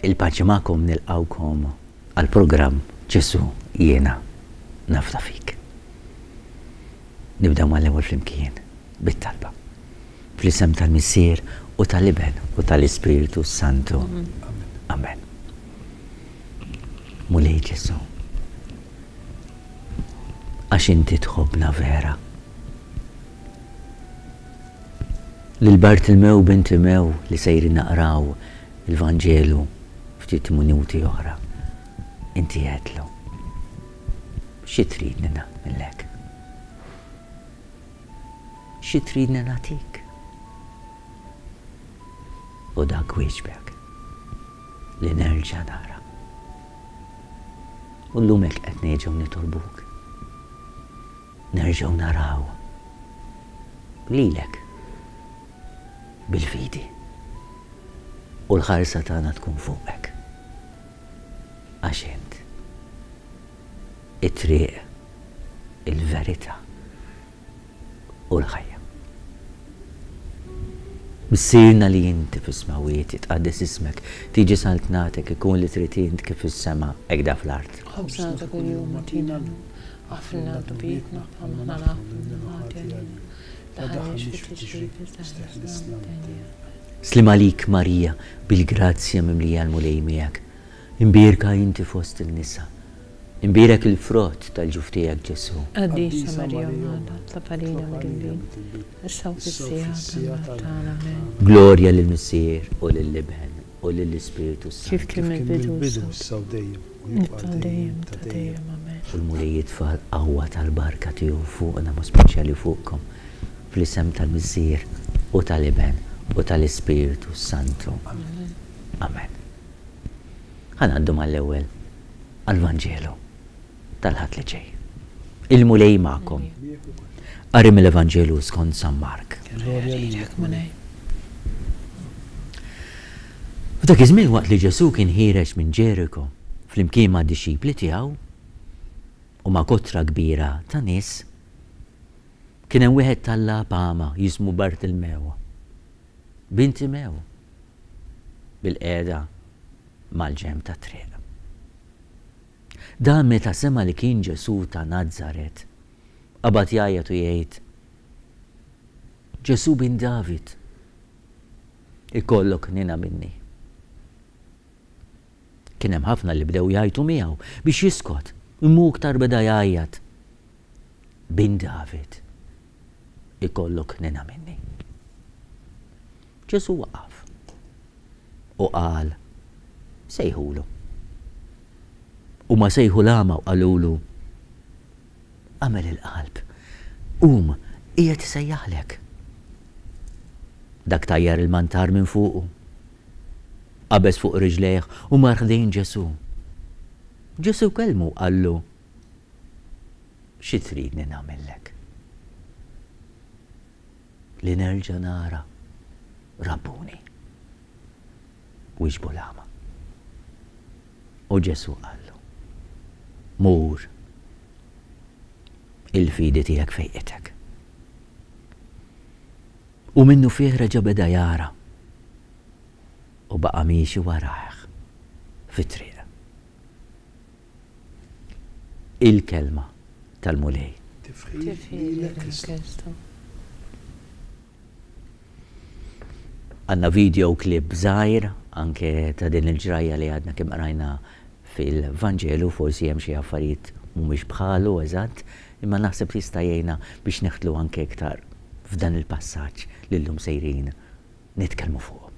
Il-paċi magħkom nilqgħukom għall-programm Ġesù jiena nafda fik. Nibdew mal-ewwel flimkien bit-talba. Fl-isem tal-Missier u tal-Iben u tal-Ispirtu s-Santu. Amen. Mulej Ġesù, għax inti tħobbna vera. Lil Bartilmew bin Timew li sejrin naqraw il-Vanġelu ftit minuti oħra, inti għedtlu, Xi tridni nagħmillek? Xi tridni nagħtik? U dak wieġbek, Li nerġa' nara. U llum hekk qed nerġgħu nitolbuk. Nerġgħu naraw lilek bil-fidi u l-ħarsa tagħna tkun fuqek għax int it-triq, il-verità u l-ħajja. Missierna li inti fis-smewwiet, jitqaddes ismek, tiġi saltnatek, ikun li trid int kif fis-sema, hekk da fl-art. Ħobżna ta' kuljum agħtina llum. Aħfrilna dnubietna bħalma aħna naħfru lil min hu ħati għalina. La tdaħħalniex fit-tiġrib iżda eħlisna mid-deni. Sliem għalik Marija, bil-grazzja mimlija l-Mulej miegħek. Imbierka inti fost in-nisa. Imbierek il-frott tal-ġuf tiegħek Ġesù. Qaddisa Marija Omm Alla, itlob għalina midinbin, issa u fis-siegħa tal-mewt tagħna. Amen. Glorja lill-Missier u lill-Iben u lill-Ispirtu s-Santu. Kif kien mill-bidu, issa u dejjem, u jibqa' għal dejjem ta' dejjem. Amen. U l-Mulej jitfa' l-qawwa tal-barka tiegħu fuqna, mod speċjali fuqkom, fl-isem tal-Missier u tal-Iben u tal-Ispirtu s-Santu. Amen. Ħa ngħaddu mal-ewwel għall-Vanġelu tal-Ħadd li ġej. Il-Mulej magħkom. Qari mill-Evanġelu skont San Mark. F'dak iż-żmien waqt li Ġesù kien ħiereġ minn Ġeriko flimkien mad-dixxipli tiegħu u ma' kotra kbira ta' nies, kien hemm wieħed tallab agħma jismu Bartilmew, bin Timew, bilqiegħda mal-ġenb tat-triq. Dan meta sema' li kien Ġesù ta' Nazaret, qabad jgħajjat u jgħid, Ġesù bin David, ikollok ħniena minni. Kien hemm ħafna li bdew jgħajtu miegħu biex jiskot, imma hu iktar beda jgħajjat, Bin David, ikollok ħniena minni. Ġesù waqaf u qal, Sejħulu. Huma sejħu l-agħma u qalulu, Agħmel il-qalb, qum, qiegħed isejjaħlek. Dak tajjar il-mantar minn fuqu, qabeż fuq riġlejh u mar ħdejn Ġesù. Ġesù kellmu u qallu, Xi tridni nagħmillek? Li nerġa' nara Rabbuni. Wieġbu l-agħma. U Ġesù qallu, Mur, il-fidi tiegħek fejqitek. U minnufih reġa' beda jara u baqa' miexi warajh fit-triq. Il-Kelma tal-Mulej. Tifħir lilek Kristu. Għandna video clip żgħir anke ta' din il-ġrajja li għadna kemm qrajna fil-Vanġelu, forsi hemm xi affarijiet mhumiex bħalu eżatt, imma naħseb li jista' jgħinna biex neħtlu anke iktar f'dan il-passaġġ li llum sejrin nitkellmu fuqu.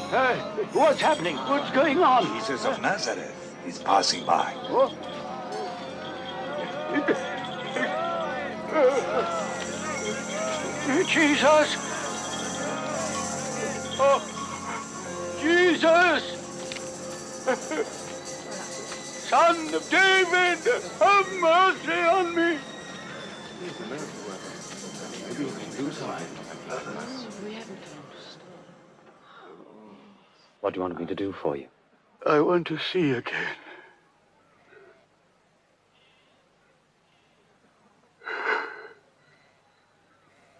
Hey, what's happening? What's going on? Jesus of Nazareth is passing by. Oh. Jesus! Oh, Jesus! Son of David, have mercy on me. What do you want me to do for you? I want to see again.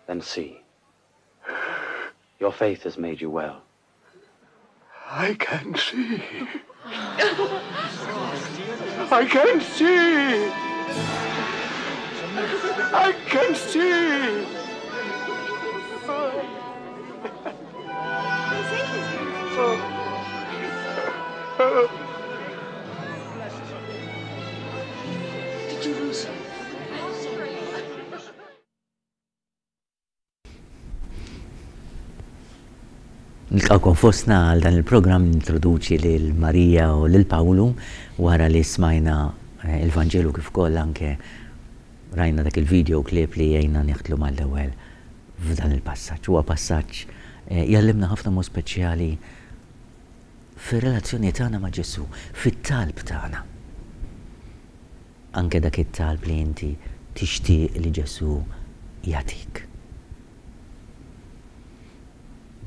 Then see. Your faith has made you well. I can see. I can see. I can see. Did you lose him? Nilqgħukom fostna għal dan il-programm nintroduċi lil Marija u lil Pawlu wara li smajna eh, il-Vanġelu kif ukoll anke rajna dak il-video clip li jgħinna nieħdlu mal-ewwel f'dan il-passaġġ. Huwa passaġġ eh, jgħallimna ħafna mod speċjali fir-relazzjoni tagħna ma' Ġesù, fit-talb tagħna. Anke dak it-talb li inti tixtieq li Ġesù jagħtik.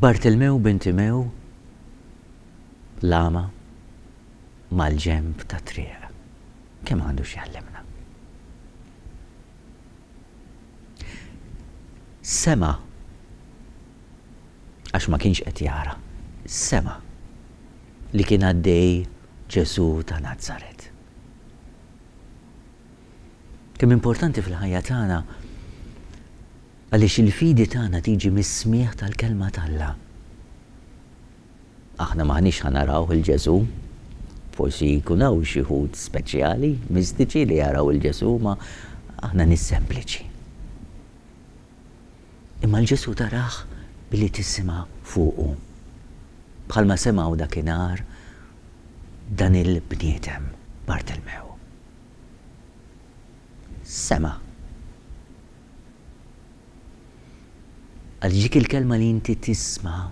Bartilmew bin Timew l-agħma mal-ġenb tat-triq. Kemm għandu x'jgħallimna. Sema' għax ma kienx qed jara, sema' li kien għaddej Ġesù ta' Nazaret. Kemm importanti fil-ħajja tagħna għaliex il-fidi tagħna tiġi mis-smigħ tal-kelma t'Alla. Aħna m'aħniex ħa naraw il Ġesù, forsi jkun hawn xi wħud speċjali, mistiċi li jaraw il Ġesù, ma aħna nies sempliċi. Imma l-Ġesù tarah billi tisma' fuqu. Bħalma semgħu dakinhar dan il-bniedem Bartilmew. Sema'. Għaliex dik il-kelma li inti tisma'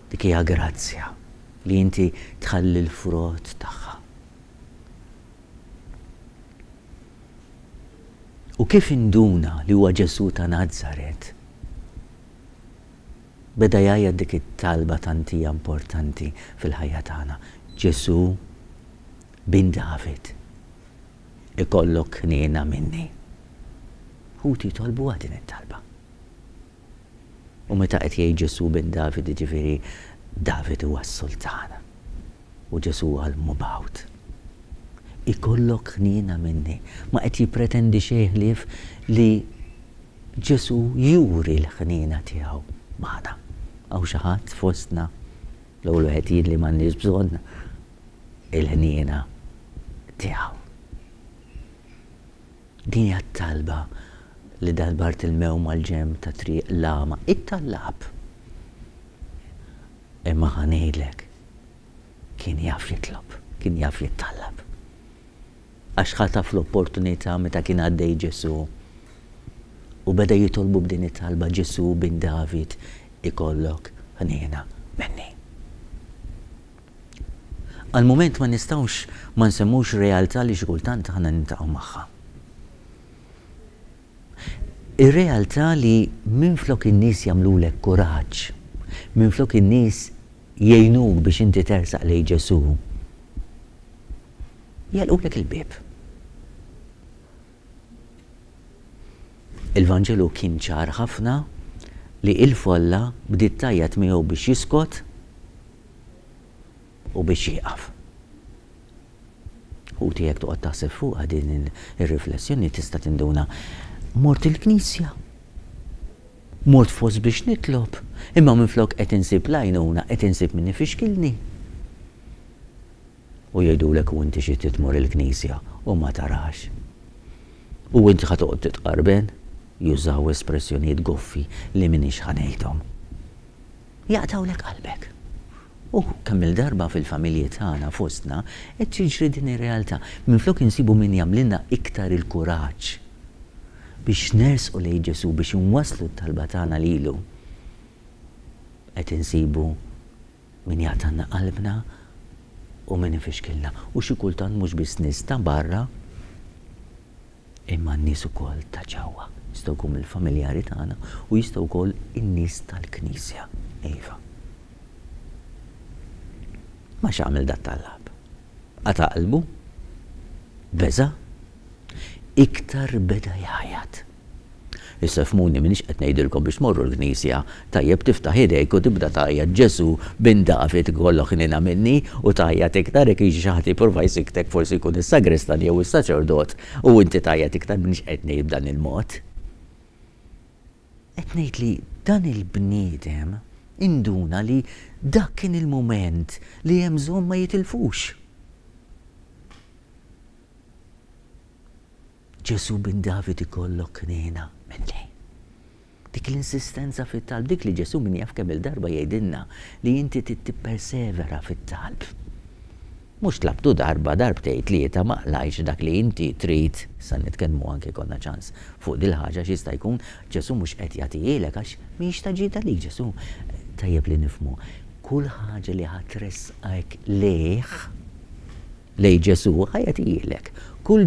dik hija grazzja li inti tħalli l-frott tagħha. U kif induna li huwa Ġesù ta' Nazaret, beda jgħajjat dik it-talba tant hija importanti fil-ħajja tagħna, Ġesù, bin David, ikollok ħniena minni. Ħuti jitolbuha din it-talba. U meta qed jgħid Ġesù bin David, jiġifieri David huwa s-sultan u Ġesù huwa l-mubgħut. Ikollok ħniena minni. Ma qed jippretendi xejn ħlief li Ġesù juri l-ħniena tiegħu magħna. Hawn xi ħadd fostna, l-ewwel wieħed jien li m'għandniex bżonn il-ħniena tiegħu. Din hija t-talba li dan Bartilmew mal-ġenb ta' triq l-għama, it-tallab. Imma ħa ngħidlek, kien jaf jitlob, kien jaf jittallab. Għax ħataf l-opportunità meta kien għaddej Ġesù u beda jitolbu b'din it-talba, Ġesù bin David, ikollok ħniena minni. Għal mument ma nistgħux ma nsemmux realtà li xi kultant aħna niltaqgħu magħha. Ir-realtà li minflok in-nies jagħmlulek kuraġġ, minflok in-nies jgħinuk biex inti tersaq lejn Ġesù, jagħlqulek il-bieb. Il-Vanġelu kien ċar ħafna li il-folla bdiet tgħajjat miegħu biex jiskot u biex jieqaf. Ħuti jekk toqgħod taħseb fuqha din ir-riflessjoni tista' tinduna mort il-knisja. Mort fost biex nitlob, imma minflok qed insib l-għajnuna qed insib min ifixkilni. U jgħidulek u inti xi tmur il-knisja u ma tarax. U inti ħa toqgħod titqarben, jużaw espressjonijiet goffi li m'iniex ħa ngħidhom. Jaqtgħulek qalbek. U kemm-il darba fil-familji tagħna fostna qed tiġri din ir-realtà. Minflok insibu min jagħmlilna iktar il-kuraġġ biex nersqu lejn Ġesù, biex inwasslu t-talba tagħna lilu, qed insibu min jaqtgħalna qalbna. u min ifixkilna. U xi kultant mhux biss nies ta' barra, imma n-nies ukoll ta' ġewwa. Jistgħu jkunu mill-familjari tagħna u jistgħu wkoll in-nies tal-Knisja. Iva. Ma x'għamel dat-tallab? Qata' qalbu? Beża'? Iktar beda jgħajjat. Issa fhmuni m'iniex qed ngħidilkom biex tmorru l-knisja, tajjeb tiftaħ idejk u tibda tgħajjat Ġesù bin David ikollok ħniena minni u tgħajjat iktar jekk jiġi xi ħadd jipprova jsikktek forsi jkun is-sagristan jew is-saċerdot u inti tgħajjat iktar m'iniex qed ngħid b'dan il-mod. Qed ngħid li dan il-bniedem induna li dak kien il-mument li hemm bżonn ma jitilfux. Ġesù bin David ikollok ħniena minni. Dik l-insistenza fit-talb, dik li Ġesù min jaf kemm-il darba jgħidilna li inti trid tippersevera fit-talb. Mhux tlabtu darba, darbtejn, tlieta, ma qlajtx dak li inti trid, issa nitkellmu anke jkollna ċans fuq dil-ħaġa għax jista' jkun Ġesù mhux qed jagħtihielek għax mhijiex ta' ġid għalik Ġesù. Tajjeb li nifhmu, kull ħaġa li ħa tressqek lejh, lejn Ġesù, ħa jagħtihielek. Kull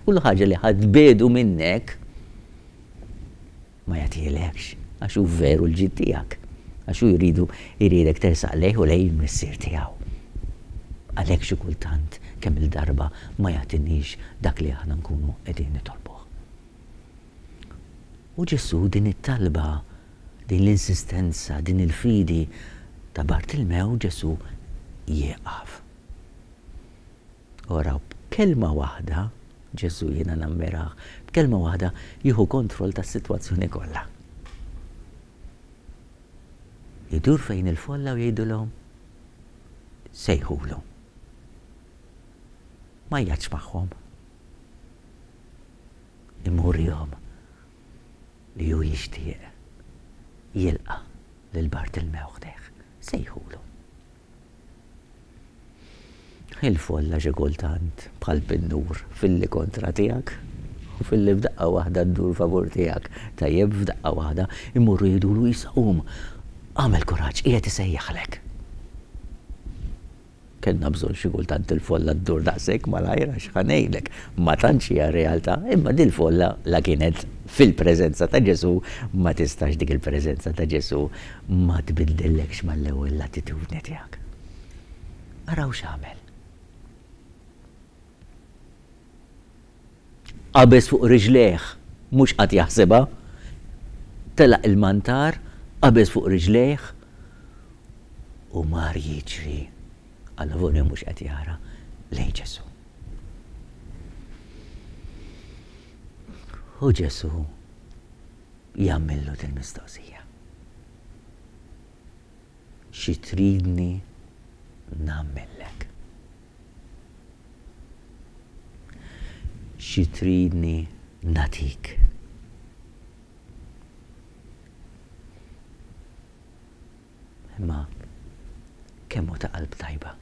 kull ħaġa li ħa tbiegħdu minnek, ma jagħtihielekx, għax hu veru l-ġid tiegħek. Għax hu jridu jridek tersaq lejh u lejn il-Missier tiegħu. Għalhekk xi kultant kemm-il darba ma jagħtiniex dak li aħna nkunu qegħdin nitolbuh. U Ġesù din it-talba, din l-insistenza, din il-fidi ta' Bartilmew Ġesù jieqaf. U araw, b'kelma waħda, Ġesù jiena nammirah, b'kelma waħda jieħu kontroll tas-sitwazzjoni kollha. Idur fejn il-folla u jgħidilhom, sejħulu. Ma jgħadx magħhom. Imma urihom li hu jixtieq jilqa' lil Bartilmew ħdejh. Sejħulu. Il-folla xi kultant bħal pinnur filli kontra tiegħek u filli f'daqqa waħda ddur favur tiegħek. Tajjeb f'daqqa waħda imorru jgħidulu issa qum, agħmel kuraġġ, qiegħed isejjaħlek. Kellna bżonn xi kultant il-folla ddur daqshekk malajr għax ħa ngħidlek, ma tantx hija realtà, imma dil-folla la kienet fil-preżenza ta' Ġesù ma tistax dik il-preżenza ta' Ġesù Ma tbiddillekx mal-ewwel l-attitudni tiegħek. Araw x'għamel. Qabeż fuq riġlejh, mhux qagħad jaħsibha. Telaq il-mantar, qabeż fuq riġlejh u mar jiġri, allavolja mhux qed jara, lejn Ġesù. U Ġesù jagħmillu dil-mistoqsija. Xi tridni nagħmillek? Xi tridni nagħtik? Imma kemm hu ta' qalb tajba,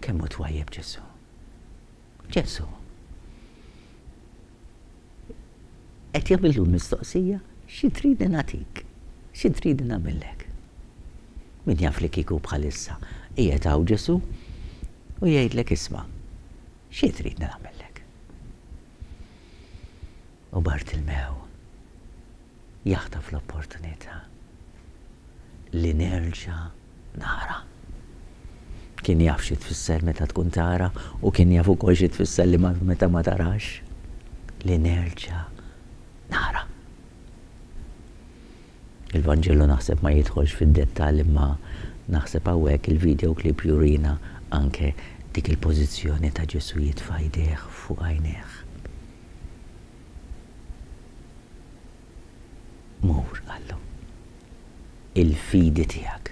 kemm hu twajjeb Ġesù. Ġesù qed jagħmillu l-mistoqsija, xi tridni nagħtik? Xi tridni nagħmillek? Min jaf li kieku bħalissa qiegħed hawn Ġesù u jgħidlek isma' xi tridni nagħmillek? U Bartilmew jaħtaf l-opportunità li nerġa' nara. Kien jaf xi tfisser meta tkun tara u kien jaf ukoll xi tfisser li meta ma tarax. Li nerġa' nara. Il-Vanġelu naħseb ma jidħolx fid-dettall imma naħseb hawnhekk il-video clip jurina anke dik il-pożizzjoni ta' Ġesù jitfa' jdejh fuq għajnejh. Mur, qallu, il-fidi tiegħek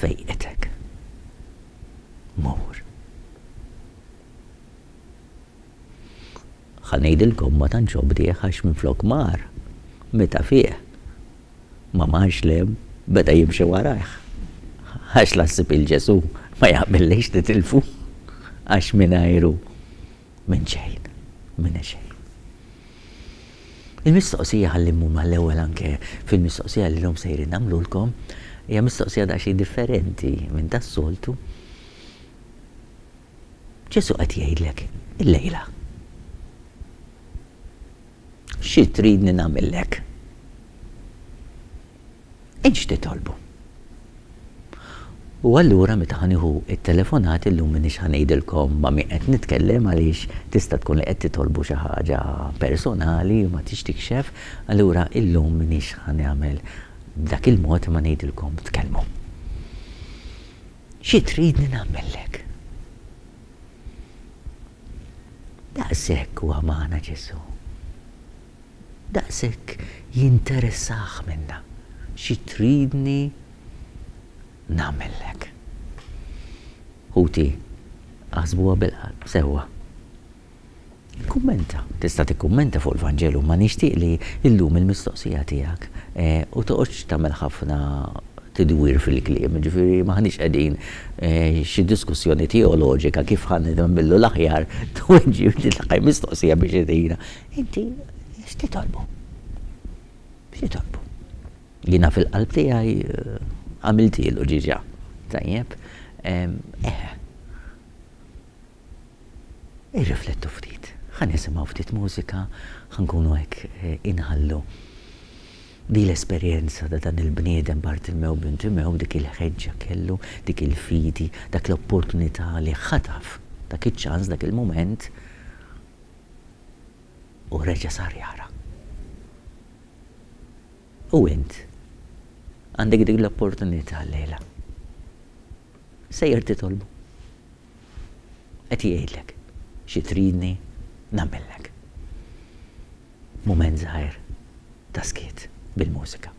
fejqitek. Mur. Ħa ngħidilkom ma tantx obdieh għax minflok mar, meta fieq, ma marx 'l hemm, beda jimxi warajh. Għax la ssib 'il Ġesù ma jaqbillekx titilfu, għax mingħajru Minn xejn, minn xejn. Il-mistoqsija ħalli mmur mal-ewwel anke fil-mistoqsija li llum sejrin nagħmlulkom, hija mistoqsija daqsxejn differenti minn tas-soltu. Ġesù qed jgħidlek illejla. Xi tridni nagħmillek? Int x'titolbu? U allura meta ħa nieħu t-telefonat illum m'iniex ħa ngħidilkom ma' min qed nitkellem għaliex tista' tkun li qed titolbu xi ħaġa personali u ma tridx tikxef, allura illum m'iniex ħa nagħmel b'dak il-mod imma ngħidilkom tkellmu. Xi tridni nagħmellek? Daqshekk huwa magħna Ġesù. Daqshekk jinteressah minna. Xi tridni nagħmellek? Ħuti, aħsbuha bil-qalb sewwa. Ikkummenta. Tista' tikkummenta fuq il-Vanġelu imma nixtieq li llum il-mistoqsija tiegħek u toqgħodx tagħmel ħafna tidwir fil-kliem, jiġifieri m'aħniex qegħdin xi diskussjoni teoloġika kif ħa nagħmillu l-aħjar tweġib li mistoqsija biex itina. Inti x'titolbu? X'titolbu? Jiena fil-qalb tiegħi għamiltielu ġiġa. Tajjeb? Eħe. Irriflettu ftit. Ħa nisimgħu ftit mużika, ħa nkunu hekk inħallu di l-esperjenza ta' dan il-bniedem Bartilmew bin Timew, dik il-ħeġġa kellu, dik il-fidi, dak l-opportunità li ħataf dak iċ-ċans, dak il-mument u reġa' sar jara. U int għandek dik l-opportunità llejla. Sejjer titolbu. Qed jgħidlek, xi tridni nagħmillek. Mument żgħir ta' skiet bil-mużika.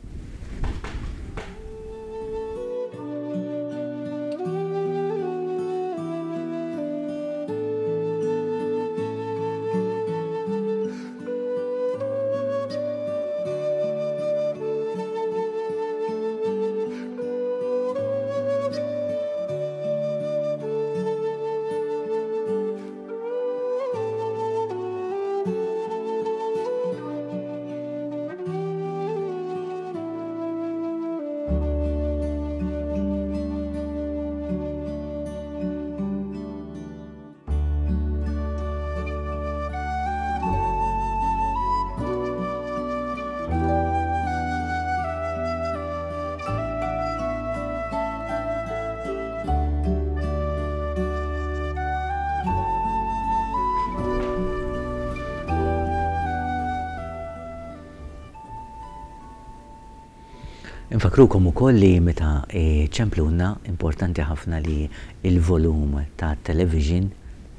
Infakrukom ukoll li meta ċempluna importanti ħafna li l-volum tat-television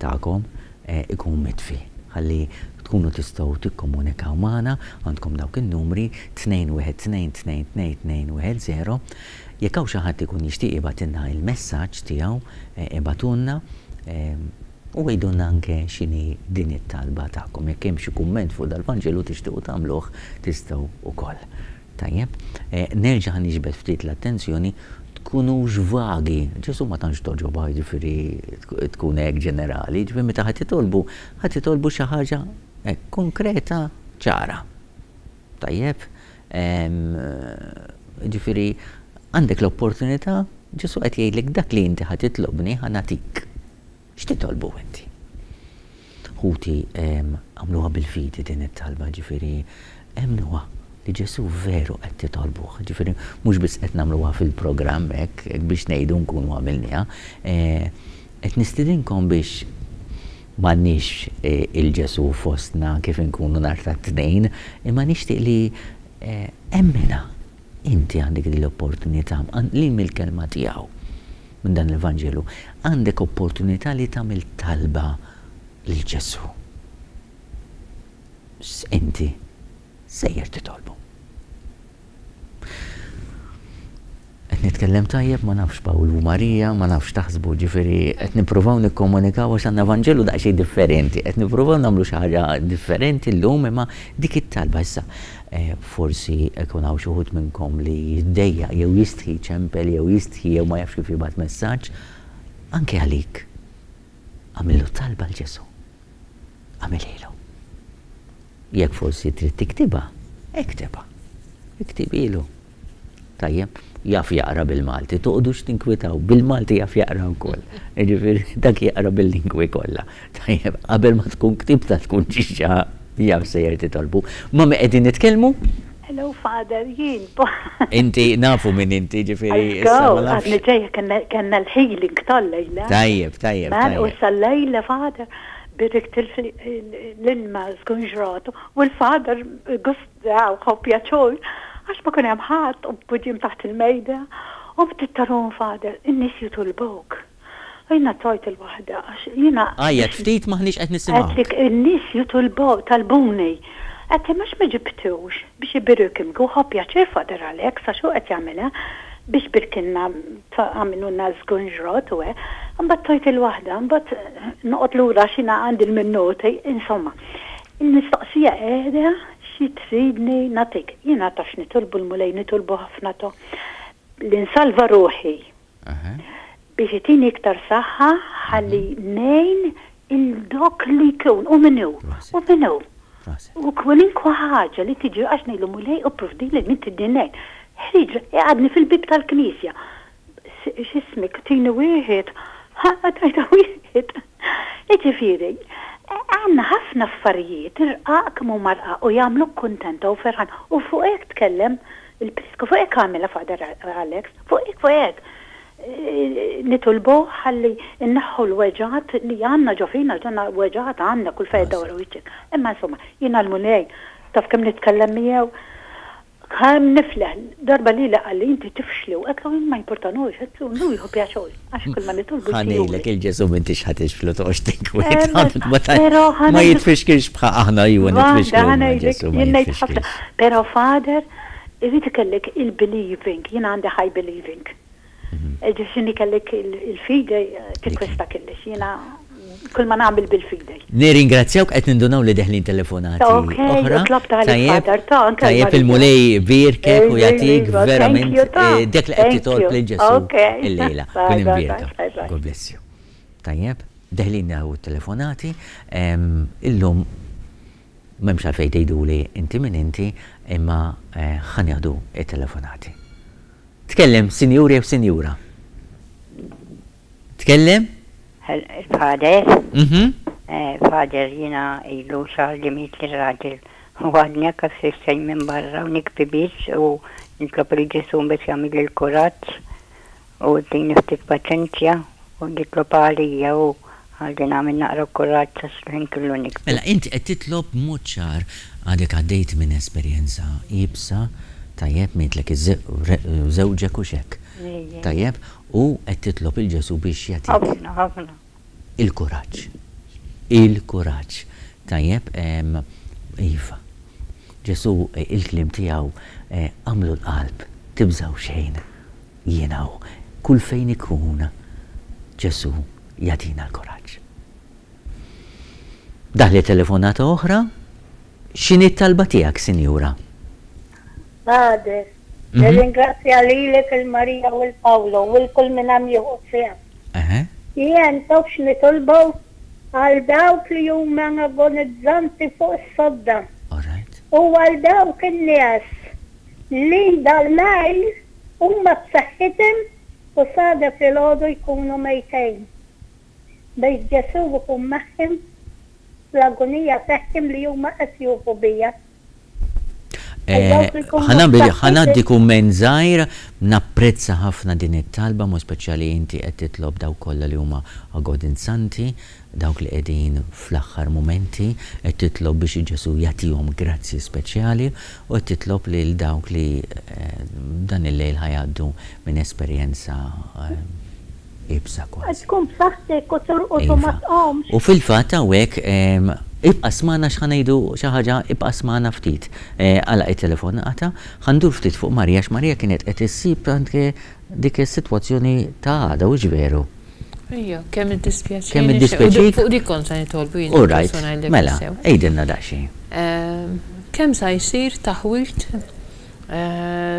tagħkom ikun mitfi ħalli tkunu tistgħu tikkomunikaw magħna, għandkom dawk in-numri 212 222 10. Jekk hawn xi ħadd ikun jixtieq jibgħatilna il-messaġġ tiegħu ibgħatulna u għidulna anke x'inhi din it-talba tagħkom. Jekk hemm xi kumment fuq dal-Vanġelu tixtiequ tagħmluh tistgħu wkoll. Tajjeb, nerġa' ħa niġbed ftit l-attenzjoni, tkunux vagi. Ġesù ma tantx togħġobha, jiġifieri tkun hekk ġenerali, jiġifieri meta ħa titolbu, ħa titolbu xi ħaġa hekk konkreta, ċara. Tajjeb? Jiġifieri għandek l-opportunità, Ġesù qed jgħidlek dak li inti ħa titlobni ħa nagħtik. X'titolbu inti? Ħuti, agħmluha bil-fidi din it-talba, ġifieri emmnuha li Ġesù veru qed titolbuh. Ġifieri mhux biss qed nagħmluha fil-programm hekk, hekk biex ngħidu nkunu għamilniha. Qed nistidinkom biex m'għandniex il-Ġesù fostna kif inkunu nhar ta' Tnejn, imma nixtieq li emminha. Inti għandek din l-opportunità, li mill-kelma tiegħu. minn dan il-Vanġelu, għandek opportunità li tagħmel talba lil Ġesù. Inti sejjer titolbu. Qed nitkellem tajjeb, ma nafx Pawl u Marija, ma nafx taħsbu, ġifieri qed nippruvaw nikkomunikaw għax għandna Vanġelu daqsxejn differenti, qed nippruvaw nagħmlu xi ħaġa differenti llum imma dik it-talba issa Forsi jkun hawn xi wħud minnkom li jiddejjaq jew jistħi jċempel jew jistħi jew ma jafx kif jibgħat messaġġ. Anke għalik, agħmillu talba 'l Ġesù. Agħmilhielu. Jekk forsi trid tiktibha, iktibha. Iktibilu. Tajjeb? Jaf jaqra bil-Malti, toqgħodux tinkwitaw, bil-Malti jaf jaqra wkoll. Jiġifieri dak jaqra bil-lingwi kollha. Tajjeb, qabel ma tkun ktibtha tkun diġà jaf sejjer titolbu. Ma' min qegħdin nitkellmu? Hello Father, jien. Inti nafu min inti, ġifieri issa ma nafx. Għadni ġejja kellna l-healing tal-lejla. Tajjeb, tajjeb. Man, u issa l-lejla Father, birikt l-ilma żgunġratu u l-Father gust Daw ħu pjaċur għax ma kien hemm ħadd u b'quddiem taħt il-mejda u bdiet tarahom Father, in-nies jitolbuk. U jiena tojt il-waħda għax jiena. Għajjat ftit m'aħniex qed nisimgħuk. Għedtlek in-nies jitolbu talbuni. Għedt imma għax ma ġibtux biex ibirikimk u ħa pjaċir Father Alex għax hu qed jagħmilha biex birkilna għamilulna żgunġrot u hekk. Imbagħad tojt il-waħda, imbagħad noqgħod lura għax jiena għandi l-minuti, insomma. Il-mistoqsija qiegħda xi tridni nagħtik. Jiena taf x'nitolbu l-Mulej nitolbu ħafna to li nsalva ruħi biex itini iktar saħħa ħalli ngħin il dok li jkun u min hu u min hu. U kwalinkwa ħaġa li tiġi għax ngħidlu Mulej ipprovdili min tridni ngħin. Ħriġ iqgħadni fil-bieb tal-knisja. X'ismek, tini wieħed, ħa tajta wieħed. Jiġifieri, għandna ħafna affarijiet irqaq kemm huma rqaq u jagħmluk kuntenta u ferħan u fuq hekk tkellem il-Prisku, fuq hekk għamilha Father Alex, fuq hekk fuq hekk. Nitolbuh ħalli nneħħu l-weġgħat li għandna ġo fina, għax weġgħat għandna kull fejn iddawwar wiċċek. Imma insomma, jiena l-Mulej taf kemm nitkellem miegħu, Kemm nifleħ, darba lili qalli inti tifxli u għedtlu jien ma jimpurtanux, għedtlu hu jieħu pjaċur għax kull ma nitolbu Ħa ngħidlek il-Ġesù m'intix ħa tixflu toqgħodx tinkwieta ma jitfixkilx bħal aħna iwa nitfixklu imma Ġesù ma jitfixkilx. Però Father irid ikellek il-believing, jiena għandi high believing. Ġifieri kellek il-fide tikkwista kellix. Jiena kull ma nagħmel bil-fide. Nirringrazzjawk qed nindunaw li deħlin telefonati oħra. Tajjeb, tajjeb il-Mulej ibierkek u jagħtik verament dak li qed titolb lil Ġesù illejla. Kun imbierka. God bless you. Tajjeb, deħlin hawn telefonati. Illum m'hemmx għalfejn tgħiduli inti min inti imma ħa nieħdu t-telefonati. Tkellem, sinjur jew sinjura. Tkellem? Father? Mhm. Father, jiena ilu xahar li mietli r-raġel u għadni hekk għax minn barra u nikbi biss u nitlob lil Ġesù biex jagħmilli l-kuraġġ u jtini ftit paċenzja u jitlob għalija u ħalli nagħmel naqra kuraġġ għax l-ħin kollu nikbi. Mela inti qed titlob b'mod ċar għadek għaddejt minn esperjenza iebsa, tajjeb, mietlek żewġek hux hekk? Tajjeb, u qed titlob 'il Ġesù biex jagħtik. Ħafna, ħafna. Il-kuraġġ. Il-kuraġġ. Tajjeb, iva. Ġesù il-kliem tiegħu agħmlu l-qalb, tibżgħu xejn. Jien hawn. Kull fejn ikun Ġesù jagħtina l-kuraġġ. Daħlet telefonata oħra. X'inhi t-talba tiegħek, sinjura? Padre, nirringrazzja lilek, 'il Marija u 'l Pawlu u 'l kull min hemm jieħu sehem. Jien taf x'nitolbu għal dawk li huma agonizzanti fuq is-sodda u għal dawk in-nies li dal-lejl huma b'saħħithom u s'għada filgħodu jkunu mejtejn. Biex Ġesù jkun magħhom fl-agunija tagħhom li huma qed jufu biha. Ħa ngħaddi kumment żgħir, napprezza ħafna din it-talba, mod speċjali inti qed titlob dawk kollha li huma agoninzanti, Dawk li qegħdin fl-aħħar mumenti, qed titlob biex Ġesù jagħtihom grazzji speċjali u qed titlob lil dawk li dan il-lejl ħa jgħaddu minn esperjenza iebsa kważi. Tkun b'saħħtek u torqod u ma tqumx. U fil-fatt hawnhekk ibqa' smagħna x'ħa ngħidu xi ħaġa, ibqa' smagħna ftit. Għalaq it-telefonata, ħa ndur ftit fuq Maria għax Maria kienet qed issib anke dik is-sitwazzjoni ta' għada, hux veru? Ejja, kemm iddispjaċini. Kemm iddispjaċik? Fuq dik kont se nitolbu jien. All right, mela, għidilna daqsxejn. Kemm sa jsir taħwid,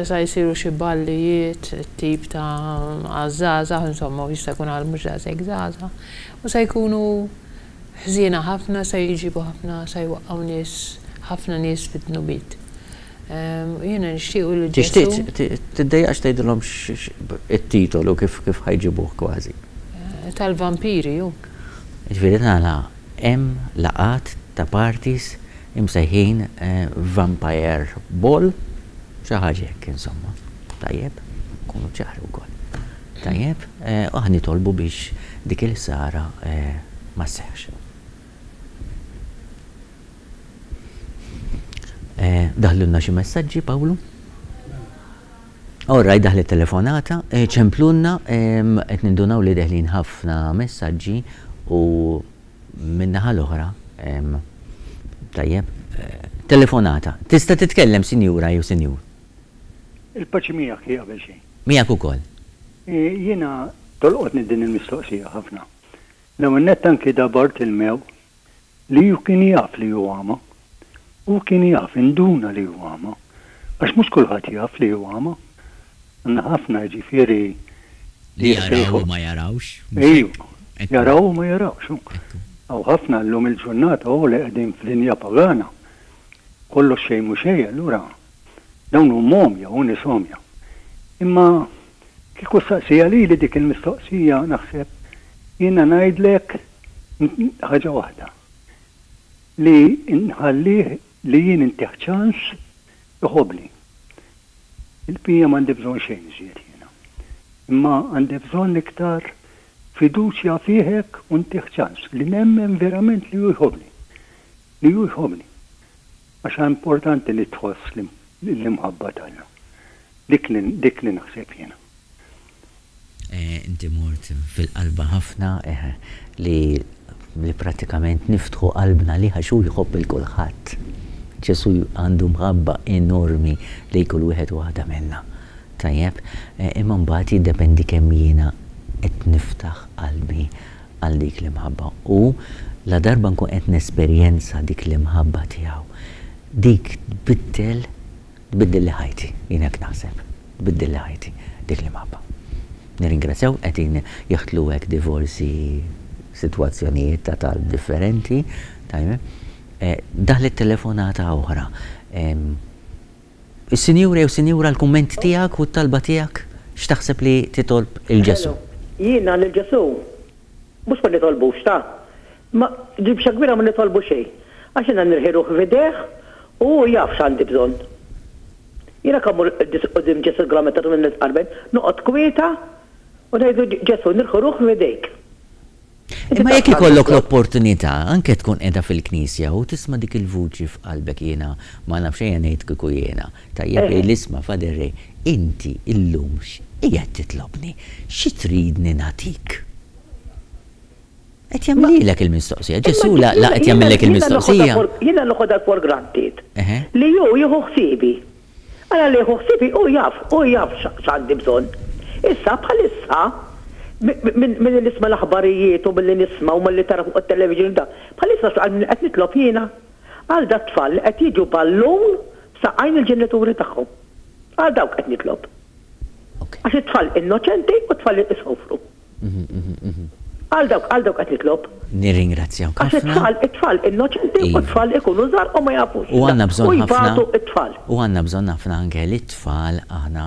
sa jsiru xi ballijiet tip ta' għaż-żgħażagħ, insomma, u jista' jkun għal mhux daqshekk żgħażagħ, u sa jkunu ħżiena ħafna, sa jġibu ħafna, sa jwaqqgħu nies, ħafna nies fid-dnubiet. Jiena nixtiequ li Ġesù. Tixtieq tiddejjaqx tgħidilhom it-titolu kif kif ħa jġibuh kważi. Tal-vampiri hu. Jiġifieri tagħna hemm laqgħat ta' parties imsejħin Vampire Ball, xi ħaġa hekk insomma. Tajjeb? Nkunu ċari wkoll. Tajjeb? U aħna nitolbu biex dik il-ħsara ma sseħħx. Daħlulna xi messaġġi, Pawlu? All right, daħlet telefonata, ċemplulna, qed nindunaw li deħlin ħafna messaġġi u min-naħa l-oħra, tajjeb, telefonata. Tista' titkellem, sinjura jew sinjur. Il-paċi miegħek hi qabel xejn. Miegħek ukoll. Jiena tolqotni din il-mistoqsija ħafna. L-ewwel nett anki da Bartilmew li hu kien jaf li hu għama. Hu kien jaf, induna li hu għama. Għax mhux kulħadd jaf li hu għama. Għandna ħafna jiġifieri li jaraw u ma jarawx. Ejju, jaraw u ma jarawx. Hawn ħafna llum il-ġurnata hu li qegħdin f'dinja pagana. Kollox xejn mhu xejn allura dawn huma għomja, hu nies għomja. Imma kieku ssaqsiha lili dik il-mistoqsija naħseb jiena ngħidlek Ħaġa waħda, li nħallih li jien intih ċans iħobbni. Il-bqija m'għandi bżonn xejn iżjed jiena. Imma għandi bżonn iktar fiduċja fih hekk u ntih ċans li nemmen verament li hu jħobbni. Li hu jħobbni. Għax importanti li tħoss l-imħabba t'Alla. Dik li dik li naħseb jiena. Inti mort fil-qalba ħafna li li prattikament niftħu qalbna għalih għax hu jħobb 'il kulħadd. Ġesù għandu mħabba enormi lejn kull wieħed u waħda minna. Tajjeb? Imma mbagħad jiddependi kemm jiena qed niftaħ qalbi għal dik l-imħabba. U ladarba nkun qed nesperjenza dik l-imħabba tiegħu, dik tbiddel Tbiddilli ħajti, jien hekk naħseb. Tbiddilli ħajti dik l-imħabba. Nirringrazzjaw qegħdin jaħtlu hekk divorsi sitwazzjonijiet ta' talb differenti. Tajjeb. Daħlet telefonata oħra. Is-sinjura jew sinjura l-kumment tiegħek u t-talba tiegħek x'taħseb li titolb 'il Ġesù? Jiena lil Ġesù mhux ma nitolbux ta'. Ma, ġibxa kbira ma nitolbu xejn, għax jiena nirħi ruħi f'idejh u hu jaf x'għandi bżonn. Jiena kemm mmur quddiem Ġesù l-Gran Meta nitqarben, noqgħod kwieta u ngħidlu Ġesù nirħi ruħi f'idejk. Inti Imma taf jekk x'għandi ikollok bżonn. l-opportunità, anke tkun qiegħda fil-knisja u tisma' dik il-vuċi f'qalbek jiena ma nafx ejja ngħid kieku jiena, tajjeb jgħidli isma' Father Ray, inti illum x'qiegħed titlobni? Xi tridni nagħtik? Qed jagħmlilek il-mistoqsija. Ġesù la la qed jagħmillek il-mistoqsija. Jiena noħodha for granted li hu jieħu ħsiebi. Ara li jieħu ħsiebi hu jaf, hu jaf x'għandi bżonn. Issa bħalissa milli nisma' l-aħbarijiet u milli nisma' u milli tara fuq it-television u da, bħalissa x'qed nitlob jiena? Għal dat-tfal li qed jiġu ballun f'saqajn il-ġenituri tagħhom. Għal dawk qed nitlob. Għax it-tfal innoċenti u t-tfal isofru. Għal dawk, għal dawk qed nitlob. Nirringrazzjawk Għax ħafna. it-tfal, it-tfal innoċenti u Iva. t-tfal ikunu żgħar u ma jafux. U għandna U bżonn ħafna. jbatu t-tfal. U għandna bżonn ħafna anke li t-tfal aħna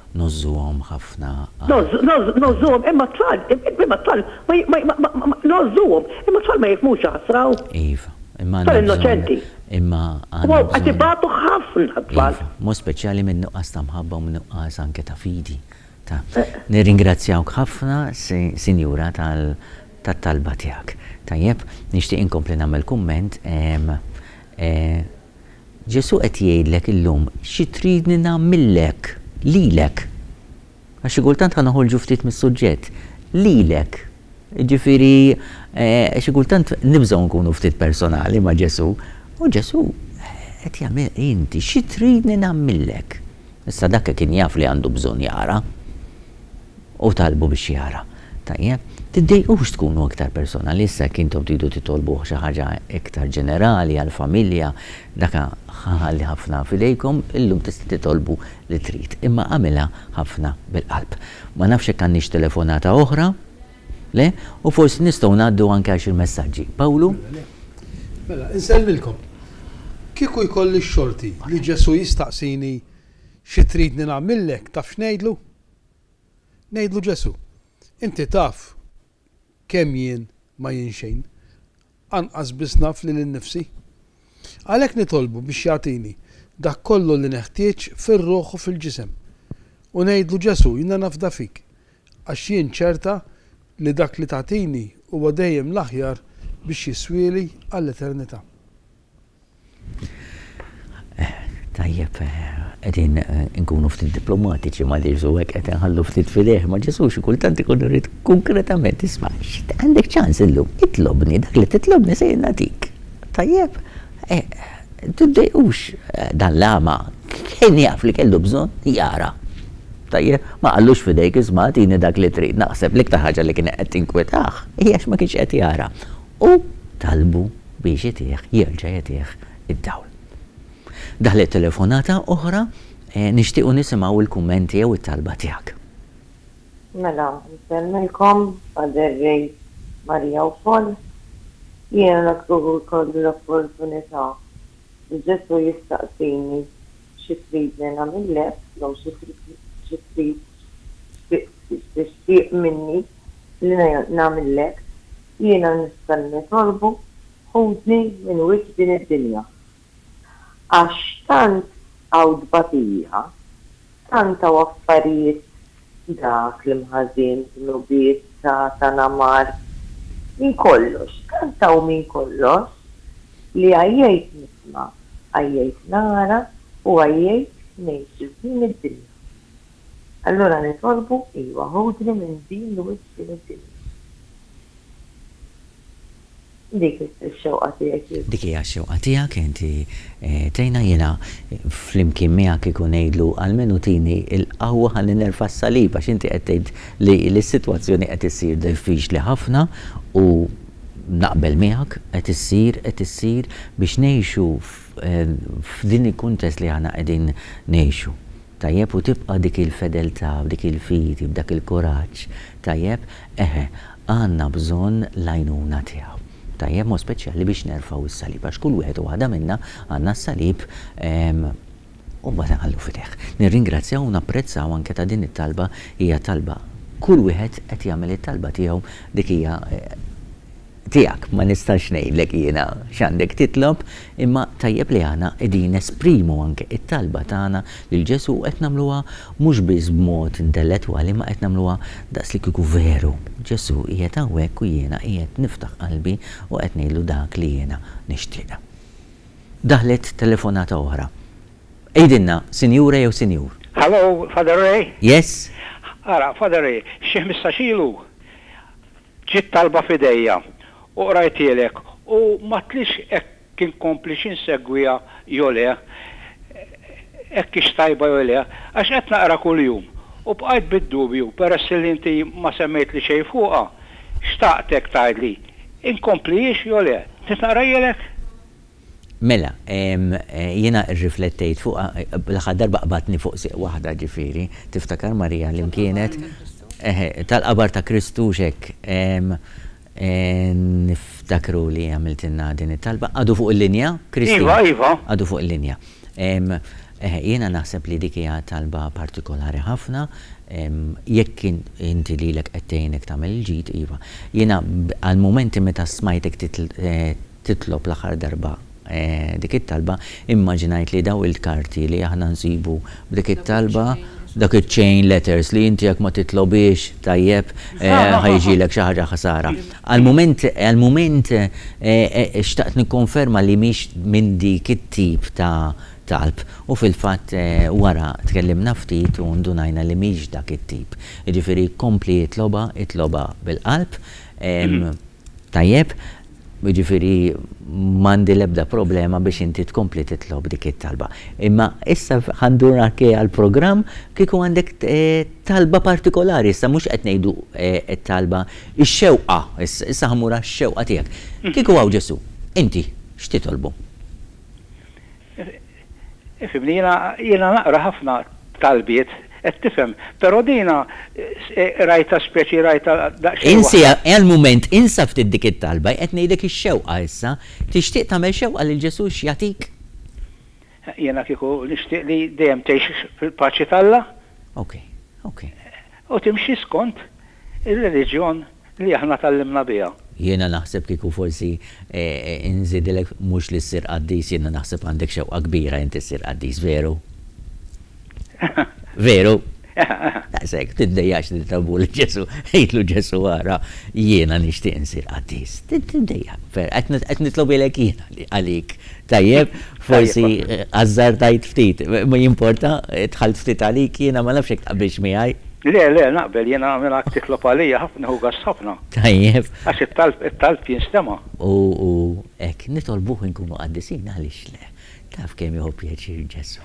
ngħożżuhom ħafna. Ngħożżu, ngħożżu, ngħożżuhom imma t-tfal, imma t-tfal ma, ma, ma, ma, ma, ngħożżuhom, imma t-tfal ma jifhmux jaħasra u. Iva. Imma Tfal għandna bżonn. innoċenti. Imma U għandna qed bżonn. ibatu ħafna t-tfal. Iva. Mod speċjali min-nuqqas ta' mħabba u min-nuqqas anke ta' fidi. Ta. Nirringrazzjawk ħafna, Sinjura, tat-talba tiegħek. Tajjeb, nixtieq inkompli nagħmel kumment. Ġesù qed jgħidlek illum xi tridni nagħmillek lilek. Għax xi kultant ħa noħorġu ftit mis-suġġett. Lilek. Jiġifieri xi kultant nibżgħu nkunu ftit personali ma' Ġesù. U Ġesù qed jagħmel inti xi tridni nagħmillek? Issa dak kien jaf li għandu bżonn jara u talbu biex jara. Tajjeb? Tiddejqux tkunu iktar personali issa jekk intom tridu titolbuh xi ħaġa iktar ġenerali għall-familja, dak ħa nħalli ħafna f'idejkom, illum tista' titolbu li trid, imma agħmilha ħafna bil-qalb. Ma nafx jekk għandniex telefonata oħra. Le? U forsi nistgħu ngħaddu anke għal xi messaġġi. Pawlu? Mela, insellmilkom. Kieku jkolli x-xorti li Ġesù jistaqsini xi tridni nagħmillek taf x'ngħidlu? Ngħidlu Ġesù, inti taf kemm jien ma jien xejn. Anqas biss naf lili nnifsi. Għalhekk nitolbu biex jagħtini dak kollu li neħtieġ fir-ruħ u fil-ġisem. U ngħidlu Ġesù jiena nafda fik, għax jien ċerta li dak li tagħtini huwa dejjem l-aħjar biex jiswieli għall-eternità. Tajjeb, qegħdin inkunu ftit diplomatiċi ma' Ġesù hekk qed inħallu ftit f'idejh, ma' Ġesù xi kultant ikun irid konkretament isma' għandek ċans illum, itlobni, dak li titlobni se jien nagħtik. Tajjeb, tiddejqux dan l-għama kien jaf li kellu bżonn jara. Tajjeb, ma qallux f'idejk isma' agħtini dak li trid. Naħseb l-iktar ħaġa li kienet qed tinkwetah hija għax ma kienx qed jara. U talbu biex itih, jerġa' jagħtih id-dawl. Daħlet telefonata oħra, nixtiequ nisimgħu l-kummenti jew it-talba tiegħek. Mela, nsellmilkom, Father Ray, Maria u Paul. Jiena kieku jkolli l-opportunità li Ġesù jistaqsini xi tridni nagħmillek jew xi xi trid x'tixtieq minni li nagħmillek, jiena nista' nitolbu ħudni minn wiċċ din id-dinja. Għax tant hawn tbatija, tant hawn affarijiet dak l-imħażin, dnubiet, Satana, mard, minn kollox, tant hawn minn kollox li għajjejt nisma', għajjejt nara u għajjejt ngħix f'din id-dinja. Allura nitolbu, iva, ħudni minn din l-wiċċ din id-dinja. Dik ix-xewqa tiegħi kieku. Dik hija x-xewqa tiegħek, inti tgħinna, jiena flimkien miegħek kieku ngħidlu almenu tini l-qawwa ħalli nerfa' s-salib għax inti qed tgħid li s-sitwazzjoni qed issir diffiċli ħafna u naqbel miegħek qed issir qed issir biex ngħixu f'din il-kuntest li aħna qegħdin ngħixu. Tajjeb, u tibqa' dik il-fedeltà, b'dik il-fidi, b'dak il-kuraġġ, tajjeb, eħe, għandna bżonn l-għajnuna tiegħu. Tajjeb, mod speċjali biex nerfgħu s-salib, għax kull wieħed u waħda minna għandna s-salib, u mbagħad inħallu f'idejh. Nirringrazzjaw u napprezzaw anke ta' din it-talba, hija talba, kull wieħed qed jagħmel it-talba tiegħu, dik hija tiegħek, ma nistax ngħidlek jiena x'għandek titlob, imma tajjeb li aħna qegħdin nesprimu anke t-talba tagħna lil Ġesù u qed nagħmluha mhux biss b'mod intellettwali imma qed nagħmluha daqs li kieku veru Ġesù qiegħed hawnhekk u jiena qiegħed niftaħ qalbi u qed ngħidlu dak li jiena nixtieq. Daħlet telefonata oħra. Għidilna, sinjura jew sinjur. Hello, Father Ray? Yes? Ara, Father Ray, xi ħmistax ilu Ġiet talba f'idejja u qrajthielek u m'għadtlix hekk inkomplix insegwiha jew le, hekk hix tajba jew le, għax qed naqra kuljum u bqajt bid-dubju peress li inti ma semmejtli xejn fuqha, xtaqtek tgħidli inkomplihiex jew le. Trid naqrahielek? Mela, jiena rriflettejt fuqha, l-aħħar darba qbadtni fuq sieq waħda ġifieri, tiftakar Marija li kienet? Eħe, tal-qabar ta' Kristu hux hekk. Niftakru li għamiltilna din it-talba. Għadu fuq il-linja, Christine? Iva, iva. Għadu fuq il-linja. Eħe, jiena naħseb li dik hija talba partikolari ħafna, jekk inti lilek qed tgħinek tagħmel il-ġid, iva. Jiena għall-mumenti meta smajtek titlob l-aħħar darba dik it-talba, immaġinajt li dawn il-karti li aħna nsibu b'dik it-talba, dak iċ-chain letters li inti jekk ma titlobhiex tajjeb ħa jiġilek xi ħaġa ħsara. Għall-mument għall-mument xtaqt nikkonferma li mhix minn dik it-tip ta' talb u fil-fatt wara tkellimna ftit u ndunajna li mhix dak it-tip. Jiġifieri kompli itlobha, itlobha bil-qalb. Tajjeb, jiġifieri m'għandi l-ebda problema biex inti tkompli titlob dik it-talba. Imma issa ħa ndur anke għall-programm, kieku għandek talba partikolari, issa mhux qed ngħidu t-talba, ix-xewqa, issa ħa mmur għax-xewqa tiegħek. Kieku hawn Ġesù, inti x'titolbu? Ifhimni, jiena jiena naqra ħafna talbiet, qed tifhem, però dina rajtha speċi rajtha daqsxejn Insi għal mument insa ftit dik it-talba, qed ngħidlek ix-xewqa issa, tixtieq tagħmel xewqa lil Ġesù x'jagħtik? Jiena kieku nixtieq li dejjem tgħix fil-paċi t'Alla. Ok, ok. U timxi skont ir-reliġjon li aħna tgħallimna biha. Jiena naħseb kieku forsi nżidilek mhux li ssir qaddis, jiena naħseb għandek xewqa kbira inti ssir qaddis, veru? Veru? Daqshekk, tiddejjaqx li titolbu lil Ġesù, għidlu Ġesù ara jiena nixtieq insir qaddis. Tiddejjaq, qed nitlobilek jiena għalik. Tajjeb, forsi ażżardajt ftit, ma jimporta, dħalt ftit għalik jiena ma nafx jekk taqbilx miegħi. Le, le, naqbel, jiena mingħajr titlob għalija ħafna nieħu gost ħafna. Tajjeb. Għax it-talb, it-talb jinstema'. U hekk, nitolbuh inkunu qaddisin għaliex le? Taf kemm jieħu pjaċir Ġesù.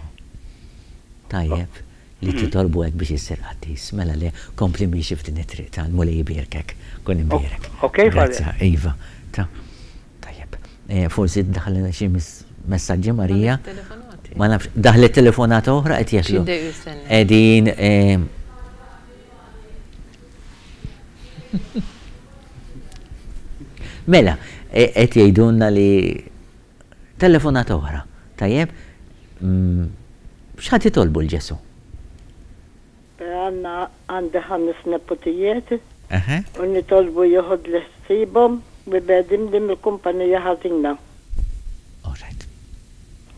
Tajjeb li titolbu hekk biex issir qaddis. Mela le, kompli miexi f'din it-triq ta' l-Mulej ibierkek. Kun imbierek. Ok, Father. Grazzi, iva. Ta' tajjeb. Forsi daħlilna xi messaġġi Marija. Ma nafx, daħlet telefonata oħra qed jaslu. Qegħdin Mela, qed jgħidulna li Telefonata oħra. Tajjeb? X'ħa titolbu 'l Ġesù? Għandna għandi ħames neputijiet u nitolbu joħodli ħsiebhom u jbegħdimni mill-kumpanija ħażina. All right.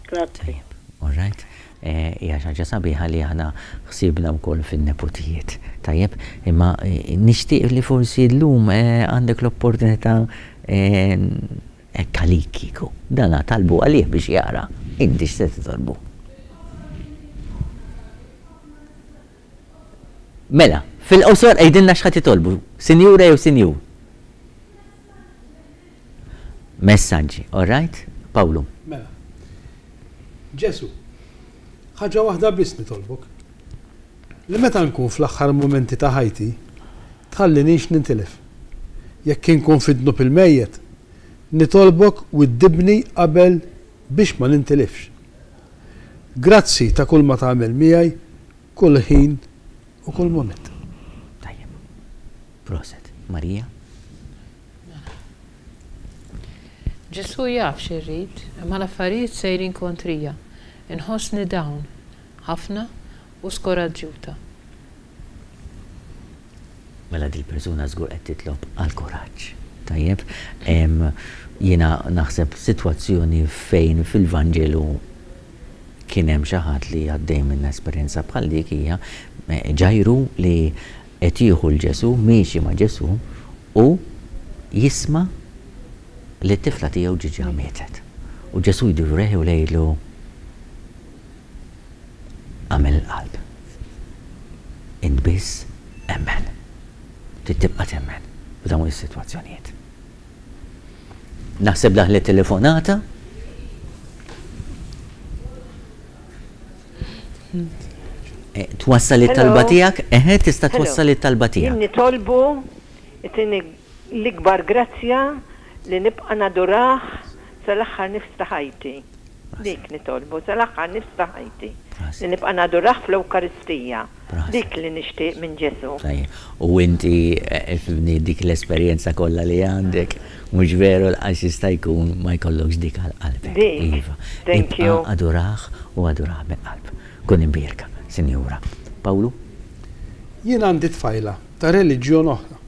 Grazzi. Tajjeb. All right. Hija xi ħaġa sabiħa li aħna ħsiebna wkoll fin-neputijiet. Tajjeb? Imma nixtieq li forsi llum għandek l-opportunità Hekk għalik kieku. Dana talbu għalih biex jara. Inti x'se titolbu? Mela, fil-qosor għidilna x'ħa titolbu, sinjura jew sinjur. Messaġġi, all right? Pawlu. Mela. Ġesu, ħaġa waħda biss nitolbok. Li meta nkun fl-aħħar mumenti ta' ħajti, tħallinix nintilef. Jekk inkun fid-dnub il-mejjet, nitolbok widdibni qabel biex ma nintilifx. Grazzi ta' kull ma tagħmel miegħi kull ħin u kull mument. Tajjeb. Proset. Marija? Mela. Ġesù jaf xi rrid, imma l-affarijiet sejrin kontrija. Inħossni down. Ħafna u skoraġġjuta. Mela dil-persuna żgur qed titlob għall-kuraġġ. Tajjeb? Jiena naħseb sitwazzjoni fejn fil-Vanġelu kien hemm xi ħadd li għaddej minn esperjenza bħal dik hija Ġajru li qed jieħu 'l Ġesù, miexi ma' Ġesù u jisma' li t-tifla tiegħu ġiġa mietet. U Ġesù jdur lejh u jgħidlu, Agħmel il-qalb. Int biss emmen. Trid tibqa' temmen f'dawn is-sitwazzjonijiet. Naħseb daħlet telefonata. Eh, twassal it-talba tiegħek? Eħe, tista' twassal it-talba tiegħek. Jien nitolbu itini l-ikbar grazzja li nibqa' nadurah sal-aħħar nifs ta' ħajti. Dik nitolbu sal-aħħar nifs ta' ħajti, li nibqa' nadurah fl-Ewkaristija. Dik li nixtieq minn Ġesù. Tajjeb. U inti, ifhimni, dik l-esperjenza kollha li għandek, mhux veru laqas jista' jkun ma jkollokx dik għal qalbek. Dik. Iva. Thank you. Ibqa' adurah u adurah mill-qalb. Kun imbierka, Sinjura. Pawlu? Jien għandi tfajla ta' reliġjon oħra.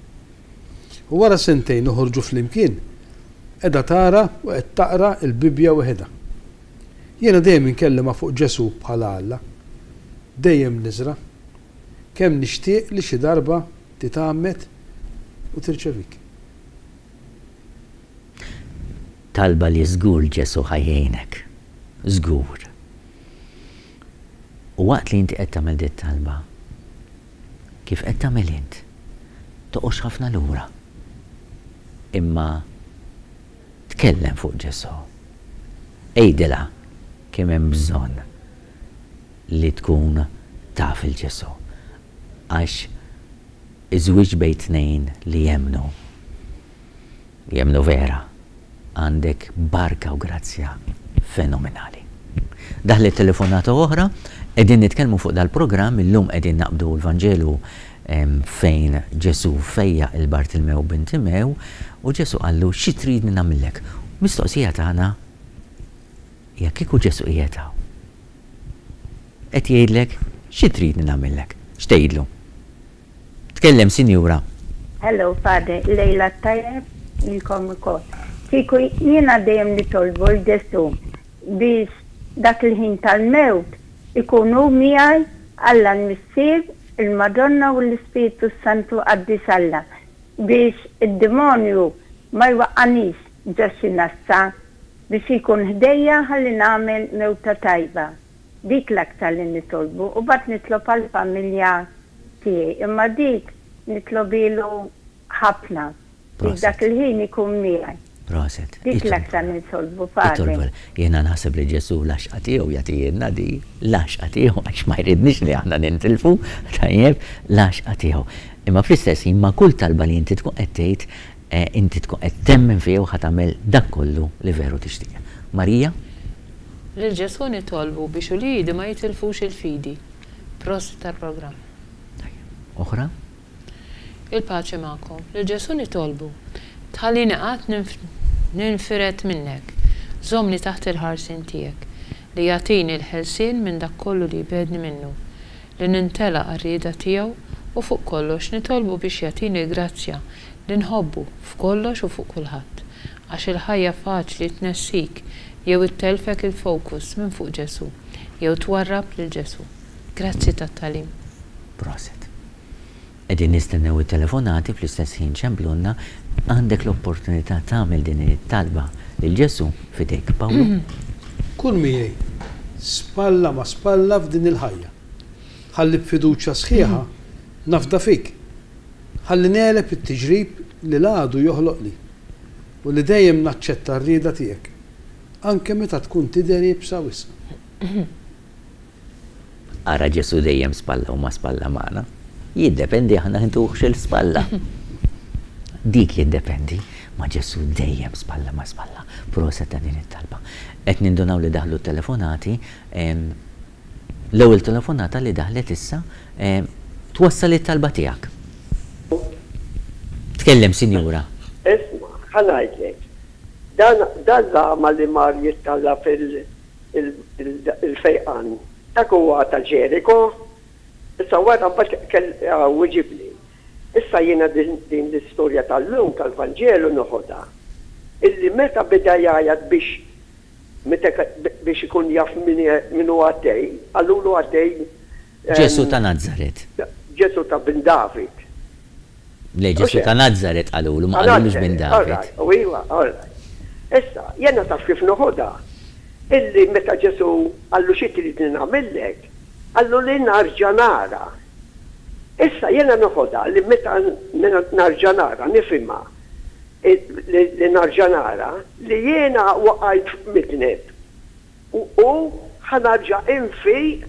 U wara sentejn noħorġu flimkien, qiegħda tara u qed taqra l-Bibbja weħidha. Jiena dejjem inkellimha fuq Ġesù bħala Alla. Dejjem niżra'. Kemm nixtieq li xi darba titgħammed u tirċevik. Talba li żgur Ġesù ħa jgħinek. Żgur. U waqt li inti qed tagħmel dit-talba, Kif qed tagħmel int. Toqgħodx ħafna lura. Imma tkellem fuq Ġesù. Għidilha kemm hemm bżonn li tkun taf 'il Ġesù. Għax iż-żwieġ bejn tnejn li jemmnu, Jemmnu vera. Għandek barka u grazzja fenomenali. Daħlet telefonata oħra, qegħdin nitkellmu fuq dal-programm, illum qegħdin naqbdu l-Vanġelu fejn Ġesù fejjaq 'il Bartilmew bin Timew u Ġesù qallu xi tridni nagħmillek? Mistoqsija tagħna hija kieku Ġesù qiegħed hawn. qed jgħidlek xi tridni nagħmillek? X'tgħidlu? Tkellem sinjura. Hello Father, lejla t-tajjeb lilkom ukoll. Kieku jiena dejjem nitolbu 'l Ġesù biex dak il-ħin tal-mewt ikun hu miegħi Alla l-Missier, il-Madonna u l-Ispirtu s-Santu Qaddis Alla biex id-dimonju ma jwaqqanix ġo xi nassa biex ikun ħdejja ħalli nagħmel mewta tajba. Dik l-aktar li nitolbu u mbagħad nitlob għall-familja tiegħi imma dik nitlobilu ħafna biex dak il-ħin ikun miegħi. Proset. Dik l-aktar li nitolbu Father. Jiena naħseb li Ġesù l-għaxqa tiegħu jagħtihielna di, l-għaxqa tiegħu għax ma jridniex li aħna nintilfu, tajjeb, l-għaxqa tiegħu. Imma fl-istess ħin ma' kull talba li inti tkun qed tgħid, inti tkun qed temmen fih u ħa tagħmel dak kollu li veru tixtieq. Marija? Lil Ġesù nitolbu biex uliedi ma jitilfux il-fidi. Prosit tal-programm. Tajjeb. Oħra? Il-paċi magħkom. Lil Ġesù nitolbu, Tħallini qatt ninfired minnek. Żommni taħt il-ħarsien tiegħek, li jagħtini l-ħelsien minn dak kollu li jbegħedni minnu, li nintelaq għar-rieda tiegħu u fuq kollox nitolbu biex jagħtini l-grazzja li nħobbu f'kollox u fuq kulħadd. Għax il-ħajja faċli tnessik jew ittellfek il-focus minn fuq Ġesù jew twarrab lil Ġesù. Grazzi tat-tagħlim. Proset. Qegħdin nistennew it-telefonati fl-istess ħin ċemplulna, għandek l-opportunità tagħmel din it-talba lil Ġesù f'idejk. Pawlu? Kun miegħi, spalla ma' spalla f'din il-ħajja. Ħalli b'fiduċja sħiħa nafda fik. Ħalli negħleb it-tiġrib li l-għadu joħloqli u li dejjem naċċetta r-rieda tiegħek, anke meta tkun tidher iebsa wisq. Ara Ġesù dejjem spalla u ma' spalla magħna. Jiddependi aħna ntuhx il-spalla. Dik jiddependi, ma' Ġesù dejjem spalla ma' spalla. Proset ta' din it-talba. Qed nindunaw li daħlu t-telefonati. L-ewwel telefonata li daħlet issa twassal it-talba tiegħek. Tkellem, sinjura. Isma', ħa ngħidlek. Dan dan l-agħma li mar jittallab il il-fejqan. Dak huwa ta' Ġeriko. Issa wara mbagħad wiġibni. Issa jiena din l-istorja tal-lum tal-Vanġelu noħodha illi meta beda jgħajjat biex meta biex ikun jaf min hu għaddej, qalulu għaddej Ġesù ta' Nazaret. Ġesù ta' bin David. Le, Ġesù ta' Nazaret qalulu, ma qalulux bin David. U iva, all right. Issa, jiena taf kif noħodha? Illi meta Ġesù qallu xi tridni nagħmillek, qallu li narġa' nara. Issa jiena noħodha li meta narġa' nara, nifhimha li narġa' nara li jiena waqajt midneb. U ħa narġa' infiq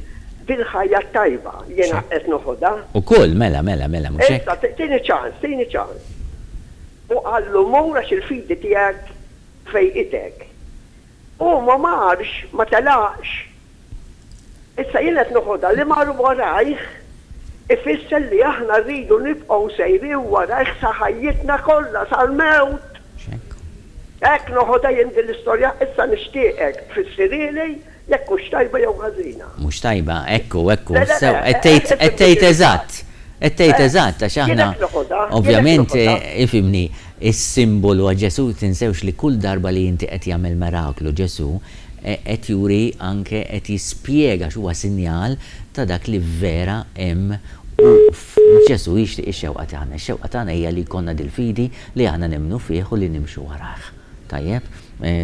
bil-ħajja t-tajba. Jiena qed noħodha. Ukoll, mela, mela, mela, mhux hekk? Issa, tini ċans, tini ċans. U qallu, Mur għax il-fidi tiegħek fejqitek. Hu ma marx, ma telaqx. Issa jien qed noħodha li mar warajh ifisser li aħna rridu nibqgħu sejrin warajh sa ħajjitna kollha, sal-mewt. Hekk noħodha jien din l-istorja, issa nixtieqek tfissirhieli jekk hux tajba jew ħażina. Mhux tajba, hekk hu, hekk hu, sew, qed tgħid, qed tgħid eżatt, qed tgħid eżatt għax aħna ovvjament ifhimni, is-simbolu għax Ġesù tinsewx li kull darba li inti qed jagħmel miraklu Ġesù qed juri anke qed jispjega għax huwa sinjal ta' dak li vera hemm u Ġesù jixtieq ix-xewqa tagħna. Ix-xewqa tagħna hija li jkollna dil-fidi li aħna nemmnu fih u li nimxu warajh. Tajjeb?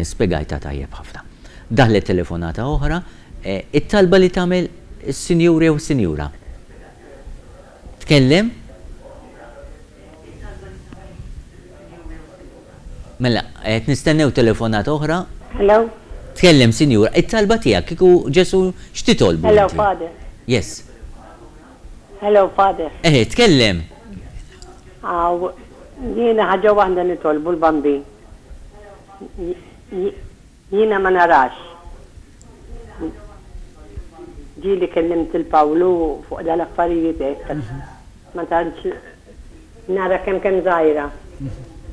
Spjegajtha tajjeb ħafna. Daħlet telefonata oħra. It-talba li tagħmel is-sinjur jew is-sinjura. Tkellem? Mela, qed nistennew telefonata oħra. Hello? Tkellem, sinjura. It-talba tiegħek kieku Ġesù x'titolbu Hello, inti? Father. Yes. Hello, Father. Eħe, tkellem. Aw, jiena ħaġa waħda nitolbu l-Bambin. Jiena ma narax. Ġieli kellimt 'il Pawlu fuq dal-affarijiet hekk. Ma tantx nara kemm kemm żgħira.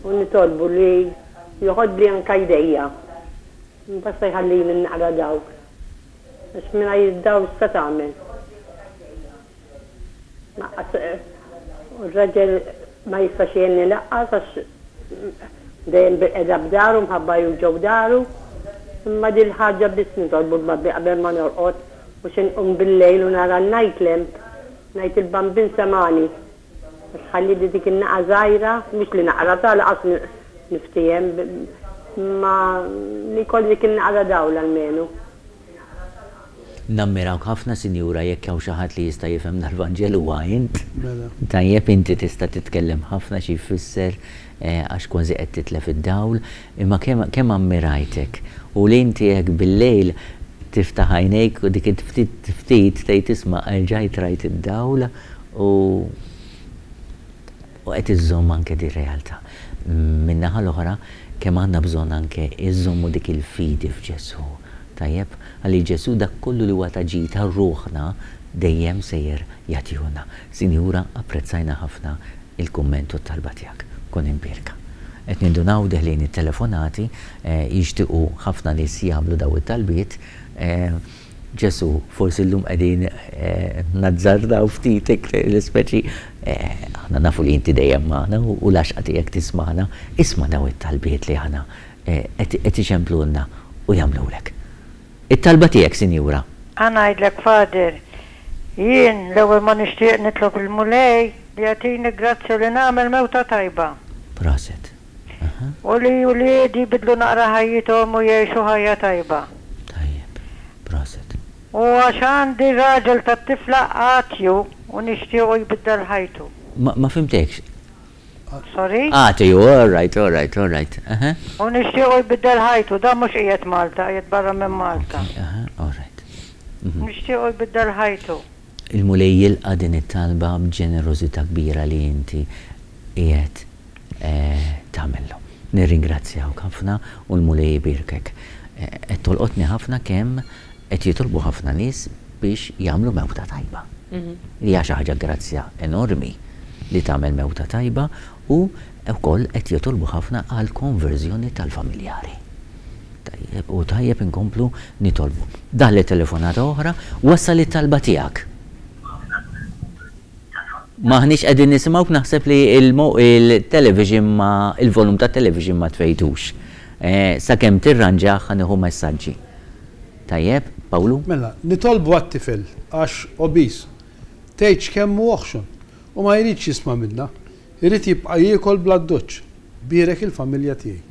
U nitolbu li joħodli anke jdejja. Basta jħallini naqra dawk. Għax mingħajr id-dawl x'se tagħmel? Lanqas u r-raġel ma jistax jgħinni lanqas għax dejjem bilqiegħda b'daru mħabba juġgħu daru. Imma din il-ħaġa biss nitolbu l-Bambin qabel ma norqod u xi nqum bil-lejl u nara n-night lamp ngħid il-Bambin semagħni għax ħallieli dik in-naqa żgħira, mhux li naqra ta' lanqas niftiehem imma li jkolli dik in-naqra dawl almenu. Nammirawk ħafna sinjura jekk hawn xi ħadd li jista' jifhem dal-Vanġelu huwa int. Mela. Tajjeb inti tista' titkellem ħafna xi jfisser għax kważi qed titlef id-dawl, imma kemm kemm ammirajtek u li inti hekk bil-lejl tiftaħ għajnejk u dik il-ftit ftit tgħid isma' erġajt rajt id-dawl u u qed iżżomm anke dir-realtà. Min-naħa l-oħra, kemm għandna bżonn anke iżżommu dik il-fidi f'Ġesù. Tajjeb? Għaliex Ġesù dak kollu li huwa ta' ġid għal ruħna dejjem sejjer jagħtihulna. Sinjura, apprezzajna ħafna il-kumment u t-talba tiegħek. Kun imbierka. Qed nindunaw deħlin it-telefonati, jixtiequ ħafna nies jagħmlu dawn it-talbiet. Ġesù, forsi llum qegħdin nazzardaw ftit iktar l-ispeċi, aħna nafu li inti dejjem magħna u l-għaxqa tiegħek tismagħna, isma' dawn it-talbiet li aħna qed iċemplulna u jagħmlulek. It-talba tiegħek, Sinjura. Ħa ngħidlek, Father, jien l-ewwel ma nixtieq nitlob lill-Mulej li jagħtini grazzja li nagħmel mewta tajba. Proset. U li wliedi jbiddlu naqra ħajjithom u jgħixu ħajja tajba. Tajjeb. Proset. U għax għandi raġel tat-tifla atju u nixtiequ jbiddel ħajtu. Ma ma fhimtekx. Sorry? Atju, all right, all right, all right. Aha. U nixtiequ jbiddel ħajtu, dan mhux qiegħed Malta, qiegħed barra minn Malta. Okay, aha, all right. Mhm. Nixtiequ jbiddel ħajtu. Il-Mulej jilqa' din it-talba b'ġenerożità kbira li inti qiegħed tagħmillu. Nirringrazzjawk ħafna u l-Mulej ibierkek. Qed tolqotni ħafna kemm qed jitolbu ħafna nies biex jagħmlu mewta tajba. Li hija xi ħaġa grazzja enormi li tagħmel mewta tajba u wkoll qed jitolbu ħafna għall-konverżjoni tal-familjari. Tajjeb, u tajjeb inkomplu nitolbu. Daħlet telefonata oħra, wassal it-talba tiegħek. M'aħniex qegħdin nisimgħuk naħseb li il-television ma il-volum tat-television ma tfejtux. Sakemm tirranġah ħa nieħu messaġġi. Tajjeb, Pawlu? Mela, nitolbu għat-tifel għax obese. Tgħidx kemm hu oħxon. U ma jridx jisma' minna. Irid jibqa' jiekol bl-addoċċ. Bierek il-familja tiegħi.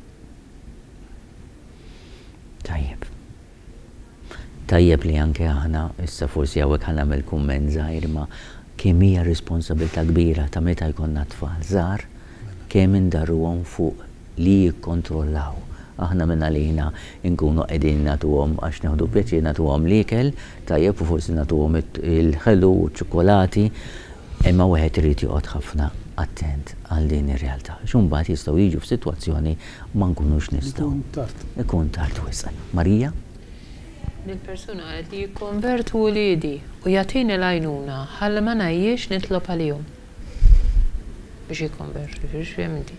Tajjeb. Tajjeb li anke aħna, issa forsi hawnhekk ħa nagħmel kumment żgħir imma kemm hija responsabilità kbira ta' meta jkollna tfal żgħar kemm indarruhom fuq li jikkontrollaw. Aħna mingħalina nkunu qegħdin nagħtuhom għax nieħdu pjaċir nagħtuhom l-ikel, tajjeb u forsi nagħtuhom il-ħelu u ċ-ċukkulati, imma wieħed irid joqgħod ħafna attent għal din ir-realtà. Għax imbagħad jistgħu jiġu f'sitwazzjoni ma nkunux nistgħu. Ikun tard. Ikun tard wisq. Marija? Dil-persuna qalet li jikkonvertu uliedi u jagħtini l-għajnuna ħalli ma ngħajjiex nitlob għalihom biex jikkonvertu, jiġifieri x'fhem inti.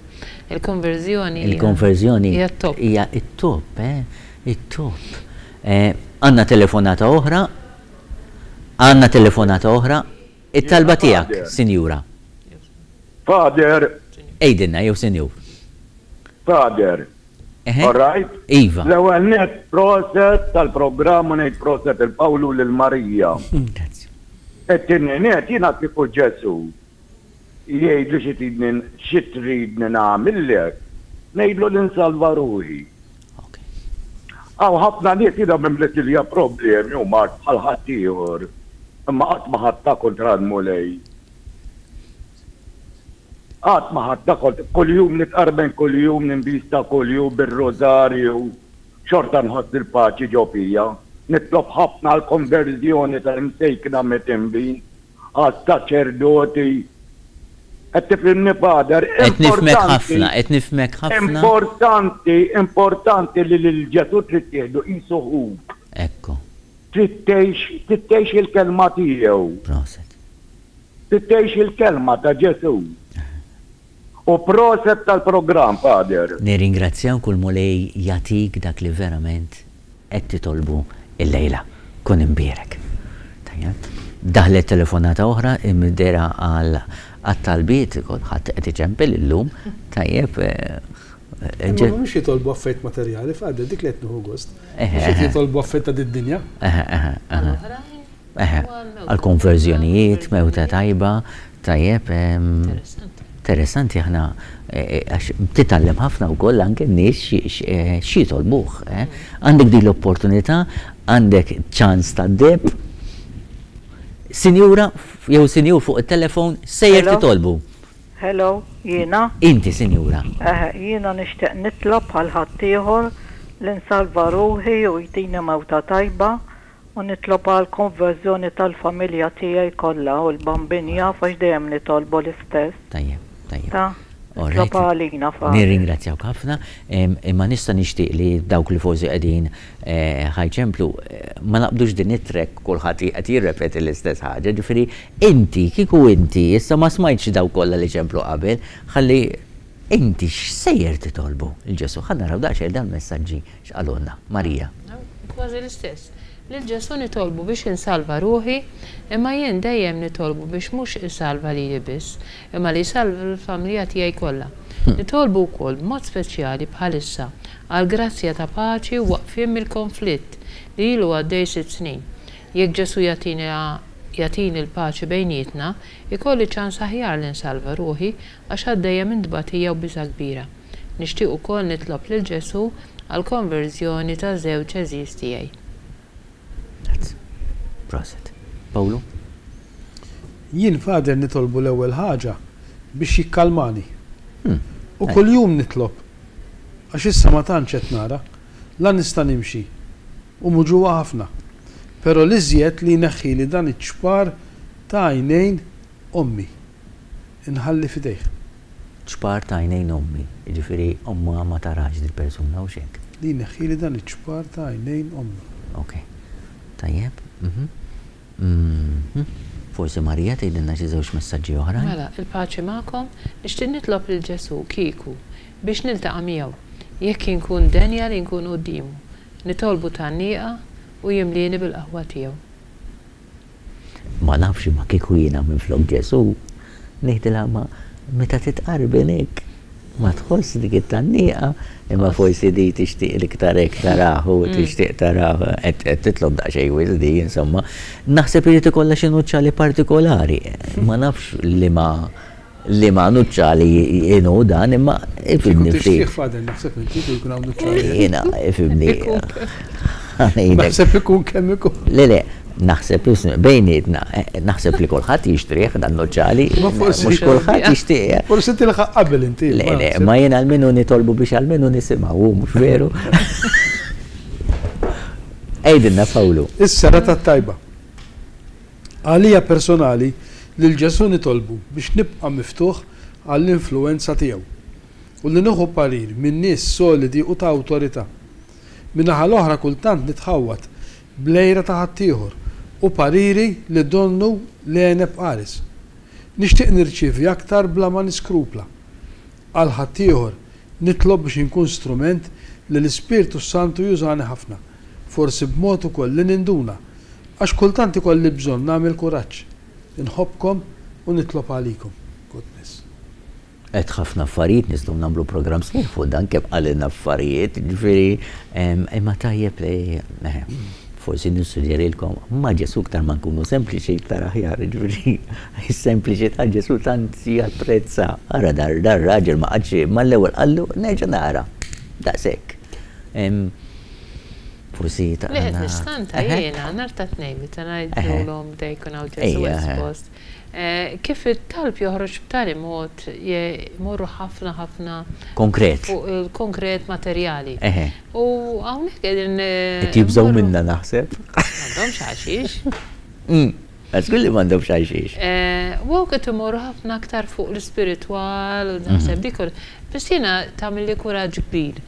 Il-konverżjoni hija Il-konverżjoni hija t-top. hija t-top, eh, it-top. Għandna telefonata oħra, għandna telefonata oħra. It-talba tiegħek, sinjura. Father. Għidilna jew sinjur. Father. All right? Iva. L-ewwel nett proset tal-programm u ngħid proset il Pawlu lil Marija. Grazzi. It-tieni nett jiena kieku Ġesù jgħidli xi tridni xi tridni nagħmillek, ngħidlu li nsalva ruħi. Hawn ħafna nies jiena mimlitilja problemi u mard bħal ħaddieħor, imma qatt ma ħadtha kontra l-Mulej. Qatt ma ħadtha kontra, kuljum nitqarben kuljum ninbista kuljum bir-rużarju, xorta nħoss il-paċi ġo fija. Nitlob ħafna għall-konverżjoni tal-imsejkna mitinbin, għas-saċerdoti. Qed tifhimni Father? Qed nifhmek ħafna, qed nifhmek ħafna. Importanti, importanti li lil Ġesù trid tieħdu qisu ħuk. Ekku. Trid tgħix, trid tgħix il-kelma tiegħu. Proset. Trid tgħix il-kelma ta' Ġesù. U proset tal-programm, Father. Nirringrazzjawk u l-Mulej jagħtik dak li verament qed titolbu illejla. Kun imbierek. Tajjeb. Daħlet telefonata oħra imdera għal għat-talbiet, kulħadd qed iċempel illum. Tajjeb. Imma mhumiex jitolbu affarijiet materjali, Father, dik li qed nieħu gost. Mhux qed jitolbu affarijiet ta' did-dinja. Eħe, għall-konverżjonijiet, mewta tajba, tajjeb. Interessanti aħna għax titgħallem ħafna wkoll anke n-nies x'jitolbuh. Għandek din l-opportunità, għandek ċans tad-deheb. Sinjura jew sinjur fuq it-telefon sejjer titolbu. Hello, jiena? Inti, sinjura. Eħe, jiena nixtieq nitlob bħal ħaddieħor li nsalva ruħi u jtini mewta tajba U nitlob għall-konverżjoni tal-familja tiegħi kollha u l-Bambin jaf għax dejjem nitolbu l-istess. Tajjeb, tajjeb. Ta? All right. Itlob għalina, Father. Nirringrazzjawk ħafna, imma nista' nixtieq li dawk li forsi qegħdin ħa jċemplu ma naqbdux din it-track kulħadd qed jirrepeti l-istess ħaġa, ġifieri inti, kieku inti, issa ma smajtx dawk kollha li ċemplu qabel, ħalli inti x'sejjer titolbu 'l Ġesù? Ħa naraw daqsxejn dal-messaġġi X'qalulna? Marija. Kważi l-istess. Lil Ġesù nitolbu biex insalva ruħi, imma jien dejjem nitolbu biex mhux isalva lili biss, imma li jsalva l-familja tiegħi kollha. Nitolbu wkoll b'mod speċjali bħalissa għall-grazzja ta' paċi u waqfien mill-konflitt li ilu għaddej sitt snin. Jekk Ġesù jagħtini jagħtini l-paċi bejnietna, ikolli ċans aħjar li nsalva ruħi għax għaddejja minn tbatija u biża' kbira. Nixtieq ukoll nitlob lil Ġesù għall-konverżjoni ta' żewġ għeżież tiegħi. Grazzi. Proset. Pawlu? Jien Father nitolbu l-ewwel ħaġa biex jikkalmani. U kuljum nitlob għax issa ma tantx qed nara, la nista' nimxi u muġugħa ħafna. Pero l-iżjed li jneħħili dan iċ-ċpar ta' għajnejn ommi. Inħalli f'idejh. Ċpar ta' għajnejn ommi, jiġifieri ommha ma tarax dil-persuna, hux hekk? Li jneħħili dan iċ-ċpar ta' għajnejn ommi. Ok. Tajjeb. Mhm. Mhm. Forsi Marija tgħidilna xi żewġ messaġġi oħrajn? Mela, il-paċi magħkom. Nixtieq nitlob lil Ġesù, kieku, biex niltaqa' miegħu, jekk inkun denja li nkun quddiemu. Nitolbu tgħanniqa u jimlieni bil-qawwa tiegħu. Ma nafx imma kieku jiena minflok Ġesù, ngħidilha ma meta titqarben hekk ma tħoss dik it-tgħanniqa, imma forsi di tixtieq l-iktar hekk tarah u tixtieq tarah qed titlob daqsxejn wisq di insomma. Naħseb irid ikollha xi nuċċali partikolari, ma nafx liema Liema nuċċali inhu dan imma ifhimni ftit. Kieku tixtrih Father naħseb inti kieku jkun hawn nuċċali. Jiena ifhimni. Naħseb ikun kemm ikun. Le le, naħseb bejnietna, naħseb li kulħadd jixtrih dan nuċċali. Mhux kulħadd jixtieq. Forsi tilħaq qabel inti. Le le, ma jien almenu nitolbu biex almenu nisimgħu, mhux veru? Għidilna Pawlu. Is-serata t-tajba. Għalija personali, lil Ġesù nitolbu biex nibqa' miftuħ għall-influwenza tiegħu u li nieħu parir minn nies solidi u ta' awtorità. Min-naħa l-oħra kultant nitħawwad bl-għira ta' ħaddieħor u pariri li donnu l-għeneb qares. Nixtieq nirċievi aktar bla ma niskrupla. Għal ħaddieħor, nitlob biex inkun strument li l-Ispirtu s-Santu jużani ħafna, forsi b'mod ukoll li ninduna Għax kultant ikolli bżonn nagħmel kuraġġ. Inħobbkom u nitlob għalikom. God bless. Għedt ħafna affarijiet, nistgħu nagħmlu programm sħiħ fuq dan kemm qalilna affarijiet, jiġifieri imma tajjeb li forsi nissuġġerilkom ma' Ġesù iktar ma nkunu sempliċi iktar aħjar, jiġifieri is-sempliċità Ġesù tant japprezza. Ara dar dar-raġel ma qagħadx mal-ewwel qallu nerġa' nara. Daqshekk. Forsi ta' Li qed nistanta jiena nhar ta' Tnejn meta ngħidulhom bda jkun hawn Ġesù espost, kif it-talb joħroġ b'tali mod jmorru ħafna ħafna Konkret. fuq il-konkret materjali. U hawnhekk qegħdin Qed jibżgħu minna naħseb. M'għandhomx għalxiex. Żgur li m'għandhomx għalxiex. U hawn qed imorru ħafna aktar fuq l-ispiritwal u naħseb dik. Biss jiena tagħmilli kuraġġ kbir.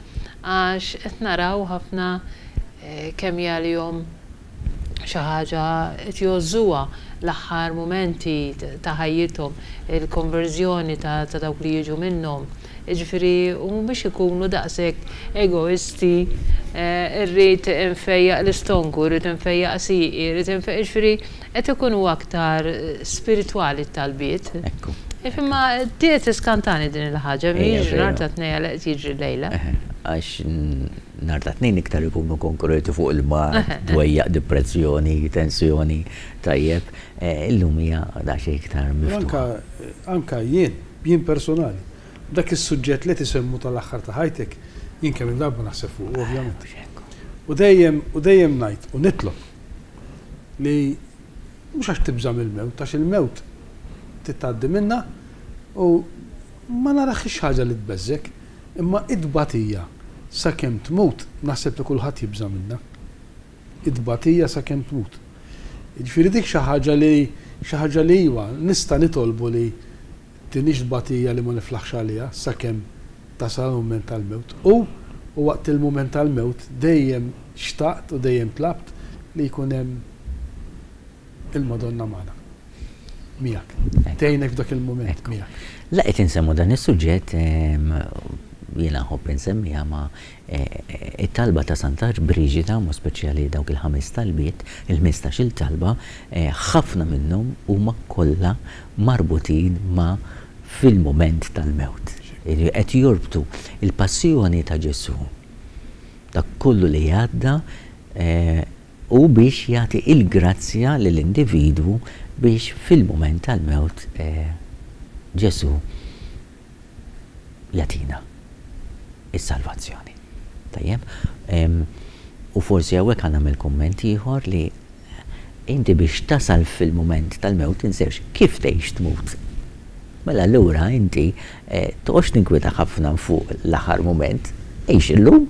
Għax qed naraw ħafna kemm hi għalihom xi ħaġa qed jgħożżuha l-aħħar mumenti ta' ħajjithom, il-konverżjoni ta' dawk li jiġu minnhom. Jiġifieri u mhumiex ikunu daqshekk egoisti, irrid infejjaq l-istonku, irrid infejjaq sieqi, irrid infejjaq, jiġifieri qed ikunu aktar spiritwali t-talbiet. Ekku. Imma qed tiskantani din il-ħaġa, mhijiex nhar ta' Tnejn għalhekk qed jiġri llejla. Għax nhar ta' Tnejn iktar ikunu konkreti fuq il-mard, dwejjaq, dipressjoni, tensjoni, tajjeb. Illum hija daqsxejn iktar miftuħa. Anke jien, jien personali, dak is-suġġett li qed isemmu tal-aħħar ta' ħajtek, jien kemm-il darba naħseb fuqu, ovvjament. U dejjem, u dejjem ngħid u nitlob li mhux għax tibża' mill-mewt, għax il-mewt trid tgħaddi minnha u ma naraħiex ħaġa li tbeżżgħek, imma it-tbatija sakemm tmut naħseb li kulħadd jibża' minnha. It-tbatija sakemm tmut. Jiġifieri dik xi ħaġa li xi ħaġa li iva, nista' nitolbu li tinix tbatija li ma niflaħx għaliha sakemm tasal il-mument tal-mewt. U u waqt il-mument tal-mewt dejjem xtaqt u dejjem tlabt li jkun hemm il-Madonna magħna. Miegħek. Tgħinek f'dak il-mument miegħek. La qed insemmu dan is-suġġett, jiena nħobb insemmiha ma it-talba ta' Santa Briġida, mod speċjali dawk il-ħames talbiet, il-ħmistax-il talba, ħafna minnhom huma kollha marbutin ma' fil-mument tal-mewt. Qed jorbtu l-passjoni ta' Ġesù, dak kollu li għadda, u biex jagħti l-grazzja lill-individwu biex fil-mument tal-mewt Ġesù jagħtina s-salvazzjoni. Tajjeb? U forsi hawnhekk ħa nagħmel kumment ieħor li inti biex tasal fil-mument tal-mewt tinsewx kif tgħix tmut. Mela allura inti eh, toqgħodx tinkwieta ħafna fuq l-aħħar mument, għix illum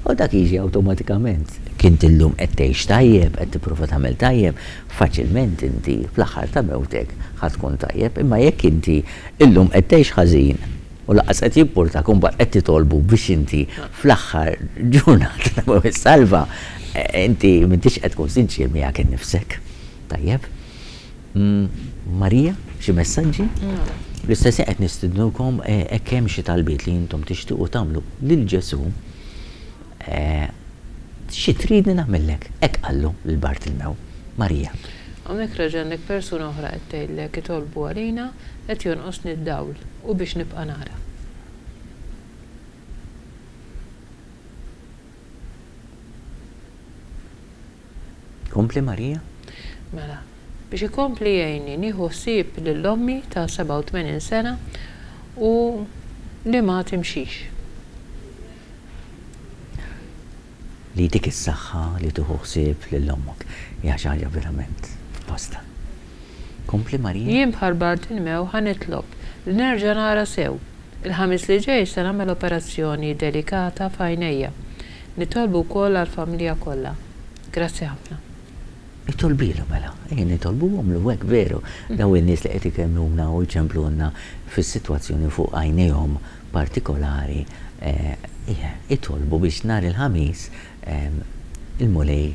u dak jiġi awtomatikament. Kint illum qed tgħix tajjeb, qed tipprova tagħmel tajjeb, faċilment inti fl-aħħar ta' mewtek ħa tkun tajjeb, imma jekk inti illum qed tgħix ħażin u lanqas qed jimpurtak u mbagħad qed titolbu biex inti fl-aħħar ġurnata ta' mewt issalva, inti m'intix qed tkun sinċier miegħek innifsek. Tajjeb? Marija, xi messaġġi? Fl-istess ħin qed nistidnukom hekk hemm xi talbiet li intom tixtiequ tagħmlu lil Ġesù, xi tridni nagħmillek? Hekk qallu lil Bartilmew. Marija. Hawnhekk reġa' għandek persuna oħra qed tgħidlek itolbu għalina qed jonqosni d-dawl u biex nibqa' nara. Kompli Marija. Mela, biex ikompli jgħinni nieħu ħsieb lil ommi ta' 87 sena u li ma timxix. Li jtik is-saħħa li tieħu ħsieb lil ommok hija xi ħaġa verament f'postha. Kompli Marija. Jien bħal Bartilmew ħa nitlob li nerġa' nara sew. Il-Ħamis li ġej se nagħmel operazzjoni delikata f'għajnejja. Nitolbu wkoll għall-familja kollha. Grazzi ħafna. Itolbilu mela. Ejja nitolbuhomlu hekk veru. Dawn in-nies li qed ikellmuna u jċemplulna fis-sitwazzjoni fuq għajnejhom partikolari, itolbu biex nhar il-Ħamis il-Mulej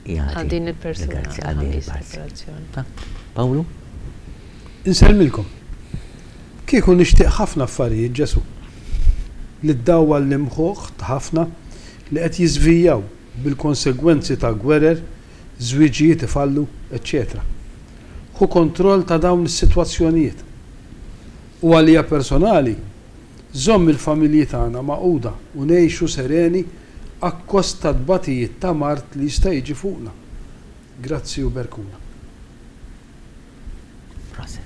jagħti. Għal din il-persuna. Għal din il-operazzjoni. Pawlu? Insellmilkom. Kieku nixtieq ħafna affarijiet, Ġesù. Li ddawwal l-imħuħ ta' ħafna li qed jiżvijjaw bil-konsegwenzi ta' gwerer, żwieġijiet ifallu, eċċetera Ħu kontroll ta' dawn is-sitwazzjonijiet. U għalija personali, żomm il-familji tagħna magħquda u ngħixu sereni akkost tat-tbatijiet ta' mard li jista' jiġi fuqna. Grazzi u berkuna. Proset.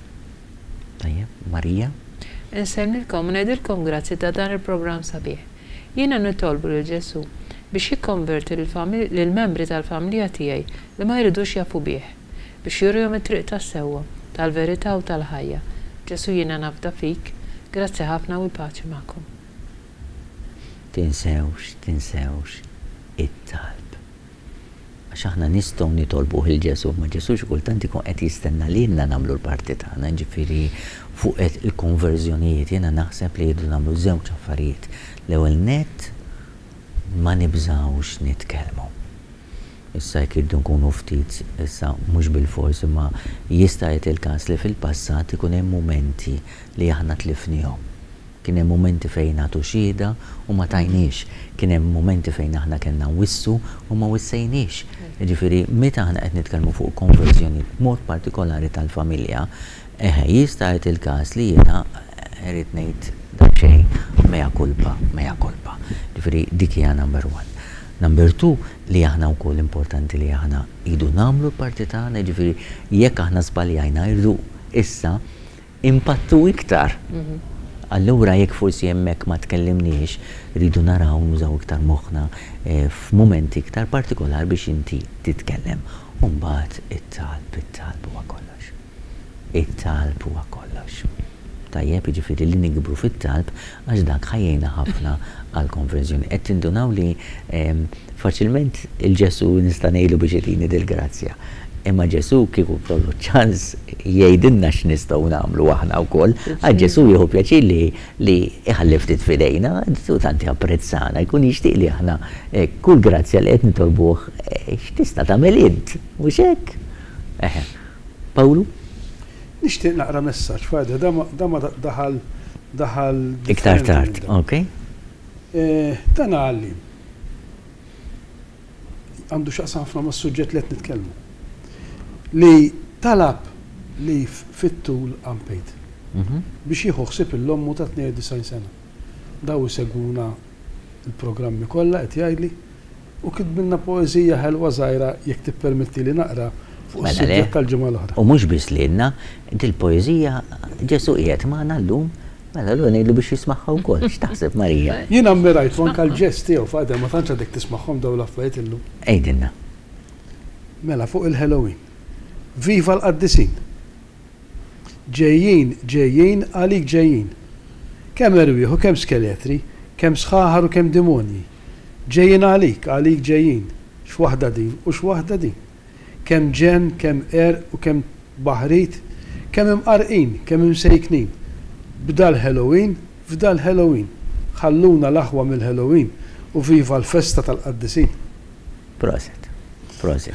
Tajjeb, Marija? Insellmilkom u ngħidilkom grazzi ta' dan il-programm sabiħ. Jiena nitolbu lil Ġesù biex jikkonverti lill-membri tal-familja tiegħi li ma jridux jafu bih, biex jurihom it-triq tas-sewwa, tal-verità u tal-ħajja. Ġesù jiena nafda fik. Grazzi ħafna u l-paċi magħkom. Tinsewx, tinsewx it-talb. Għax aħna nistgħu nitolbuh 'il Ġesù, imma Ġesù xi kultant ikun qed jistenna lilna nagħmlu l-parti tagħna, jiġifieri fuq il-konverżjonijiet jiena naħseb li rridu nagħmlu żewġ affarijiet. L-ewwel nett ma nibżgħux nitkellmu. Issa jekk irridu nkunu ftit, issa mhux bilfors imma jista' jagħti l-każ li fil-passat ikun hemm mumenti li aħna tlifniehom. Kien hemm mumenti fejn nagħtu xhieda u ma tajniex. Kien hemm mumenti fejn aħna kellna nwissu u ma wissejniex. Jiġifieri meta aħna qed nitkellmu fuq konverżjoni b'mod partikolari tal-familja, eħe, jista' jagħti l-każ li jiena irrid ngħid daqsxejn mea culpa, mea culpa. Jiġifieri dik hija number one. Number two, li aħna wkoll importanti li aħna rridu nagħmlu l-parti tagħna, jiġifieri jekk aħna żbaljajna rridu issa impattu iktar. Allura jekk forsi hemmhekk ma tkellimniex, rridu naraw nużaw iktar moħħna f'mumenti iktar partikolari biex inti titkellem. U mbagħad it-talb, it-talb huwa kollox. It-talb huwa kollox. Tajjeb, jiġifieri li nikbru fit-talb għax dak ħa jgħinna ħafna għall-konverżjoni. Qed tindunaw li faċilment il-Ġesù nista' ngħidlu biex itini dil-grazzja. Imma Ġesù kieku kellu ċ-ċans jgħidilna x'nistgħu nagħmlu aħna wkoll, għax Ġesù jieħu pjaċir li li jħalli ftit f'idejna, Ġesù tant japprezzana, jkun jixtieq li aħna kull grazzja li qed nitolbuh x'tista' tagħmel int, mhux hekk? Eħe. Pawlu? Nixtieq naqra messaġġ, Father, da ma daħal daħal Iktar tard, ok. Dan għalliem. Għandu x'jaqsam ħafna mas-suġġett li qed nitkellmu. Li talab leave fit-tul unpaid. Biex jieħu ħsieb 'il ommu ta' 92 sena. Daw isegwuna l-programmi kollha qed jgħidli. U kitbilna poeżija ħelwa żgħira jekk tippermettili naqra fuq Mela le. is-suġġett tal-ġimgħa l-oħra. U mhux biss lilna, dil-poeżija Ġesù qiegħed magħna llum, mela allura ngħidlu biex jismagħha wkoll. X'taħseb Marija? Jien ammirajtu anke l-ġest tiegħu, Father, ma tantx għadek tismagħhom dawn l-affarijiet illum. Għidilna. Mela fuq il-Halloween. Viva l-qaddisin! Ġejjin, ġejjin, għalik ġejjin. Kemm erwieħ u kemm skeletri, kemm sħaħar u kemm dimonji. Ġejjin għalik, għalik ġejjin. X'waħda din u x'waħda din. Kemm ġenn, kemm qerq u kemm tbaħrid, kemm imqarrqin, kemm imsejknin. B'dal-Halloween, f'dal-Halloween. Ħalluna l-aħwa mill-Halloween u viva l-festa tal-qaddisin. Proset. Proset.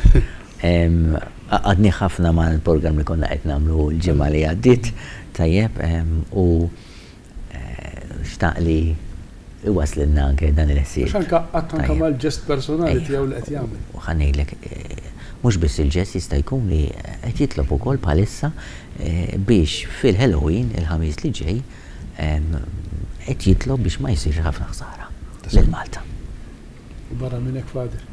Għaqqadni ħafna mal-programm li konna qed nagħmlu l-ġimgħa li għaddiet, tajjeb, u xtaq li iwaslilna anke dan il-ħsieb. Għax anke għaqqadtu anke mal-ġest personali tiegħu li qed jagħmel. U ħa ngħidlek, mhux biss il-ġest jista' jkun li qed jitlob ukoll bħalissa biex fil-Halloween, il-Ħamis li ġej, qed jitlob biex ma jsirx ħafna ħsara lil Malta. U barra minn hekk Father,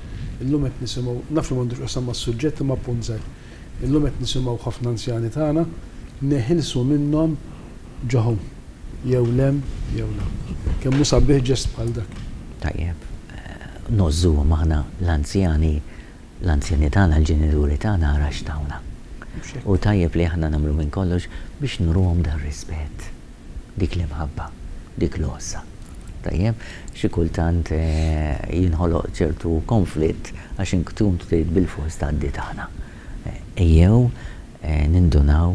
illum qed nisimgħu, naf li m'għandu x'qasam mas-suġġett imma punt żgħir. Illum qed nisimgħu ħafna anzjani tagħna neħilsu minnhom ġo home, jew 'l hemm jew 'l hawn. Kemm hu sabiħ ġest bħal dak. Tajjeb, ngħożżuhom aħna l-anzjani, l-anzjani tagħna, l-ġenituri tagħna ara x'tawna. U tajjeb li aħna nagħmlu minn kollox biex nuruhom dar-rispett. Dik l-imħabba, dik l-għożża. Tajjeb? Xi kultant jinħoloq ċertu konflitt għax inkun trid bilfors tgħaddi tagħna. Ejjew nindunaw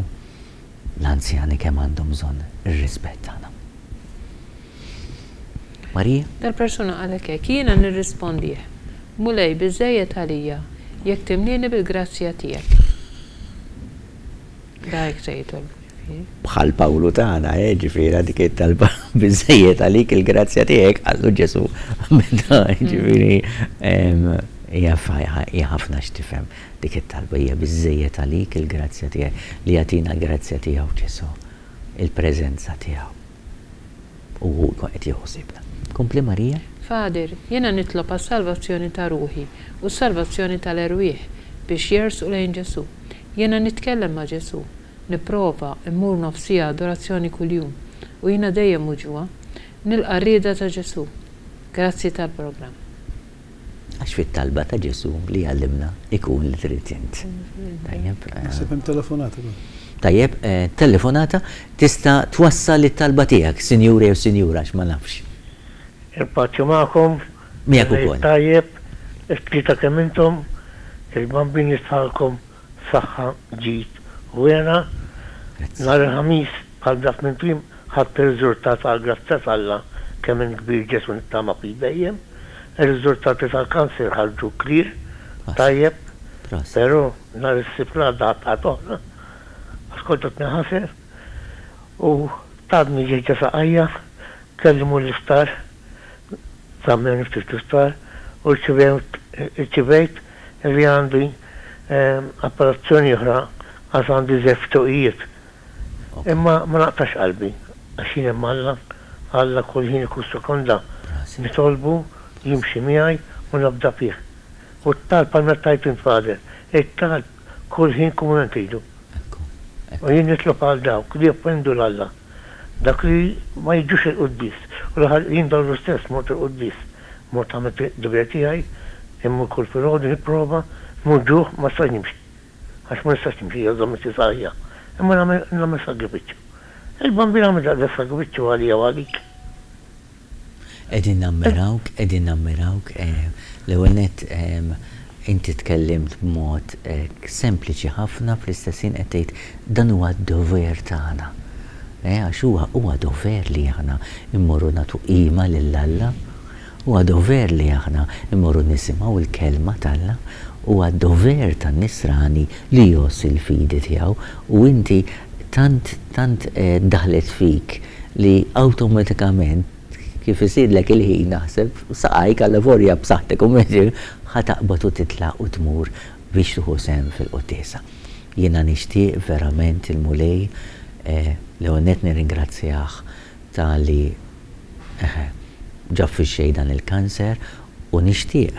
l-anzjani kemm għandhom bżonn ir-rispett tagħna. Marija? Dal-persuna qalek hekk, jiena nirrispondih, Mulej, biżżejjed għalija jekk timlieni bil-grazzja tiegħek. Da hekk se jitolbu ġifieri. Bħal Pawlu tagħna, eh, ġifieri dik it-talba biżżejjed għalik il-grazzja tiegħek, qallu Ġesù meta ġifieri hija hija ħafna x'tifhem dik it-talba hija biżżejjed għalik il-grazzja tiegħek li jagħtina l-grazzja tiegħu Ġesù, il-preżenza tiegħu. U hu jkun qed jieħu ħsiebna. Kompli Marija. Father, jiena nitlob għas-salvazzjoni ta' ruħi u s-salvazzjoni tal-erwieħ biex jersqu lejn Ġesù. Jiena nitkellem ma' Ġesù. Nipprova mmur nofs siegħa adorazzjoni kuljum. U jiena dejjem muġugħa. Nilqa' r-rieda ta' Ġesù. Grazzi tal-programm. Għax fit-talba ta' Ġesù li jgħallimna ikun li trid int. Tajjeb. Naħseb hemm telefonata ukoll. Tajjeb, telefonata tista' twassal it-talba tiegħek, sinjur jew sinjura għax ma nafx. Il-paċi magħkom. Miegħek ukoll. Tajjeb, it-tlieta kemm intom, il-Bambin jistħalkom saħħa, ġid u hena. Nhar il-Ħamis bħal dak minn prim ħadt ir-riżultat għall-grazzja t'Alla kemm int kbir Ġesù nittama fik dejjem. Ir-riżultati tal-kanser ħarġu clear, tajjeb, però nhar is-Sibt l-għadda ħadt ħadd oħra għax kont qed ninħaser u tgħadni ġejja saqajja. Kelli mmur l-isptar, żammewni ftit l-isptar u rċivejt li għandi operazzjoni oħra għax għandi żewġ ftuqijiet. Imma ma naqtax qalbi għax jien hemm Alla, Alla kull ħin u kull sekonda nitolbu jimxi miegħi u nafda fih. U t-talb bħalma tgħid int Father, it-talb kull ħin kull mument tridu. U jien nitlob għal dawk li joffendu 'l Alla, dawk li ma jiġux il-quddies u l-aħħar jien dalgħodu stess mort il-quddies, mort għamilt id-dover tiegħi, immur kull filgħodu nipprova, mmur ġuħ ma nistax nimxi. Għax ma nistax nimxi hija żommitni saħħija. Imma nagħmel nagħmel sagrifiċċju. Il-Bambin għamel daqshekk sagrifiċċju għalija u għalik. Qegħdin nammirawk, qegħdin nammirawk. L-ewwel nett inti tkellimt b'mod sempliċi ħafna fl-istess ħin qed tgħid dan huwa d-dover tagħna. Għax huwa huwa dover li aħna mmorru nagħtu qima lil Alla. Huwa dover li aħna mmorru nisimgħu l-Kelma t'Alla. Huwa dover tan-Nisrani li jgħożż il-fidi tiegħu u inti tant tant daħlet fik li awtomatikament kif isirlek il-ħin naħseb saqajk allavolja b'saħħtek u mhux ħa taqbad u titlaq u tmur biex tieħu sehem fil-quddiesa. Jiena nixtieq verament il-Mulej l-ewwel nett nirringrazzjah ta' li eħe, ġab fix-xejn dan il-kanser u nixtieq,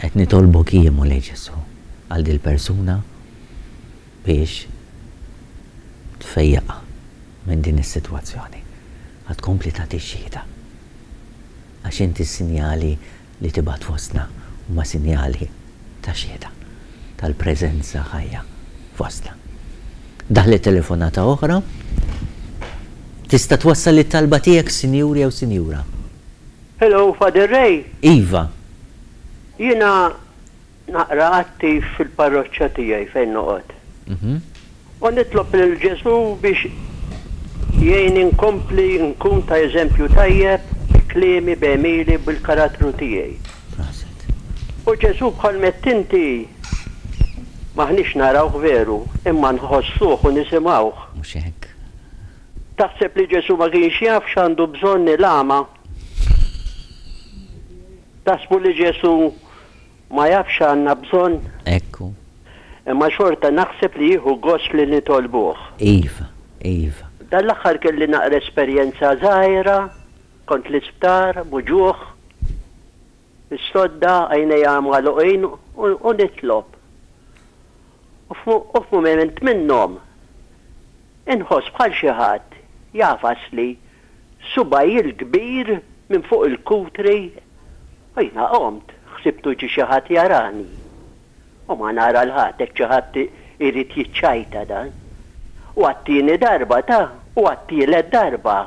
qed nitolbok jien Mulej Ġesù għal dil-persuna biex tfejjaqha minn din is-sitwazzjoni. Ħa tkompli tagħti xhieda. Għax inti s-sinjali li tibgħat fostna huma sinjali ta' xhieda tal-preżenza ħajja fostna. Daħlet telefonata oħra. Tista' twassal it-talba tiegħek sinjur jew sinjura. Hello, Father Ray? Iva. Jiena naqra attiv fil-parroċċa tiegħi fejn noqgħod. U nitlob lil Ġesù biex jgħinni nkompli nkun ta' eżempju tajjeb bi kliemi, b'għemili, bil-karattru tiegħi. Proset. U Ġesù bħal m'għedt inti m'aħniex narawh veru, imma nħossuh u nisimgħuh. Mhux hekk? Taħseb li Ġesù ma kienx jaf x'għandu bżonn il-agħma? Taħsbu li Ġesù Ma jafx x'għandna bżonn? Hekk hu. Imma xorta naħseb li jieħu gost li nitolbuh. Iva, iva. Dan l-aħħar kelli naqra esperjenza żgħira, kont l-isptar, muġugħ, fis-sodda, għajnejja magħluqin u nitlob. U f'mument minnhom inħoss bħal xi ħadd jagħfasli subgħi l-kbir minn fuq il-kutri u jiena qomt, ħsibtu ġie xi ħadd jarani. U ma nara 'l ħadd, hekk xi ħadd irid jiċċajta dan. U għat-tieni darba ta, u għat-tielet darba.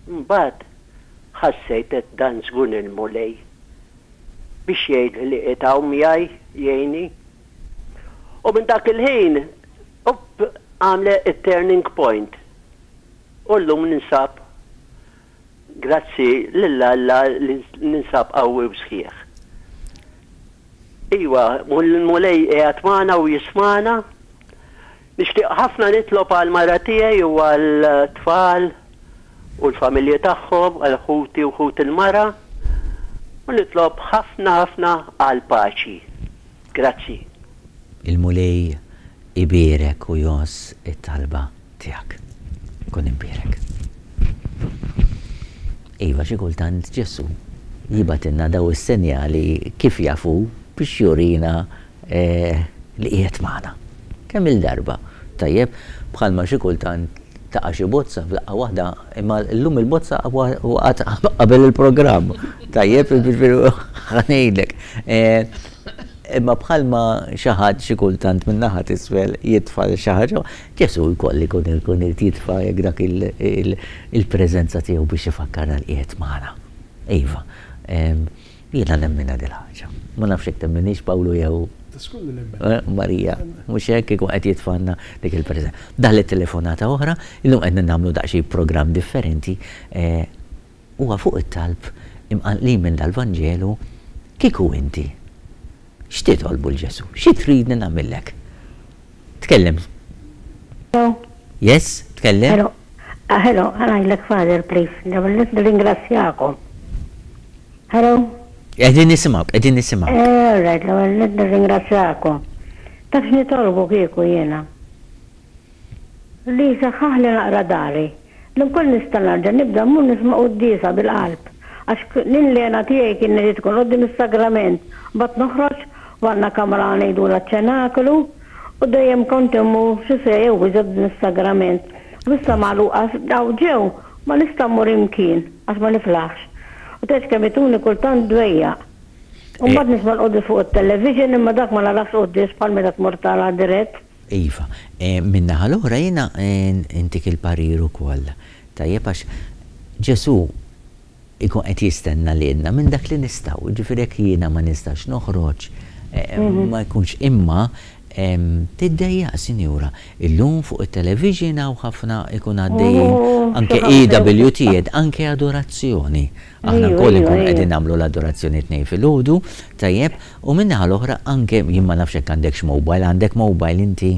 Imbagħad ħassejt għedt dan żgur il-Mulej. Biex jgħidli li qiegħed hawn miegħi jgħinni. U minn dak il-ħin, upp, għamlet it-turning point. U llum ninsab, grazzi lil Alla li ninsab qawwi u sħiħ. Iva, l-Mulej qiegħed magħna u jismagħna. Nixtieq ħafna nitlob għall-mara tiegħi u għall-tfal u l-familji tagħhom, għal ħuti u ħut il-mara, u nitlob ħafna ħafna għall-paċi. Grazzi. Il-Mulej ibierek u jgħożż it-talba tiegħek. Kun imbierek. Iva, xi kultant Ġesù jibgħatilna daw is-senjali kif jaf hu biex jurina li qiegħed magħna. Kemm-il darba, tajjeb, bħalma xi kultant taqa' xi bozza f'daqqa waħda, imma llum il-bozza waqgħet qabel il-programm. Tajjeb, jiġifieri ħa ngħidlek. Imma bħalma xi ħadd xi kultant min-naħa t'isfel jitfa' xi ħaġa, Ġesù wkoll ikun ikun irid jitfa' hekk dak il-preżenza tiegħu biex ifakkarna li qiegħed magħna. Iva, jiena nemminha dil-ħaġa. Ma nafx jekk temminhiex Pawlu jew Marija. Mhux hekk ikun qed jitfgħalna dik il-preżenza. Daħlet telefonata oħra, illum qed nagħmlu daqsxejn programm differenti, huwa fuq it-talb imqanqlin minn dal-Vanġelu, kieku inti, x'titolbu 'l Ġesù? Xi tridni nagħmillek? Tkellem. Hello. Yes, tkellem. Hello. Ah, hello, ħa ngħidlek Father please, l-ewwel nett nirringrazzjakom. Hello? Qegħdin nisimgħuk, qegħdin nisimgħuk. Eh, all right, l-ewwel nett nirringrazzjakom. Taf x'nitolbu kieku jiena? Li jsaħħaħli naqra dari, li nkun nista' nerġa' nibda mmur nisma' quddiesa bil-qalb, għax l-lena tiegħi kienet li tkun quddiem is-sagrament, mbagħad noħroġ u għandna kamra ngħidulha ċ-ċenaklu u dejjem kont immur xi siegħa jew iżjed quddiem is-sagrament. U issa magħluqa hawn ġew ma nista' mmur imkien għax ma niflaħx. U tgħidx kemm ituni kultant dwejjaq. U mbagħad nisma' l-quddies fuq it-television imma dak ma narax quddies bħal meta tmur tara dirett. Iva. Min-naħa l-oħra jiena ntik il-parir ukoll. Tajjeb għax Ġesù ikun qed jistenna lilna minn dak li nistgħu. Jiġifieri jekk jiena ma nistax noħroġ, ma jkunx imma tiddejjaq sinjura. Illum fuq it-television hawn ħafna ikun għaddejjin anke EWTN, anke adorazzjoni. Aħna wkoll inkunu qegħdin nagħmlu l-adorazzjoni t-Tnejn filgħodu, tajjeb, u min-naħa l-oħra anke, jien ma nafx jekk għandekx mobile, għandek mobile inti?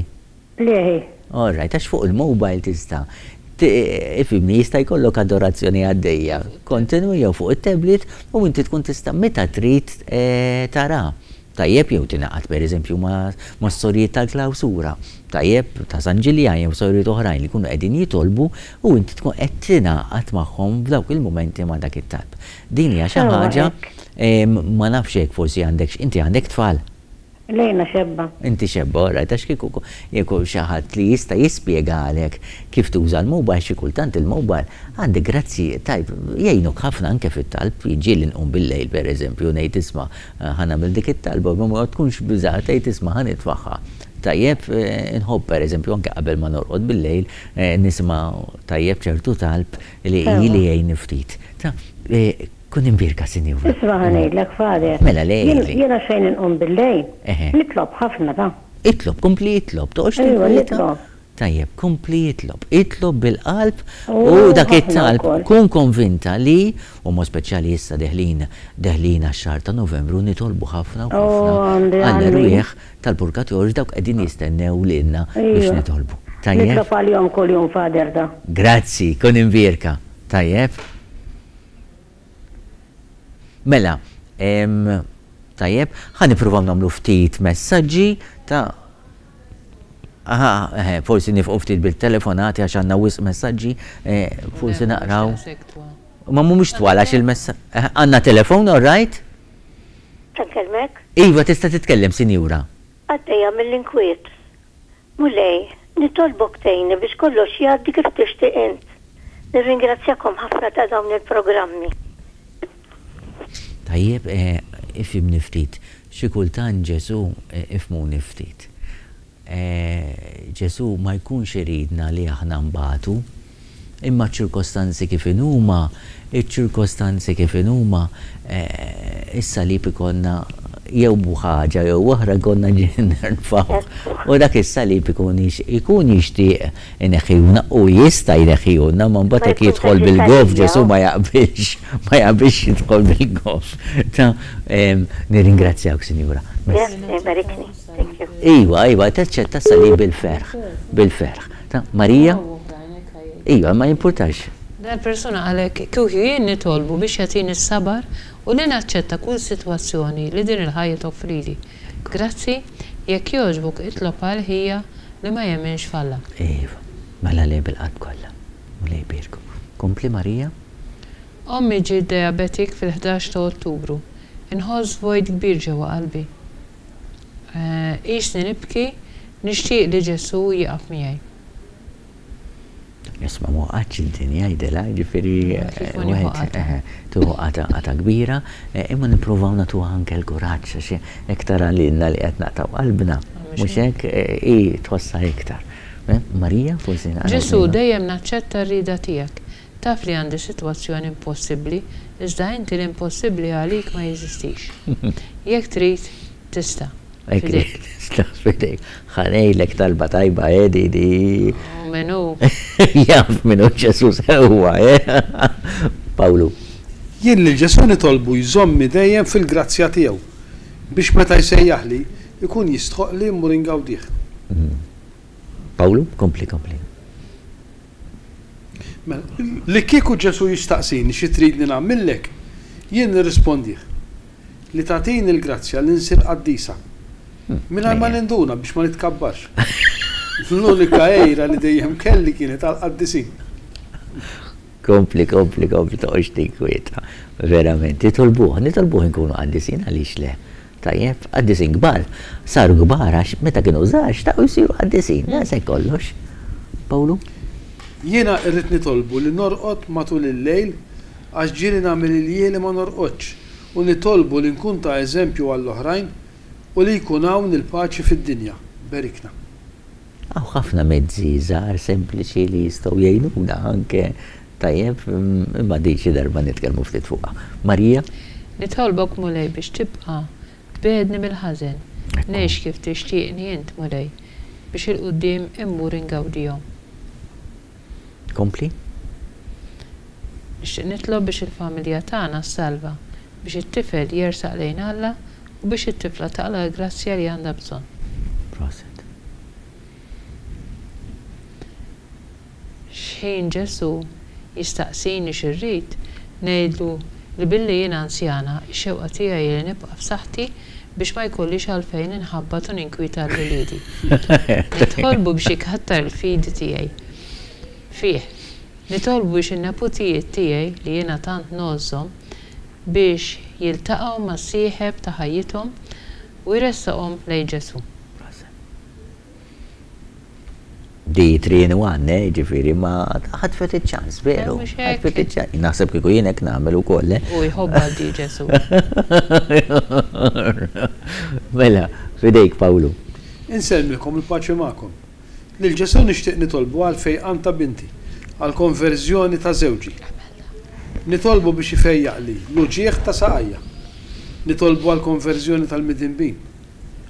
Le hi. All right, għax fuq il-mobile tista' ifhimni, jista' jkollok adorazzjoni għaddejja kontinwi jew fuq it-tablet u inti tkun tista' meta trid tara. Tajjeb jew tingħaqad pereżempju mas-sorijiet tal-klawsura, tajjeb, ta' San Ġiljan jew sorijiet oħrajn li jkunu qegħdin jitolbu u inti tkun qed tingħaqad magħhom f'dawk il-mumenti ma' dak it-talb. Din hija xi ħaġa, ma nafx jekk forsi għandekx, inti għandek tfal? Le jiena xebba. Inti xebba, all right, għax kieku jekk xi ħadd li jista' jispjegalek kif tuża l-mobile, xi kultant il-mobile għandek grazzi tajb jgħinuk ħafna anke fit-talb, ġieli nqum bil-lejl pereżempju ngħid isma' ħa nagħmel dik it-talba u ma tkunx biża' tgħid isma' ħa nitfagħha. Tajjeb, inħobb pereżempju anke qabel ma norqod bil-lejl nisma' tajjeb ċertu talb li li jgħinni ftit. Ta' Kun imbierka, Sinjura. Isma' ħa ngħidlek, Father. Mela le, Jien, għidli. Jiena xejn inqum bil-lejl. Eħe. Nitlob ħafna, ta. Itlob, kompli itlob, toqgħodx Ejwa, tinkwieta. nitlob. Tajjeb, kompli itlob. Itlob bil-qalb u U dak ħafna it-talb wkoll. kun konvinta li, u mod speċjali issa deħlin, deħlin għax-xahar ta' Novembru, nitolbu ħafna u U ħafna għandi, għandi. għall-erwieħ tal-purgatorju dawk qegħdin jistennew lilna biex Ejwa. nitolbu. Tajjeb? Nitlob għalihom kuljum, Father, ta. Grazzi, kun imbierka. Tajjeb? Mela, tajjeb, ħa nippruvaw nagħmlu ftit messaġġi ta' Aha, eħe, forsi nifqu ftit bil-telefonati għax għandna wisq messaġġi, eh, forsi naqraw. Ma mhumiex twal għax il-messaġġ. Eh, għandna telefon, all right? Nkellmek? Iva, tista' titkellem, sinjura. Għaddejja mill-inkwiet. Mulej, nitolbok tgħinni biex kollox jgħaddi kif tixtieq int. Nirringrazzjakom ħafna ta' dawn il-programmi. Tajjeb, ifhimni ftit. Xi kultant Ġesù, ifhmuni ftit. Ġesù ma jkunx iridna li aħna nbatu. Imma ċ-ċirkostanzi kif inhuma, iċ-ċirkostanzi kif inhuma, is-salib ikollna jew b'ħaġa jew oħra jkollna nerfgħuh. U dak is-salib ikun ikun jixtieq ineħħihulna u jista' jneħħihulna, imma mbagħad jekk jidħol bil-goff Ġesù ma jaqbilx, ma jaqbilx jidħol bil-goff. Ta' nirringrazzjawk, Sinjura. Iberikni. Thank you. Iva, iva, taċċetta s-salib bil-ferħ, bil-ferħ. Ta' Marija? Iva, ma jimpurtax. Dal-persuna qalek, Kieku jien nitolbu biex jagħtini s-sabar u li naċċetta kull sitwazzjoni li din il-ħajja toffrili. Grazzi, jekk jogħġbok itlob għal ħija li ma jemminx f'Alla. Iva, mela le bil-qalb kollha. Mulej ibierku. Kompli Marija. Ommi ġiet diabetic fil-11 ta' Ottubru. Inħoss vojt kbir ġewwa qalbi. Qisni nibki, nixtieq li Ġesù jieqaf miegħi. Isma' ma waqgħetx id-dinja jgħidilha, jiġifieri wieħed tieħu qatgħa qatgħa kbira, imma nippruvaw nagħtuha anke l-kuraġġ għax hekk tara lilna li qed naqtgħu qalbna, mhux hekk, hi tħossha iktar. Marija, forsi naqraw. Ġesù, dejjem naċċetta r-rieda tiegħek. Taf li għandi sitwazzjoni impossibbli, iżda inti l-impossibbli għalik ma jeżistix. Jekk trid, tista'. F'idejk. Tista' f'idejk. Ħa ngħidlek talba tajba, eh, di di. U min hu? Jaf min hu Ġesù sewwa, eh. Pawlu. Jien lil Ġesù nitolbu jżommni dejjem fil-grazzja tiegħu, biex meta jsejjaħli, ikun jistħoqqli mmur ingawdih. Pawlu, kompli, kompli. Mela, li kieku Ġesù jistaqsini xi tridni nagħmillek, jien nirrispondih, li tagħtini l-grazzja li nsir qaddisa. Mingħajr ma ninduna biex ma nitkabbarx. L-unika għira li dejjem kelli kienet għall-qaddisin. Kompli, kompli, kompli, toqgħodx tinkwieta. Verament, nitolbuh, nitolbuh inkunu qaddisin għaliex le. Tajjeb, qaddisin kbar, saru kbar għax meta kienu żgħar xtaqu jsiru qaddisin, daqshekk kollox. Pawlu? Jiena rrid nitolbu li norqod matul il-lejl għax ġieli nagħmel iljieli ma norqodx u nitolbu li nkun ta' eżempju għall-oħrajn u li jkun hawn il-paċi fid-dinja. Berikna. Hawn ħafna mezzi żgħar sempliċi li jistgħu jgħinuna anke Tajjeb, imma din xi darba nitkellmu ftit fuqha. Marija? Nitolbok Mulej biex tibqa' tbegħedni mill-ħażen, ngħix kif tixtieqni int Mulej, biex 'il quddiem immur ingawdihom. Kompli. Nixtieq nitlob biex il-familja tagħna ssalva, biex it-tifel jersaq lejn Alla u biex it-tifla taqla' l-grazzja li għandha bżonn. Proset. X'ħin Ġesù jistaqsini xi rrid, ngħidlu li billi jien anzjana, ix-xewqa tiegħi hi li nibqa' f'saħħti biex ma jkollix għalfejn inħabbat u ninkwieta 'l uliedi. Nitolbu biex ikattar il-fidi tiegħi fih. Nitolbu biex in-neputijiet tiegħi, li jiena tant ngħożżhom, biex jiltaqgħu mas-sieħeb ta' ħajjithom u jressaqhom lejn Ġesù. Di 3 in 1, eh, ġifieri, ma ħatfet iċ-ċans, veru. Ħatfet iċ-ċans. Naħseb kieku jien hekk nagħmel ukoll, eh. U jħobbha di Ġesù. Mela, f'idejk Pawlu. Insellmilkom il-paċi magħkom. Lil Ġesù nixtieq nitolbu għall-fejqan ta' binti, għall-konverżjoni ta' żewġi. Nitolbu biex ifejjaqli l-uġigħ ta' saqajja. Nitolbu għall-konverżjoni tal-midinbin.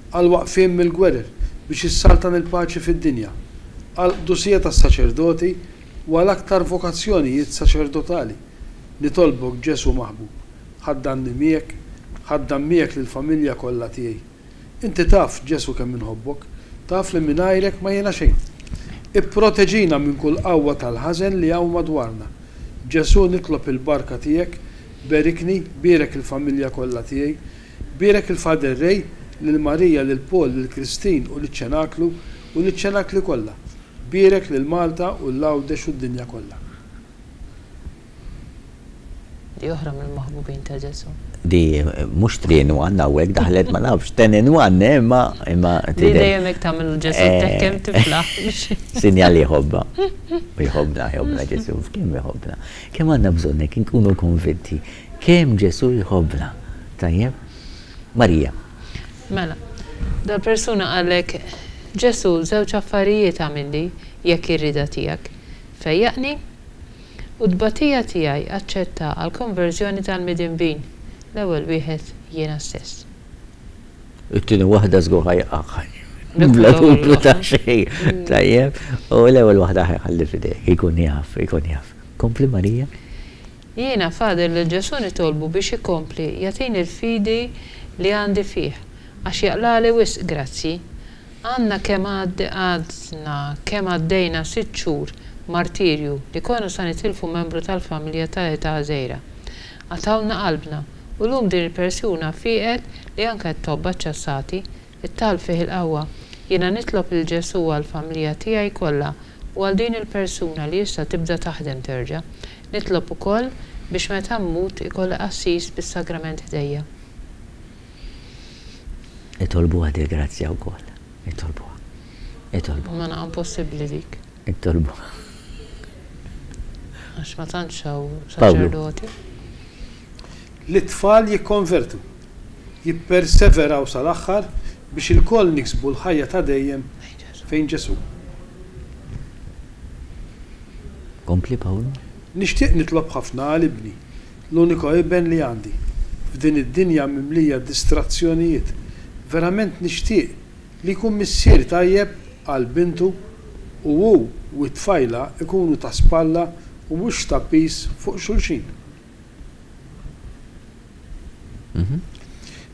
Għall-waqfien mill-gwerer biex issaltan il-paċi fid-dinja, għall-qdusija tas-saċerdoti u għal aktar vokazzjonijiet saċerdotali, nitolbok Ġesù maħbub, ħaddanni miegħek, ħaddan miegħek lill-familja kollha tiegħi. Inti taf, Ġesù kemm inħobbok, taf li mingħajrek ma jiena xejn. Ipproteġina minn kull qawwa tal-ħażen li hawn madwarna. Ġesù nitlob il-barka tiegħek, berikni, bierek il-familja kollha tiegħi, Bierek il-Father Ray, lil Marija, lil Paul, lil Christine u liċ-Ċenaklu u liċ-Ċenakli kollha. Bierek lil Malta u 'l Għawdex u d-dinja kollha. Di oħra mill-maħbubin ta' Ġesù. Di mhux 3 in 1 hawnhekk daħlet ma nafx 10 in 1 eh imma imma Di dejjem hekk tagħmel Ġesù teħkem tiflaħ biex. Sinjal li jħobbha. U jħobbna, jħobbna Ġesù, kemm jħobbna. Kemm għandna bżonn hekk inkunu konvinti Kemm Ġesù jħobbna! Tajjeb? Marija. Mela, dal-persuna qallek, Ġesù, żewġ affarijiet agħmilli, jekk hi r-rieda tiegħek. Fejjaqni, u t-tbatija tiegħi aċċettha għall-konverżjoni tal-midinbin, l-ewwel wieħed jiena stess. It-tieni waħda żgur ħa jaqagħha. Bla dubju ta' xejn. Tajjeb? U l-ewwel waħda ħa jħalli f'idejk, ikun jaf, ikun jaf. Kompli Marija. Jiena, Father, lil Ġesù nitolbu biex ikompli jagħtini l-fidi li għandi fih, għax jaqlagħli wisq grazzji. Għandna kemm għadna kemm għaddejna sitt xhur martirju li konna sa nitilfu membru tal-familja ta' età żgħira. Qatgħulna qalbna u llum din il-persuna fieqet li anke t-tobba ċċassati It-talb fih il-qawwa. Jiena nitlob lil Ġesù għall-familja tiegħi kollha u għal din il-persuna li issa tibda taħdem terġa'. Nitlob ukoll biex meta mmut ikolli qassis bis-sagrament ħdejja. Itolbuha dil-grazzja wkoll. Itolbuha. Itolbuha. Imma naqa' impossibbli dik. Itolbuha. Għax ma tantx hawn saċerdoti. Li t-tfal jikkonvertu. jipperseveraw sal-aħħar biex ilkoll niksbu l-ħajja ta' dejjem fejn Ġesù. Kompli Pawlu. Nixtieq nitlob ħafna għal ibni, l-uniku iben li għandi, f'din id-dinja mimlija distrazzjonijiet. Verament nixtieq li jkun missier tajjeb għal bintu u hu u t-tfajla jkunu ta' spalla u mhux ta' piż fuq xulxin.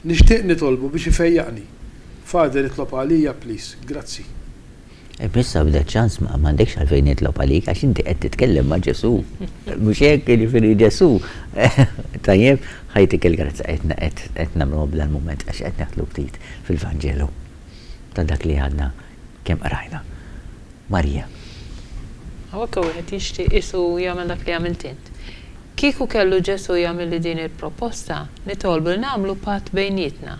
Nixtieq nitolbu biex ifejjaqni. Father itlob għalija please. Grazzi. Imma issa b'da ċans m'għandekx għalfejn nitlob għalik għax inti qed titkellem ma' Ġesù. Mhux hekk, jiġifieri Ġesù. Tajjeb, ħa jtik il-grazzja qed qed nagħmluha b'dal-mument għax qed neħlu ftit fil-Vanġelu ta' dak li għadna kemm qrajna. Marija. Hawnhekk hawn wieħed jixtieq qisu jagħmel dak li għamilt int. Kieku kellu Ġesù jagħmilli din il-proposta, nitolbu li nagħmlu patt bejnietna.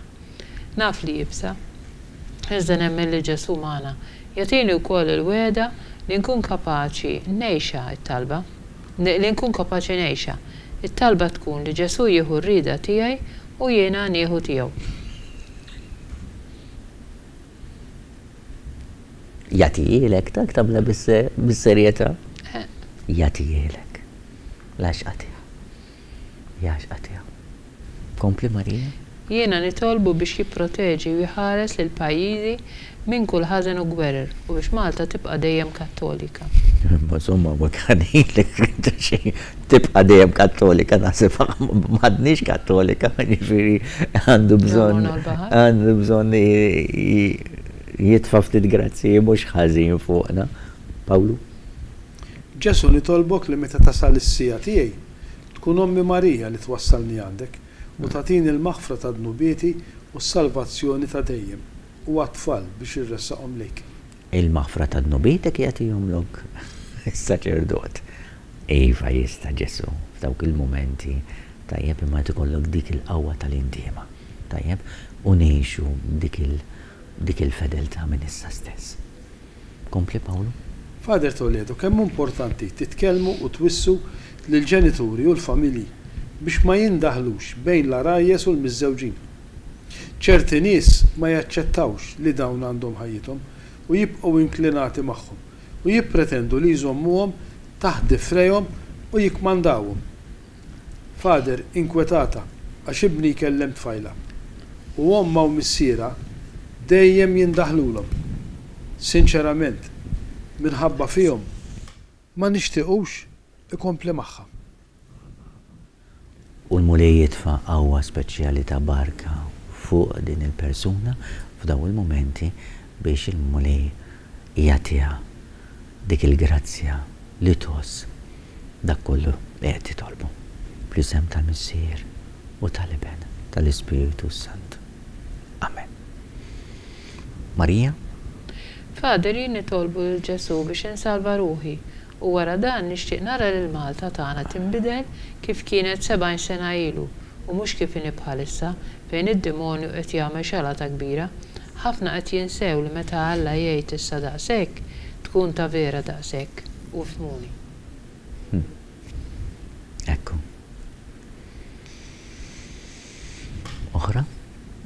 Naf li iebsa. Iżda nemmen li Ġesù magħna. Jagħtini wkoll il-wegħda li nkun kapaċi ngħixha t-talba. Li nkun kapaċi ngħixha. It-talba tkun li Ġesù jieħu r-rieda tiegħi u jiena nieħu tiegħu. Jagħtihielek, dak tagħmilha bis-serjetà. Jagħtihielek. L-għaxqa tiegħu. L-għaxqa tiegħu. Kompli Marija. Jiena nitolbu biex jipproteġi u jħares lil pajjiżi minn kull ħażen u gwerer u biex Malta tibqa' dejjem Kattolika. Imma insomma ma ngħidlek xejn tibqa' dejjem Kattolika naħseb m'għadniex Kattolika jiġifieri għandu bżonn għandu bżonn jitfa' ftit grazzji mhux ħażin fuqna. Pawlu? Ġesù nitolbok li meta tasal is-siegħa tiegħi Tkun Ommi Marija li twassalni għandek u tagħtini l-maħfra ta' dnubieti u s-salvazzjoni ta' dejjem u għat-tfal biex irressaqhom lejk. Il-maħfra ta' dnubietek jagħtihomlok is-saċerdot. Iva jista' Ġesù f'dawk il-mumenti, tajjeb, imma jrid ikollok dik il-qawwa tal-indiema, tajjeb, u ngħixu dik il dik il-fedeltà minn issa stess. Kompli Pawlu. Father Toledo, kemm hu importanti titkellmu u twissu lill-ġenituri u l-familji biex ma jindaħlux bejn l-għarajjes u l-miżżewġin. Ċerti nies ma jaċċettawx li dawn għandhom ħajjithom u jibqgħu inklinati magħhom u jippretendu li jżommuhom taħt difrejhom u jikkmandawhom. Father, inkwetata għax ibni jkellem tfajla u ommha u missierha dejjem jindaħlulhom. Sinċerament, minħabba fihom ma nixtiequx ikompli magħha. U l-Mulej jitfa' qawwa speċjali ta' barka fuq din il-persuna f'dawn il-mumenti biex il-Mulej jagħtiha dik il-grazzja li tgħożż dak kollu li qed titolbu. Fl-isem tal-Missier u tal-Iben tal-Ispirtu s-Santu. Amen. Marija. Father jien nitolbu lil Ġesù biex insalva ruħi u wara dan nixtieq nara lil Malta tagħna tinbidel kif kienet 70 sena ilu u mhux kif inhi bħalissa fejn id-dimonju qed jagħmel xalata kbira. Ħafna qed jinsew li meta Alla jgħid issa daqshekk, tkun ta' vera daqshekk. U fhmuni. Hm. Ekku. Oħra?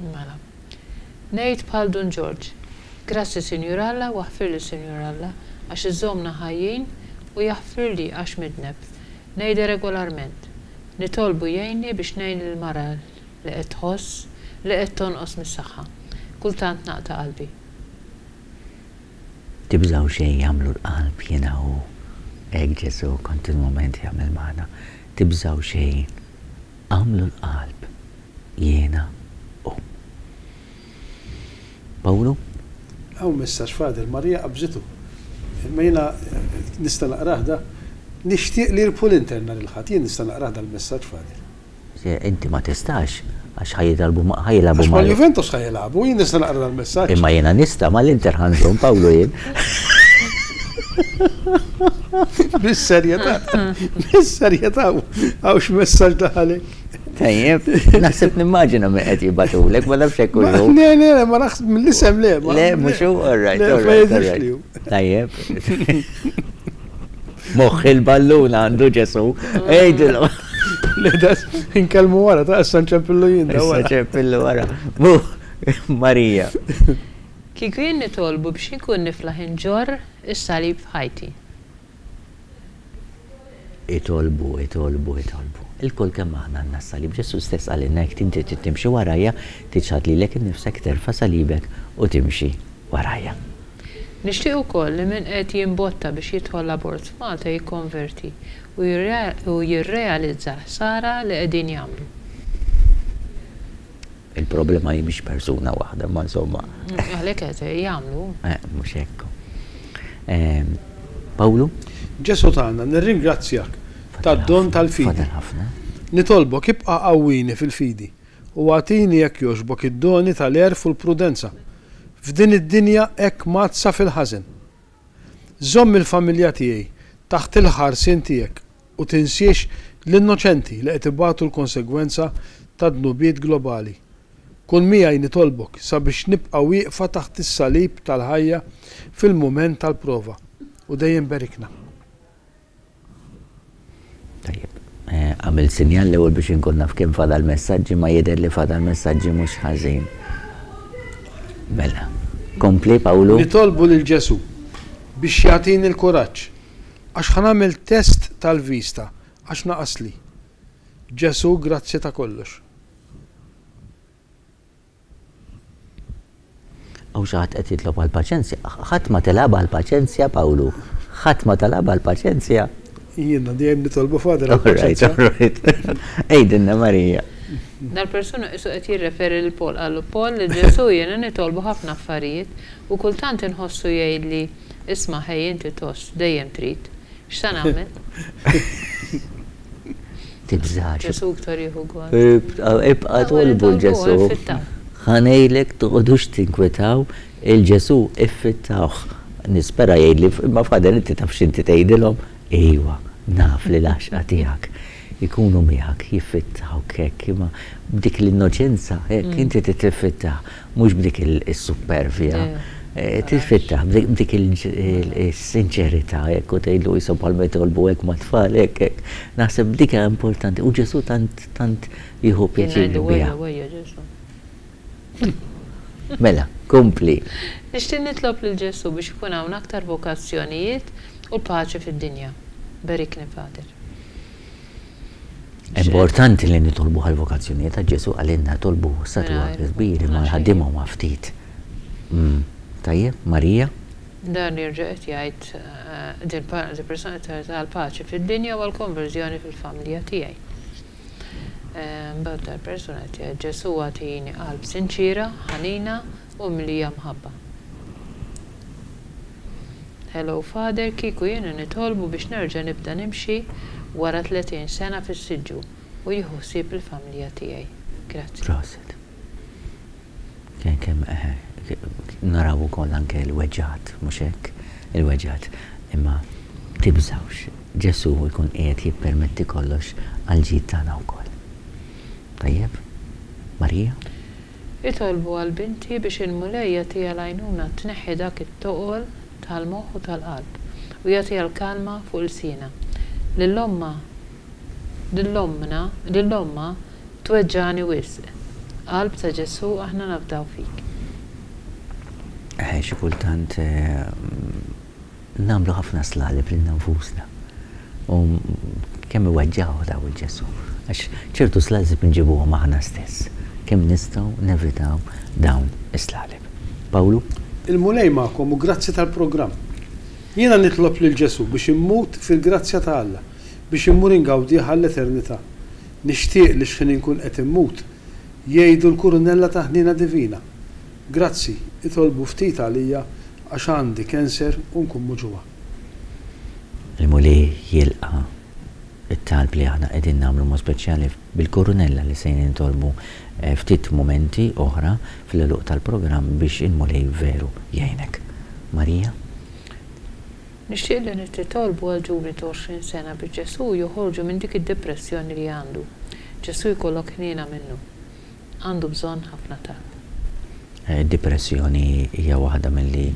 Mela. Ngħid bħal Dun Ġorġ. Grazzi Sinjur Alla u aħfirli Sinjur Alla għax iżżommna ħajjin u jaħfirli għax midneb. Ngħidha regolarment. Nitolbu jgħinni biex ngħin lill-mara li qed tħoss li qed tonqos mis-saħħa. Kultant naqta' qalbi. Tibżgħu xejn agħmlu l-qalb jiena hu. Hekk Ġesù kontinwament jagħmel magħna. Tibżgħu xejn agħmlu l-qalb jiena hu. Pawlu? Hawn messaġġ Father, Marija qabżitu. Imma jiena nista' naqrah da? Nixtieq li jirbħu l-Inter nhar il-Ħadd. Jien nista' naqrah dal-messaġġ Father. Inti ma tistax, għax ħa jilagħbu ma' ħa jilagħbu Għax mal-Juventus ħa jilagħbu, jien nista' naqra dal-messaġġ. Imma jiena nista' mal-Inter ħa nżomm Pawlu jien. Bis-serjetà, bis-serjetà hawn x'messaġġ daħalek. Tajjeb, naħseb nimmaġina min qed jibgħatulek, ma nafx hekk hu. Le, le, le, ma naħseb mill-isem le. Le, mhux hu, all right, all right, all right. Tajjeb. Moħħ il-ballun għandu Ġesu. Ejdilhom. Le, da, inkellmu wara, ta' issa nċempillu jien. Issa ċempillu wara. Marija. Kieku jien nitolbu biex inkun niflaħ inġorr is-salib f'ħajti. Itolbu, itolbu, itolbu. Ilkoll kemm aħna għandna s-salib. Ġesù stess qalilna jekk inti trid timxi warajja, tiċħad lilek innifsek, terfa' salibek u timxi warajja. Nixtieq ukoll li min qed jimbotta biex jidħol l-abort f'Malta jikkonverti u jirrealizza l-ħsara li qegħdin jagħmlu. Il-problema hi mhix persuna waħda, imma insomma. Għalhekk qed jagħmlu. Eh, mhux hekk. Pawlu? Ġesù tagħna, nirringrazzjak tad-don tal-fidi. Nitolbok ibqa' qawwini fil-fidi u agħtini jekk jogħġbok id-doni tal-għerf u l-prudenza f'din id-dinja hekk mgħaddsa fil-ħażen. Żomm il-familja tiegħi taħt il-ħarsien tiegħek u tinsiex l-innoċenti li qed ibatu l-konsegwenza tad-dnubiet globali. Kun miegħi nitolbok sabiex nibqa' wieqfa taħt is-salib tal-ħajja fil-mument tal-prova u dejjem berikna. Tajjeb. Għamilt sinjal l-ewwel biex inkun naf kemm fadal messaġġi ma jidher li fadal messaġġi mhux ħażin. Mela. Kompli Pawlu. Nitolbu lil Ġesù biex jagħtini l-kuraġġ għax ħa nagħmel test tal-vista għax naqasli. Ġesù grazzi ta' kollox. Hawn xi ħadd qed jitlob għall-paċenzja. Ħadd ma tilgħabha għall-paċenzja, Pawlu. Ħadd ma talabha għall-paċenzja. Jiena dejjem nitolbu Father għall-paċenzja. All right, all right. Għidilna Marija. Dal-persuna qisu qed jirreferi lil Paul, qallu Paul lil Ġesù jiena nitolbu ħafna affarijiet u kultant inħossu jgħidli isma' ħej inti thoss dejjem trid. X'sa nagħmel? Tibżax. Ġesù iktar jieħu gost. Ibqa' tolbu 'l Ġesù. Ħa ngħidlek toqgħodux tinkwetaw, 'il Ġesù iffittawh. Nispera jgħidli, imma Father inti taf x'inti tgħidilhom? Ejwa, naf li l-għaxqa tiegħek ikunu miegħek, jiffittawk hekk, imma b'dik l-innoċenza hekk inti trid tiffittah. Mhux b'dik is-suppervja. Tiffittah b'dik is-sinċerità hekk u tgħidlu qishom bħalma jitolbu hekk mat-tfal hekk hekk. Naħseb dik hija importanti u Ġesù tant tant jieħu pjaċir biha. Mela, kompli. Nixtieq nitlob lil Ġesù biex ikun hawn aktar vokazzjonijiet u l-paċi fid-dinja. Berikni Father. Importanti li nitolbu għall-vokazzjonijiet għax Ġesù qalilna tolbu statwa kbir imma l-ħaddiema huma ftit. Tajjeb, Marija? Dan jerġa' qed jgħid din persuna qed tgħid għall-paċi fid-dinja u għall-konverżjoni fil-familja tiegħi. Imbagħad dal-persuna qed jgħid Ġesù agħtini qalb sinċiera, ħanina u mimlija mħabba. Hello Father, kieku jiena nitolbu biex nerġa' nibda nimxi wara 30 sena fis-siġġu u jieħu ħsieb il-familja tiegħi. Grazzi. Proset. Kemm kemm eħe naraw ukoll anke l-weġgħat, mhux hekk? Il-weġgħat. Imma tibżgħux, Ġesù jkun qiegħed jippermetti kollox għall-ġid tagħna wkoll. Tajjeb? Marija? Itolbu għal binti biex il-Mulej jagħtiha l-għajnuna tneħħi dak it-toqol tal-moħħ u tal-qalb u jagħtiha l-kalma fuq ilsienha. Lil ommha lil ommna lil ommha tweġġagħni wisq. Qalb ta' Ġesù aħna nafdaw fik. Eħe xi kultant Nagħmlu ħafna slaleb lilna nfusna. U kemm iweġġgħu daw il-Ġesù. Għax ċertu slaleb inġibuhom aħna stess. Kemm nistgħu nevitaw dawn is-slaleb. Pawlu? Il-Mulej magħkom u grazzi tal-programm. Jiena nitlob lil Ġesù biex immut fil-grazzja ta' Alla, biex immur ingawdih għall-eternità. Nixtieq li x'ħin inkun qed immut, jgħidu l-kurunella ta' ħniena divina. Grazzi, itolbu ftit għalija Għax għandi cancer u nkun muġugħa. Il-Mulej jilqa' t-talb li aħna qegħdin nagħmlu mod speċjali bil-kurunella li se nitolbu ftit mumenti oħra fl-għeluq tal-programm biex il-Mulej veru jgħinek. Marija? Nixtieq li nititolbu għal ġuvni ta' 20 sena biex Ġesù joħorġu minn dik id-depressjoni li għandu. Ġesù jkollok ħniena minnu. Għandu bżonn ħafna talb. Id-dipressjoni hija waħda milli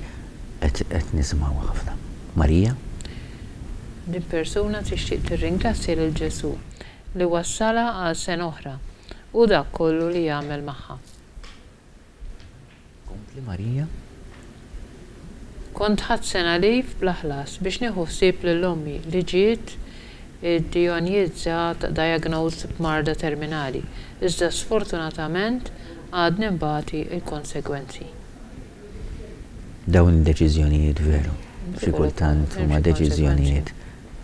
qed qed nisimgħuha ħafna. Marija? Din persuna tixtieq tirringrazzja lil Ġesù li wassalha għal sena oħra u dak kollu li għamel magħha. Kompli Marija. Kont ħadt sena leave bla ħlas biex nieħu ħsieb lil ommi li ġiet iddijonjizzata, diagnosed, b'marda terminali, iżda sfortunatament għadni nbati l-konsegwenzi. Dawn id-deċiżjonijiet veru xi kultant huma deċiżjonijiet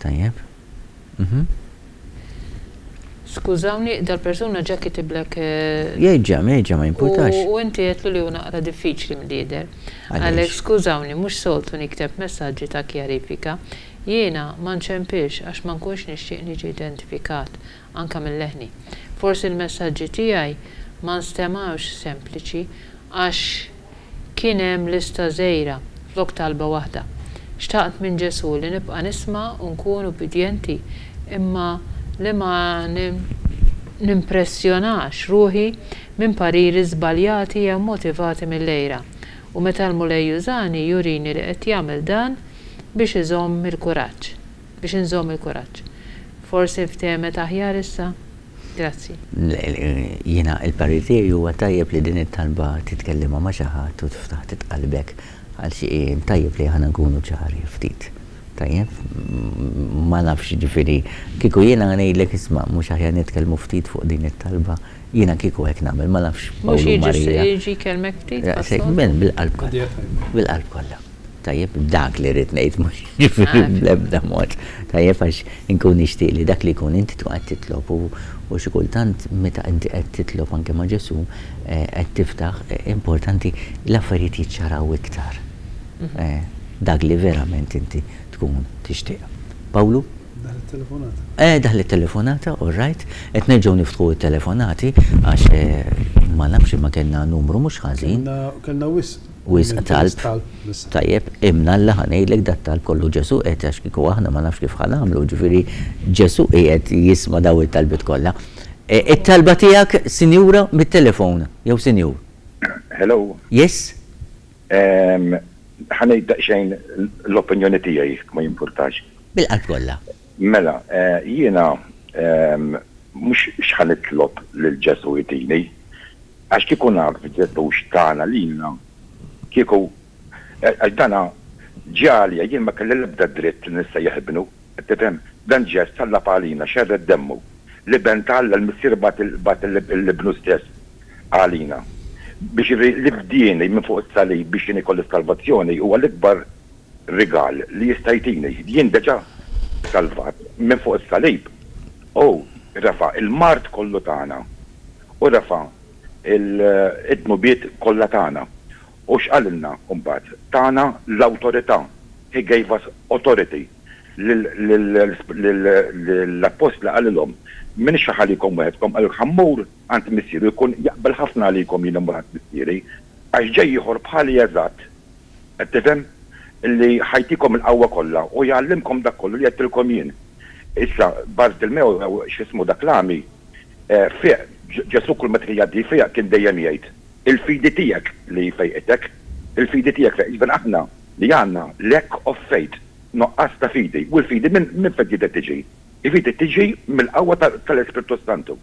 tajjeb. Mhm. Skużawni, dal-persuna ġa kitiblek. Jerġa', jerġa' ma jimpurtax. U inti għedtlu li hu naqra diffiċli milli jidher. Għalhekk skużawni mhux soltu nikteb messaġġi ta' kjarifika. Jiena ma nċempilx għax ma nkunx nixtieq niġi identifikat, anke minn leħni. Forsi l-messaġġi tiegħi ma nstemgħux sempliċi għax Kien hemm lista żgħira flok talba waħda. Xtaqt minn Ġesù li nibqa' nisma' u nkun ubbidjenti imma li ma nimpressjonax ruħi minn pariri żbaljati jew motivati mill-għira. U meta l-Mulej jużani jurini li qed jagħmel dan biex iżomm il-kuraġġ. Biex inżomm il-kuraġġ. Forsi nftehmet aħjar issa? Grazzi. Jiena il-parir tiegħi huwa tajjeb li din it-talba titkellimha ma' xi ħadd u tiftaħ ftit qalbek għal xi tajjeb li aħna nkunu ċari ftit. Tajjeb? Ma nafx jiġifieri kieku jiena ngħidlek isma' mhux aħjar nitkellmu ftit fuq din it-talba, jiena kieku hekk nagħmel, ma nafx Pawlu u Marija. Mhux jiġi jkellmek ftit? Bil-qalb kollha. Bil-qalb kollha. Tajjeb, dak li rrid ngħid mhux jiġifieri bl-ebda mod. Tajjeb għax inkun nixtieq li dak li jkun inti tkun qed titlob u u xi kultant meta inti qed titlob anke ma' Ġesù qed tiftaħ importanti l-affarijiet jiċċaraw iktar. Dak li verament inti tkun tixtieq. Pawlu? Daħlet telefonata. Eh, daħlet telefonata, all right. Qed nerġgħu niftħu t-telefonati għax ma nafx imma kellna numru mhux ħażin. Kellna wisq. Wisq talb. Tajjeb, imnalla ħa ngħidlek dat-talb kollu Ġesù qed għax kieku aħna ma nafx kif ħa nagħmlu, ġifieri Ġesù qiegħed jisma' dawn it-talbiet kollha. It-talba tiegħek, sinjura, mit-telefon, jew sinjur. Hello. Yes? Ħa ngħid daqsxejn l-opinjoni tiegħi jekk ma jimpurtax. Bil-qalb kollha. Mela, jiena mhux x'ħa nitlob lil Ġesù jtini, Għax kieku naf Ġesù x'tana lilna, kieku, għax dana ġie għalija, jien ma kelli l-ebda dritt li nissejjaħ ibnu, qed tifhem? Dan ġie sallab għalina, xerred demmu. L-Iben ta' Alla, l-Missier bagħat bagħat 'l Ibnu stess għalina. Biex li fdieni minn fuq is-salib biex jien ikolli s-salvazzjoni huwa l-ikbar rigal li jista' jtini. Jien deġa salvat minn fuq is-salib. Hu refa' l-mard kollu tagħna. U refa' d-dnubiet kollha tagħna. U x'qalilna mbagħad? Tana l-awtorità. He gave us authority. Lill-appostli qalilhom, M'iniex ħa ħallikom weħedkom, qalilhom, ħa mmur għand Missieri u jkun jaqbel ħafna għalikom jien immur għand Missieri, għax ġej ieħor bħali eżatt, qed tifhem? Li ħa jtikom il-qawwa kollha u jgħallimkom dak kollu li għedtilkom jien. Issa, Bartilmew jew x'ismu dak l-għami, Fieq, Ġesù kull meta kien jgħaddi jfejjaq kien dejjem jgħid, Il-fidi tiegħek li fejqitek, il-fidi tiegħek fejqitek. Jiġifieri aħna li għandna lack of faith, nuqqas ta' fidi. U l-fidi minn minn fejn trid tiġi? Il-fidi tiġi mill-qawwa tal-Ispirtu s-Santu.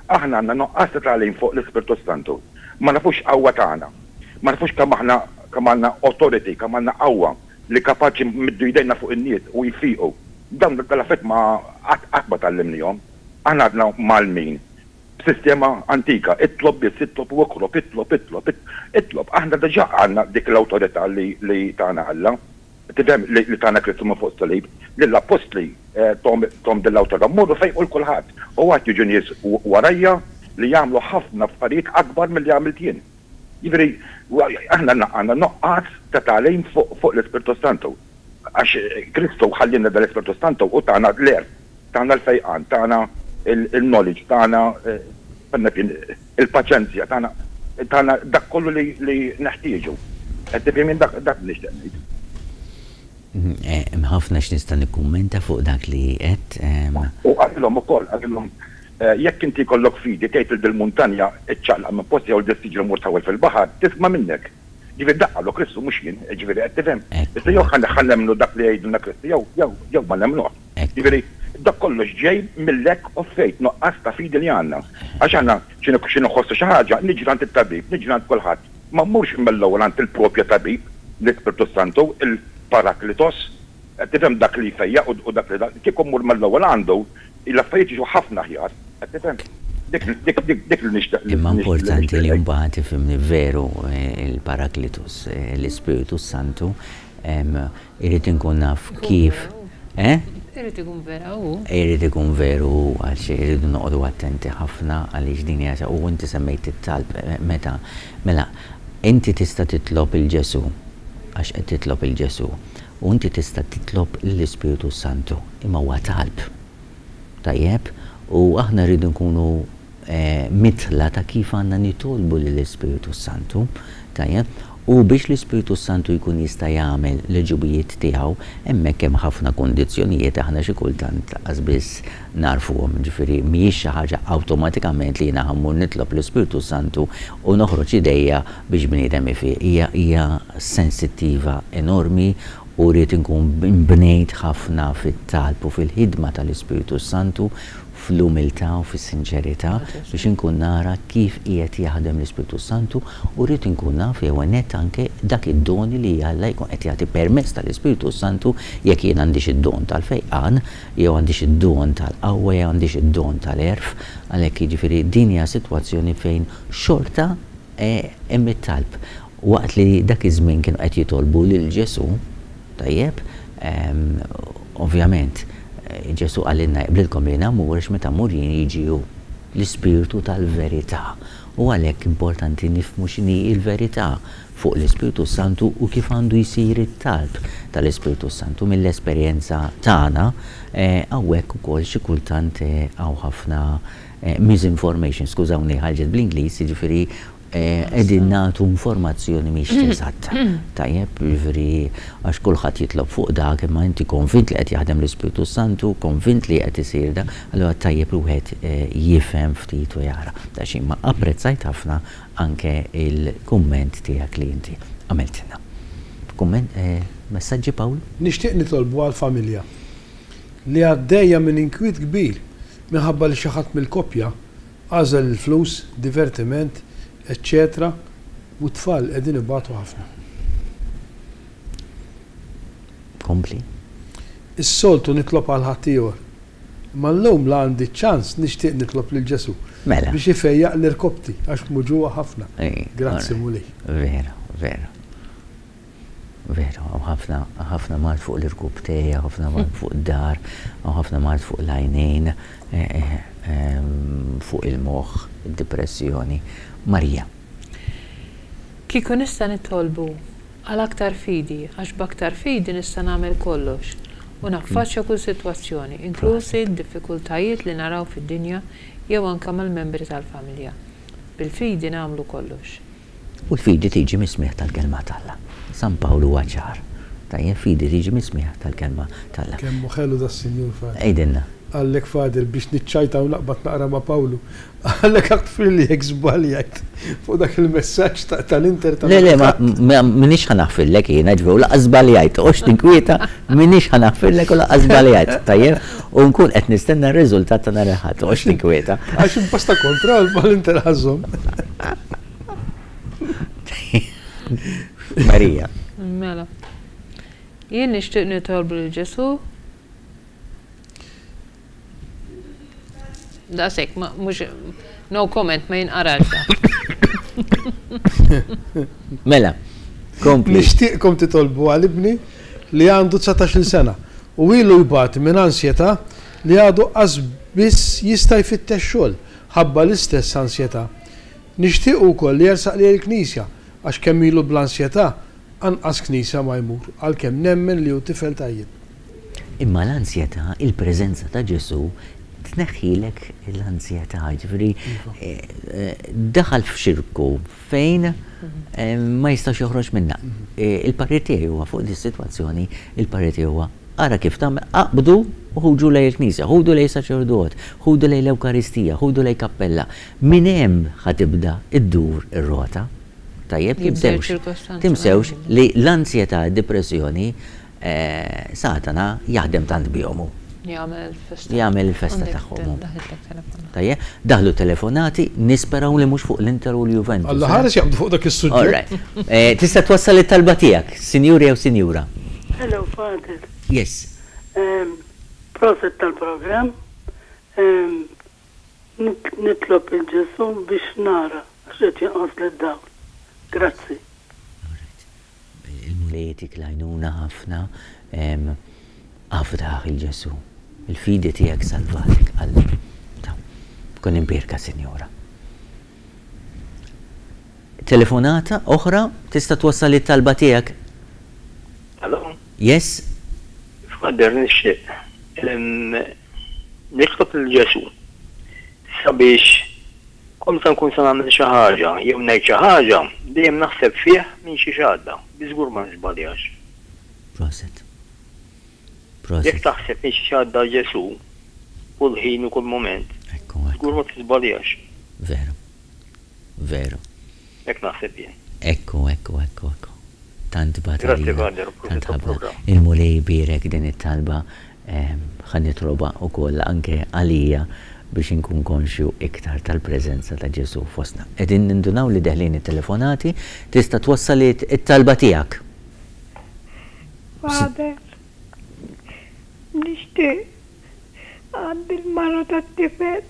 Aħna għandna nuqqas ta' tagħlim fuq l-Ispirtu s-Santu. Ma nafux x'qawwa tana. Ma nafux kemm aħna kemm għandna authority, kemm għandna qawwa li kapaċi nmiddu jdejna fuq in-nies u jfiqu. Dawn dal-affarijiet ma qatt qatt ma tgħallimnihom. Aħna għadna mgħallmin b'sistema antika, itlob biss, itlob u okrob, itlob, itlob, itlob. Aħna diġà għandna dik l-awtorità li li tana Alla, tifhem, li li tana Kristu minn fuq is-salib. Lill-appostli thom thom din l-awtorità, morru fejqu 'l kulħadd. U għad jiġu nies warajja li jagħmlu ħafna affarijiet akbar milli għamilt jien. Jiġifieri aħna għandna nuqqas ta' tagħlim fuq fuq l-Ispirtu s-Santu. Għax Kristu ħallielna dal-Ispirtu s-Santu u tana l-għerf, tana l-fejqan, tana l-knowledge, tana il-paċenzja, tana tana dak kollu li li neħtieġu. Qed tifhem jien dak dak li nixtieq ngħid. Hemm ħafna x'nista' nikkummenta fuq dak li għedt. U qalilhom ukoll, qalilhom, jekk inti jkollok fidi tgħid lil dil-muntanja iċċaqlaq minn postha jew lil dis-siġra mur tħawwel fil-baħar, tisma' minnek. Ġifieri dak qallu Kristu mhux jien, ġifieri qed tifhem? Issa jew ħa nemmnu dak li jgħidilna Kristu jew jew jew ma nemmnuhx. Ġifieri dak kollox ġej mil-lack of faith, nuqqas ta' fidi li għandna. Għax aħna xi xi nħossu xi ħaġa, niġri għand it-tabib, niġri għand kulħadd. Ma mmurx mill-ewwel għand il-propja tabib, l-Ispirtu s-Santu, il-Paraklitos, qed tifhem dak li jfejjaq u dak li kieku mmur mill-ewwel għandu, l-affarijiet jiġu ħafna aħjar, qed tifhem? Dik dik dik dik li nixtieq Imma importanti li mbagħad ifhimni veru il-Paraklitus, l-Ispirtu s-Santu, irrid inkun naf kif, eh? Irid ikun vera hu. Irid ikun veru hu għax irridu noqogħdu attenti ħafna għaliex din hija u inti semmejt it-talb meta mela inti tista' titlob 'il Ġesù għax qed titlob 'il Ġesù u inti tista' titlob lill-Ispirtu s-Santu imma huwa talb. Tajjeb? U aħna rridu nkunu midħla ta' kif għandna nitolbu lill-Ispirtu s-Santu. Tajjeb? U biex l-Ispirtu s-Santu jkun jista' jagħmel l-għeġubijiet tiegħu, hemmhekk hemm ħafna kundizzjonijiet aħna xi kultant lanqas biss nagħrfuhom. Jiġifieri mhijiex xi ħaġa awtomatikament li jiena ħa mmur nitlob l-Ispirtu s-Santu u noħroġ idejja biex bniedem ifiq. Hija hija sensittiva enormi u rrid inkun inbnejt ħafna fit-talb u fil-ħidma tal-Ispirtu s-Santu, fl-umiltà u fis-sinċerità biex inkun nara kif qiegħed jaħdem l-Ispirtu s-Santu u rrid inkun naf ewwel nett anke dak id-doni li Alla jkun qed jagħti permezz tal-Ispirtu s-Santu jekk jien għandix id-don tal-fejqan jew għandix id-don tal-qawwa jew għandix id-don tal-għerf għalhekk jiġifieri din hija sitwazzjoni fejn xorta hemm it-talb. Waqt li dak iż-żmien kienu qed jitolbu lil Ġesù, tajjeb, ovvjament, Ġesù qalilna jaqblilkom li jiena mmur għax meta mmur jien jiġi hu, l-Ispirtu tal-verità. U għalhekk importanti nifhmu x'inhi l-verità fuq l-Ispirtu s-Santu u kif għandu jsir it-talb tal-Ispirtu s-Santu. Mill-esperjenza tagħna, hawnhekk ukoll xi kultant hawn ħafna misinformation, skużawni ħarġet bl-Ingliż, jiġifieri qegħdin nagħtu informazzjoni mhix eżatta. Tajjeb, jiġifieri għax kulħadd jitlob fuq dak, imma inti konvint li qed jaħdem l-Ispirtu s-Santu, konvint li qed isir dak, allura tajjeb li wieħed jifhem ftit u jara. Ta' xi, imma apprezzajt ħafna anke l-kumment tiegħek li inti għamiltilna. Kumment, messaġġi Pawl? Nixtieq nitolbu għall-familja li għaddejja minn inkwiet kbir minħabba li xi ħadd mill-koppja Għażel il-flus, divertiment, eċċetera u t-tfal qegħdin ibatu ħafna. Kompli. Is-soltu nitlob għal ħaddieħor. Imma llum la għandi ċ-ċans nixtieq nitlob lil Ġesù Mela. biex ifejjaq l-irkoppti għax muġugħa ħafna. Grazzi Mulej. Vera, vera. Veru, hawn ħafna, ħafna mard fuq l-irkubtej, hawn ħafna mard fuq id-dahar, hawn ħafna mard fuq l-għajnejn, fuq il-moħħ, id-dipressjoni. Marija. Kieku nista' nitolbu għal aktar fidi, għax b'aktar fidi nista' nagħmel kollox u naffaċċja kull sitwazzjoni, inklużi d-diffikultajiet li naraw fid-dinja jew anke mal-membri tal-familja. Bil-fidi nagħmlu kollox. U l-fidi tiġi mis-smigħ tal-Kelma t'Alla. San Pawl huwa ċar. Tajjeb, fidi tiġi mis-smigħ tal-Kelma t'Alla. Kemm hu ħelu das-Sinjur Fadil. Għidilna. Qallek Fadil biex niċċajta u naqbad naqra ma' Pawlu. Qallek aħfirli jekk żbaljajt fuq dak il-messaġġ tal-Inter ta' Le, le, ma m'iniex ħa naħfirlek jiena, ġifieri u lanqas żbaljajt, toqgħodx tinkwieta, m'iniex ħa naħfirlek u lanqas żbaljajt, tajjeb? U nkun qed nistenna r-riżultat ta' nhar il-Ħadd, toqgħodx tinkwieta. Għax imposta kontra mal-Inter ħa żżomm. Marija. Mela. Jien nixtieq nitolbu lil Ġesù. Daqshekk, mhux no comment ma jinqarax. Mela, kompli. Nixtieqkom titolbu għal ibni li għandu 19-il sena u ilu jbati minn ansjetà li għadu qas biss jista' jfittex xogħol ħabba l-istess ansjetà. Nixtiequ wkoll li jersaq lejn il-Knisja għax kemm ilu bl-ansjetà anqas knisja ma jmur għalkemm nemmen li hu tifel tajjeb. Imma l-ansjetà, il-preżenza ta' Ġesù tneħħilek l-ansjetà, jiġifieri daħal f'xirku fejn ma jistax joħroġ minnha. Il-parir tiegħi huwa fuq dis-sitwazzjoni, il-parir tiegħi huwa Ara kif tagħmel, aqbdu u ħuġu lejn il-knisja, ħudu lejn saċerdot, ħudu lejn l-Ewkaristija, ħudu lejn kappella. Minn hemm ħa tibda ddur ir-rota. Tajjeb, tinsewx, tinsewx li l-ansjetà, id-dipressjoni, Satana jaħdem tant bihom hu. Jagħmel il-festa. Jagħmel il-festa tagħhom hu. Tajjeb, daħlu telefonati, nisperaw li mhux fuq l-Inter u l-Juventus. Alla ħares jaqbdu fuq dak is-suġġett. Tista' twassal it-talba tiegħek, sinjur jew sinjura. Hello Father. Yes. Proset tal-programm. Nitlob 'il Ġesù biex nara għax qed jonqosli d-dawl. Grazzi. Il-Mulej jtik l-għajnuna ħafna. Afdah 'il Ġesù. Il-fidi tiegħek salvatek, qallu. Ta. Kun imbierka, Sinjura. Telefonata oħra, tista' twassal it-talba tiegħek. Hello? Yes? Father, nixtieq nitlob lil Ġesù sabiex kull meta nkun se nagħmel xi ħaġa jew ngħid xi ħaġa, dejjem naħseb fih minn xiex għadda, bi żgur ma niżbaljax. Proset. Jekk taħseb minn xiex għadda Ġesù kull ħin u kull mument, żgur ma tiżbaljax. Veru. Veru. Hekk naħseb jien. Ekku, ekku, ekku, ekku. Tant bagħat għalina, tant ħabbna. Il-Mulej ibierek din it-talba, ħa nitlobha wkoll anke għalija biex inkun konxju iktar tal-preżenza ta' Ġesù fostna. Qegħdin nindunaw li deħlin it-telefonati, tista' twassal it-talba tiegħek. Father, nixtieq għandi l-mara tat-tifel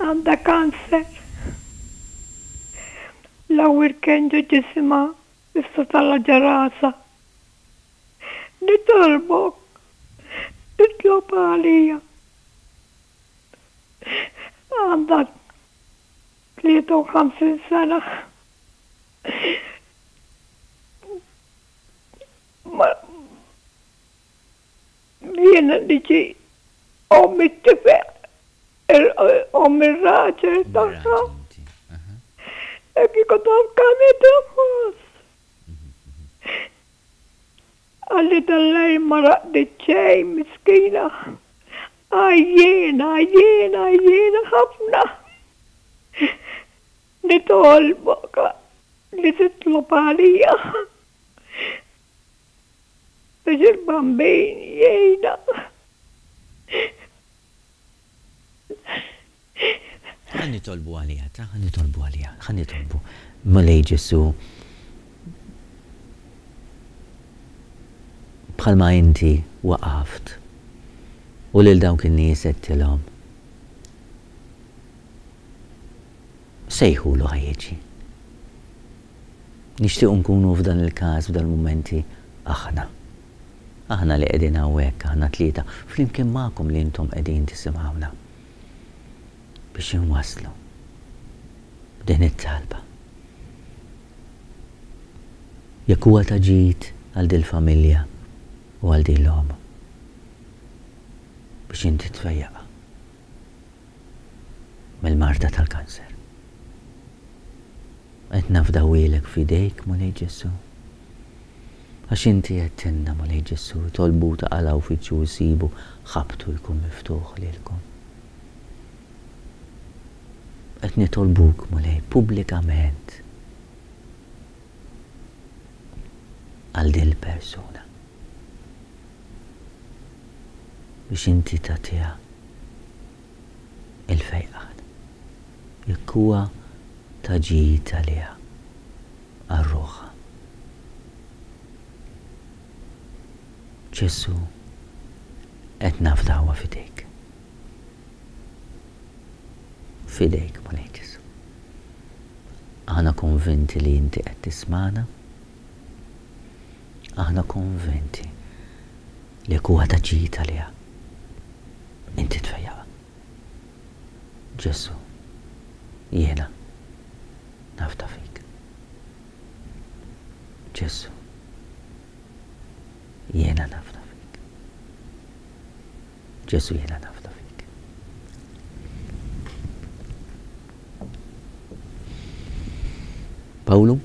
għandha cancer. L-ewwel kien ġo ġisimha issa tala' ġo rasha. Nitolbok titlob għalija. Għandha 53 sena. Ma jiena niġi omm it-tifel, omm ir-raġel tagħha. Hekk kieku taf kemm qed inħoss. Qalli dal-lejl ma raqdit xejn miskina. Għajjiena, għajjiena, għajjiena ħafna. Nitolbok li titlob għalija biex il-Bambin jgħinna. Ħa nitolbu għaliha, ta' ħa nitolbu għaliha, ħa nitolbu. Mulej Ġesù, bħalma inti waqaft u lil dawk in-nies għedtilhom, Sejħulu ħa jiġi. Nixtiequ nkunu f'dan il-każ, f'dan il-mumenti, aħna. Aħna li qegħdin hawnhekk, aħna tlieta, flimkien magħkom li intom qegħdin tisimgħuna. Biex inwasslu din it-talba. Jekk huwa ta' ġid għal dil-familja u għal din l-omm. Biex inti tfejjaqha. mill-marda tal-kanser. Qed nafdawhielek f'idejk, Mulej Ġesù. Għax inti għedtilna, Mulej Ġesù, itolbu taqalgħu fittxu u ssibu, ħabbtu jkun miftuħ lilkom. Qed nitolbuk, Mulej, pubblikament għal din il-persuna. Biex inti tagħtiha il-fejqan, jekk huwa ta' ġid għaliha, għal ruħha. Ġesù, qed nafdawha f'idejk. F'idejk, Mulej Ġesù. Aħna konvinti li inti qed tismagħna. Aħna konvinti li jekk huwa ta' ġid għaliha, inti tfejjaqha. Ġesù, jiena nafda fik. Ġesù, jiena nafda fik. Ġesù, jiena nafda fik. Pawlu?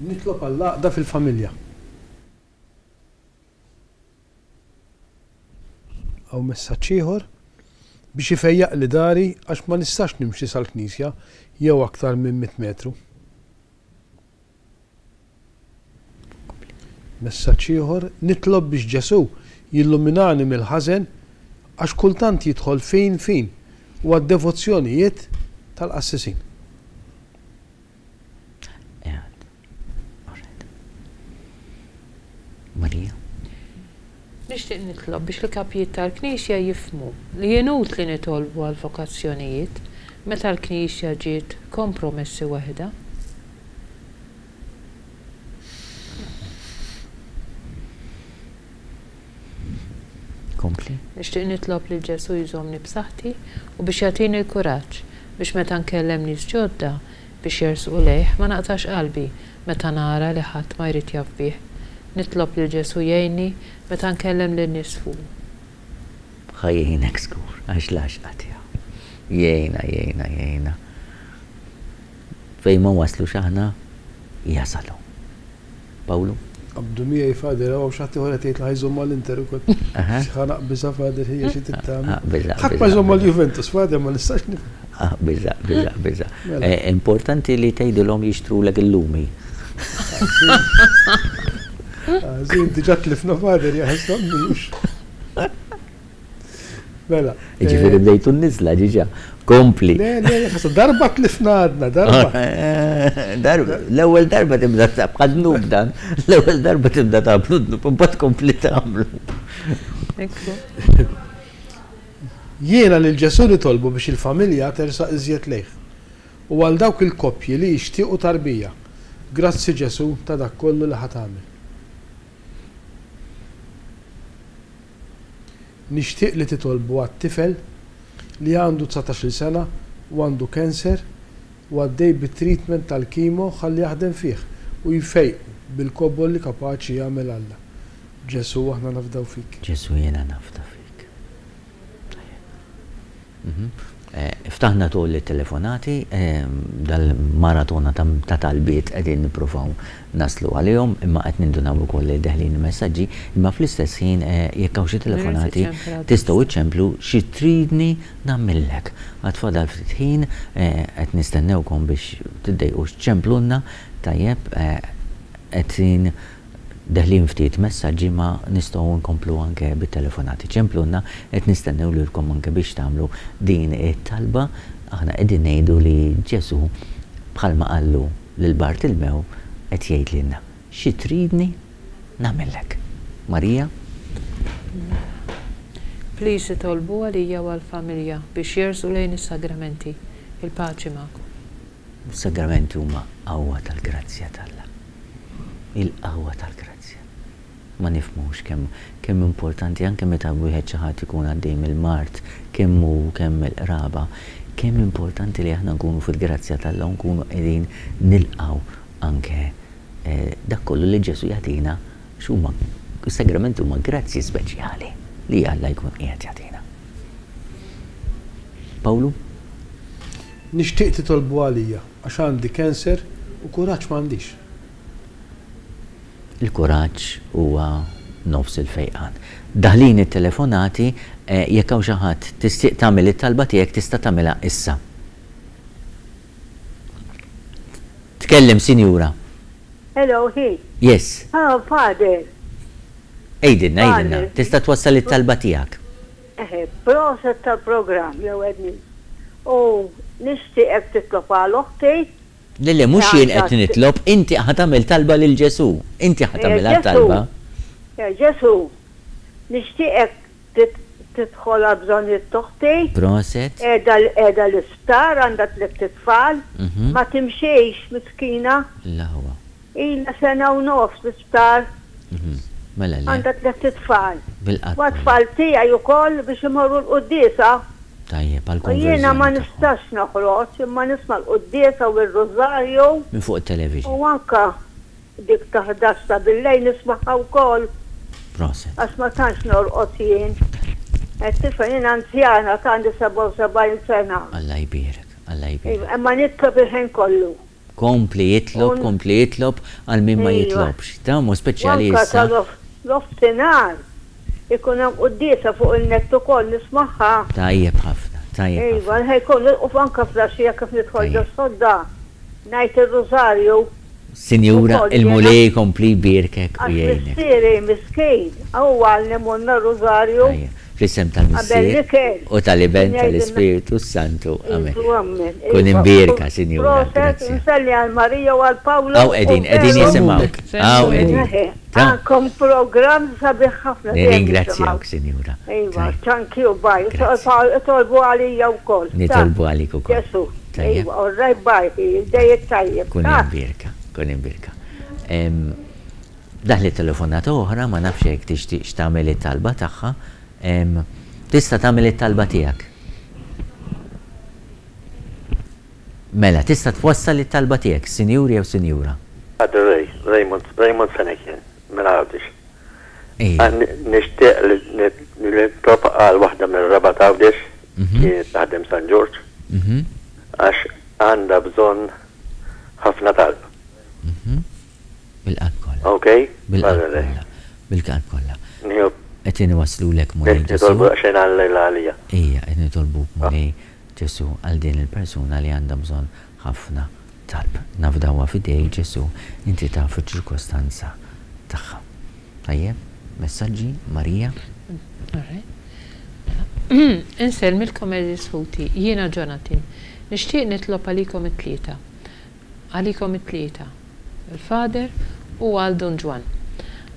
Nitlob għall-għaqda fil-familja. Hawn messaġġ ieħor, Biex ifejjaqli dari għax ma nistax nimxi sal-knisja jew aktar minn mitt metru. Messaġġ ieħor, Nitlob biex Ġesù jilluminani mill-ħażen għax kultant jidħol fin fin u għad-devozzjonijiet tal-qassisin. Maria. Nixtieq nitlob biex il-kapijiet tal-Knisja jifhmu li inutli nitolbu għall-vokazzjonijiet meta l-Knisja ġiet kompromessi waħedha. Kompli. Nixtieq nitlob lil Ġesù jżommni b'saħħti u biex jagħtini l-kuraġġ biex meta nkellem nies ġodda biex jersqu lejh ma naqtax qalbi meta nara li ħadd ma jrid jaf bih. Nitlob lil Ġesù jgħinni meta nkellem lin-nies fuqu. Ħa jgħinek żgur, għax l-għaxqa tiegħu. Jgħinna, jgħinna, jgħinna. Fejn ma waslux aħna, jasal hu. Pawlu? Qabdu miegħi Father, hawn xi ħadd ieħor qed jgħid li ħa jżomm mal-Inter ukoll. Ħa naqbiżha Father ħija xi trid tagħmel. Aqbiżha. Ħadd ma jżomm mal-Juventus Father ma nistax nifhem. Aqbiżha, aqbiżha, aqbiżha. Mela. Importanti li tgħidilhom jixtrulek il-lumi. Ħażin, diġà tlifna Father jaħasra mhux. Mela. Ġifieri bdejtu n-niżla ġiġa. Kompli. Le, le, ħasa darba tlifna għadna, darba. Darba, l-ewwel darba tibda bħal dnub dan, l-ewwel darba tibda tagħmlu dnub, imbagħad tkompli tagħmlu. Jiena lil Ġesù nitolbu biex il-familja tersaq iżjed lejh. U għal dawk il-koppji li jixtiequ tarbija. Grazzi Ġesù ta' dak kollu li ħa tagħmel. Nixtieq li titolbu għat-tifel li għandu 19-il sena u għandu cancer u għaddej bit-treatment tal-chemo ħalli jaħdem fih u jfejqu bil-kobor li kapaċi jagħmel Alla. Ġesù aħna nafdaw fik. Ġesù jiena nafda fik. Tajjeb. Ftaħna tul it-telefonati, dal-maratona ta' talbiet qegħdin nippruvaw naslu għalihom, imma qed nindunaw ukoll li deħlin il-messaġġi, imma fl-istess ħin jekk hawn xi telefonati tistgħu iċċemplu xi tridni nagħmillek. Għad fadal ftit ħin, qed nistennewkom biex tiddejqux ċċemplulna, tajjeb, qegħdin Deħlin ftit messaġġi ma nistgħu nkomplu anke bit-telefonati. Ċemplulna, qed nistennew lilkom anke biex tagħmlu din it-talba. Aħna qegħdin ngħidu li Ġesù bħalma qallu lil Bartilmew qed jgħid lilna, Xi tridni nagħmillek? Marija? Please itolbu għalija u għall-familja biex jersqu lejn is-sagramenti. Il-paċi magħkom. Is-sagramenti huma qawwa tal-grazzja t'Alla. Il-qawwa tal-grazzja. Ma nifhmux kemm kemm importanti anke meta wieħed xi ħadd ikun għaddej mill-mard, kemm hu kemm il-qraba, kemm importanti li aħna nkunu fil-grazzja t'Alla u nkunu qegħdin nilqgħu anke dak kollu li Ġesù jagħtina għax huma is-sagramenti huma grazzji speċjali li Alla jkun qiegħed jagħtina. Pawlu? Nixtieq titolbu għalija għax għandi cancer u kuraġġ m'għandix. Il-kuraġġ huwa nofs il-fejqan. Daħlin it-telefonati, jekk hawn xi ħadd tistieq tagħmel it-talba tiegħek tista' tagħmilha issa. Tkellem sinjura. Hello, hi. Yes. Ah, father. Għidilna, għidilna. Tista' twassal it-talba tiegħek. Eħe, proset tal-programm l-ewwel nett. U nixtieqek titlob għal oħti. Le le, mhux jien qed nitlob, inti ħa tagħmel talba lil Ġesù. Inti ħa tagħmilha t-talba. Ġesù, nixtieqek tidħol għall-bżonnijiet t'oħti. Proset. Qiegħda qiegħda l-isptar, għandha tlett itfal, ma timxix miskina. L-aħwa. Ilha sena u nofs l-isptar. Mela le. Għandha tlett itfal. Bil-qatt. U għat-tfal tiegħi wkoll biex imorru l-quddiesa. Tajjeb, għall-konverżjoni. U jiena ma nistax noħroġ imma nisma' l-quddiesa u r-rużarju. Minn fuq it-television. U anke dik ta' 11 ta' billejl nismagħha wkoll. Proset. Għax ma tantx norqod jien. Qed tifhem jien anzjana ta' għandi 77 sena. Alla jbierek, Alla jbierek. Imma nitlob il-ħin kollu. Kompli itlob, kompli itlob għal min ma jitlobx. Ta' u speċjali issa. U anke ta' nofsinhar ikun hemm quddiesa fuq in-net ukoll nismagħha. Tajjeb ħafna, tajjeb ħafna. Iva, l-ħin kollu u anke fl-għaxija kif nidħol ġos-sodda ngħid ir-rużarju. Sinjura, il-Mulej jkompli jbierkek u jgħinek. Għax missieri miskin, hu għallimulna r-rużarju. Tajjeb. Fl-isem tal-Missier, u tal-Iben, tal-Ispirtu s-Santu. Amen. Kun imbierka, Sinjura. Proset, inselli għal Marija u għal Pawlu. Hawn qegħdin, qegħdin jisimgħuk. Hawn qegħdin. Għandkom programm sabiħ ħafna. Nirringrazzjawk, Sinjura. Iva, thank you, bye. Itolbu għalija wkoll. Nitolbu għalik ukoll. Ġesù. Iva, all right, bye. Dejjek tajjeb. Kun imbierka, kun imbierka. Daħlet telefonata oħra, ma nafx jekk tixtieqx tagħmel it-talba tagħha. Tista' tagħmel it-talba tiegħek. Mela, tista' twassal it-talba tiegħek, sinjur jew sinjura. Father Ray, Raymond, Raymond Fenech jien, minn Għawdex. Nixtieq li nitlob għal waħda mir-Rabat Għawdex, kienet taħdem San Ġorġ, għax għandha bżonn ħafna talb. Bil-qalb kollha. Ok? Bil-qalb kollha. Bil-qalb kollha. Qed inwasslulek Mulej Ġesù. Nitolbu daqsxejn għal għalija. Ejja, qed nitolbuk Mulej Ġesù għal din il-persuna li għandha bżonn ħafna talb. Nafdawha f'idejk Ġesù, inti taf iċ-ċirkostanza tagħha. Tajjeb? Messaġġi, Marija? Insellmilkom għeżież ħuti, jiena Jonathan. Nixtieq nitlob għalikom it-tlieta. Għalikom it-tlieta, il-Father u għal Dun Ġwann.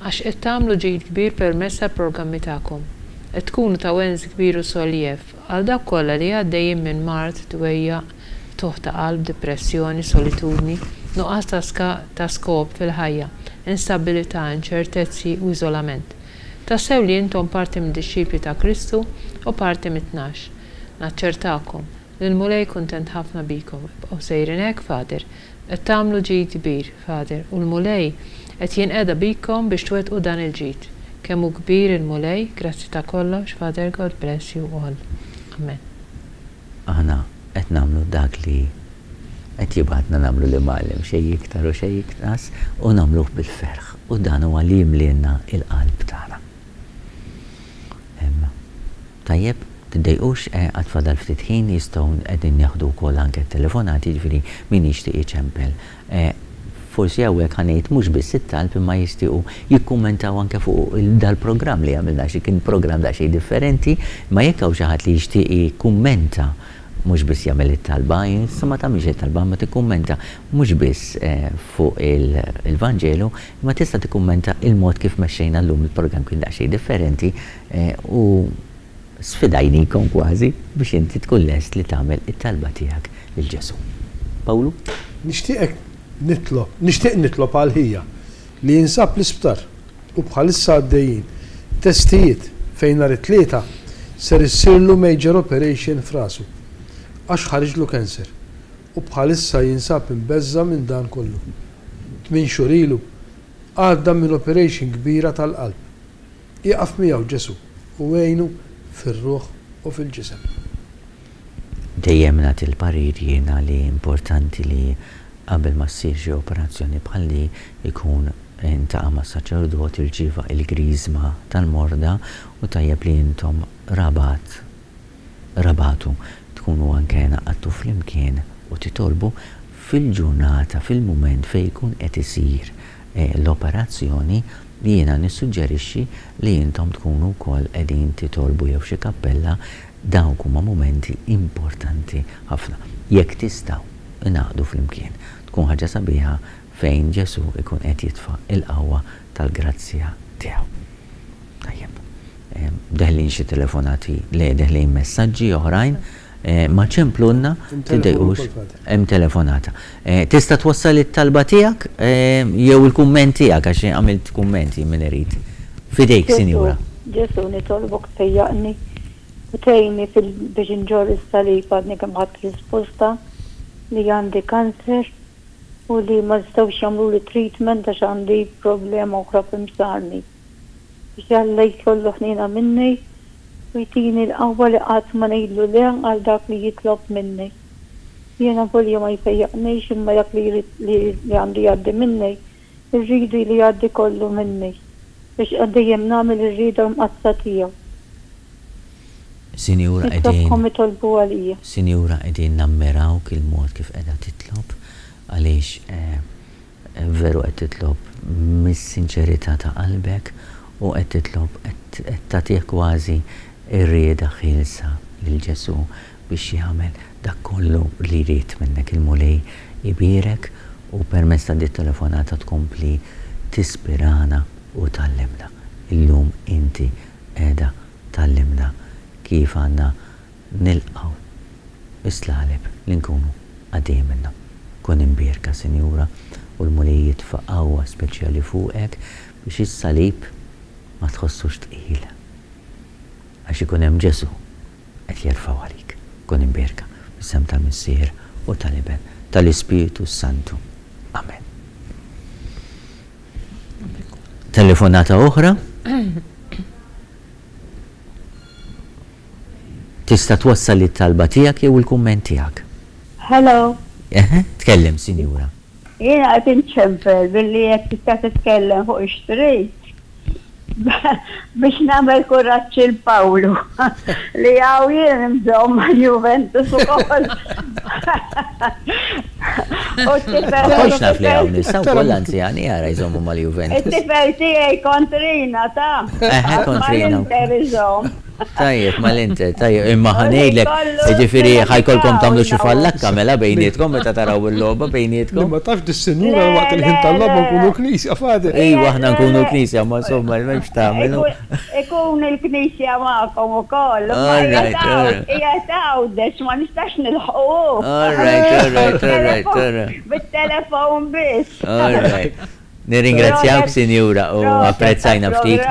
Għax qed tagħmlu ġid kbir permezz tal-programmi tagħkom. Qed tkunu ta' wens kbir u soljev għal dawk kollha li għaddejjin minn mard, dwejjaq, qtugħ ta' qalb, dipressjoni, solitudni, nuqqas ta' ta' skop fil-ħajja, instabbilità, inċertezzi u iżolament. Tassew li intom parti mid-dixxipli ta' Kristu u parti mit-tnax. Naċċertakom, li l-Mulej kuntent ħafna bikom. Ibqgħu sejrin hekk, Father. Qed tagħmlu ġid kbir, Father, u l-Mulej qed jinqeda bikom biex twettqu dan il-ġid. Kemm hu kbir il-Mulej, grazzi ta' kollox, Father God bless you all. Amen. Aħna qed nagħmlu dak li qed jibgħatna nagħmlu l-Imgħallem, xejn iktar u xejn inqas, u nagħmluh bil-ferħ, u dan huwa li jimlielna l-qalb tagħna. Tajjeb, tiddejqux, għad fadal ftit ħin, jistgħu qegħdin nieħdu wkoll anke t-telefonati, jiġifieri min jixtieq iċempel. Forsi hawnhekk ħa ngħid mhux biss it-talb imma jixtiequ jikkummentaw anke fuq dal-programm li għamilna għax kien programm daqsxejn differenti, imma jekk hawn xi ħadd li jixtieq jikkummenta mhux biss jagħmel it-talba, issa ma tagħmilx it-talba imma tikkummenta mhux biss fuq il-Vanġelu, imma tista' tikkummenta il-mod kif mexxejna llum il-programm kien daqsxejn differenti u sfidajnikom kważi biex inti tkun lest li tagħmel it-talba tiegħek lil Ġesù. Pawlu? Nixtieqek nitlob, nixtieq nitlob għal ħija li jinsab l-isptar u bħalissa għaddejjin testijiet fejn nhar it-Tlieta ser issirlu major operation f'rasu għax ħariġlu cancer u bħalissa jinsab imbeżża' minn dan kollu. Tminn xhur ilu għadda minn operation kbira tal-qalb. Ieqaf miegħu Ġesù u għinu fir-ruħ u fil-ġisem. Dejjem nagħti l-parir jiena li importanti li qabel ma ssir xi operazzjoni bħal di jkun intaqa' ma' saċerdot irċieva il-griżma tal-morda u tajjeb li intom rabat rabatu tkunu anke ngħaqadtu flimkien u titolbu fil-ġurnata, fil-mument fejn ikun qed isir l-operazzjoni, jiena nissuġġerixxi li intom tkunu wkoll qegħdin titolbu jew f'xi kappella, dawk huma mumenti importanti ħafna. Jekk tistgħu, ingħaqdu flimkien. Tkun ħaġa sabiħa fejn Ġesù jkun qed jitfa' l-qawwa tal-grazzja tiegħu. Tajjeb. Deħlin xi telefonati, le, deħlin messaġġi oħrajn. Ma ċemplulna, tiddejqux, hemm telefonata. Tista' twassal it-talba tiegħek jew il-kumment tiegħek għax għamilt kummenti min irid. F'idejk, Sinjura. Ġesù, nitolbok tfejjaqni u tgħinni biex inġorr is-salib għadni kemm ħadt risposta li għandi kanser u li ma jistgħux jagħmluli treatment għax għandi problema oħra f'imsarni. Biex Alla jkollu ħniena minni u jtini l-qawwa li qatt ma ngħidlu le għal dak li jitlob minni. Jiena volja ma jfejjaqnix imma dak li jrid li għandu jgħaddi minni, irridu li jgħaddi kollu minni biex dejjem nagħmel ir-rieda mqaddsa tiegħu. Sinjura qegħdin Nitlobkom itolbu għalija. Sinjura qegħdin nammirawk il-mod kif qiegħda titlob għaliex Veru qed titlob mis-sinċerità ta' qalbek u qed titlob qed tagħtih kważi r-rieda ħielsa lil Ġesù biex jagħmel dak kollu li jrid minnek. Il-Mulej ibierek u permezz ta' dit-telefonata tkompli tispirana u tgħallimna. Illum inti qiegħda tgħallimna kif għandna nilqgħu s-slaleb li nkunu għaddejjin minnhom. Kun imbierka, Sinjura, u l-Mulej jitfa' qawwa speċjali fuqek biex is-salib ma tħossux tqil. Għax ikun hemm Ġesù qed jerfgħu għalik. Kun imbierka. Fl-isem tal-Missier u tal-Iben, tal-Ispirtu s-Santu. Amen. Telefonata oħra? Tista' twassal it-talba tiegħek jew il-kumment tiegħek. Hello. Eħe, tkellem, sinjura. Jiena qed inċempel billi jekk tista' titkellem fuq ix-street biex nagħmel kuraġġ il Pawlu li hawn jien nżomm mal-Juventus ukoll. U t-tifel. Ma kontx naf li hawn nies, hawn ukoll anzjani ara jżommu mal-Juventus. It-tifel tiegħi kontrina ta'. Eħe kontrina. Mal-Inter iżomm. Tajjeb, mal-Inter, tajjeb, imma ħa ngħidlek, jiġifieri ħa jkollkom tagħmlu xi fallakka mela bejnietkom meta taraw il-logħba bejnietkom. Li ma tafx dis-sinjura waqt il-ħin tal-logħba nkunu knisja, Father. Iva, aħna nkunu knisja, ma insomma, m'hemmx tagħmel. Ikun il-knisja magħkom ukoll. All right, all right. Qiegħed Għawdex, ma nistax nilħqu. All right, all right, all right, all right. Bit-telefon biss. All right. Nirringrazzjawk sinjura u apprezzajna ftit.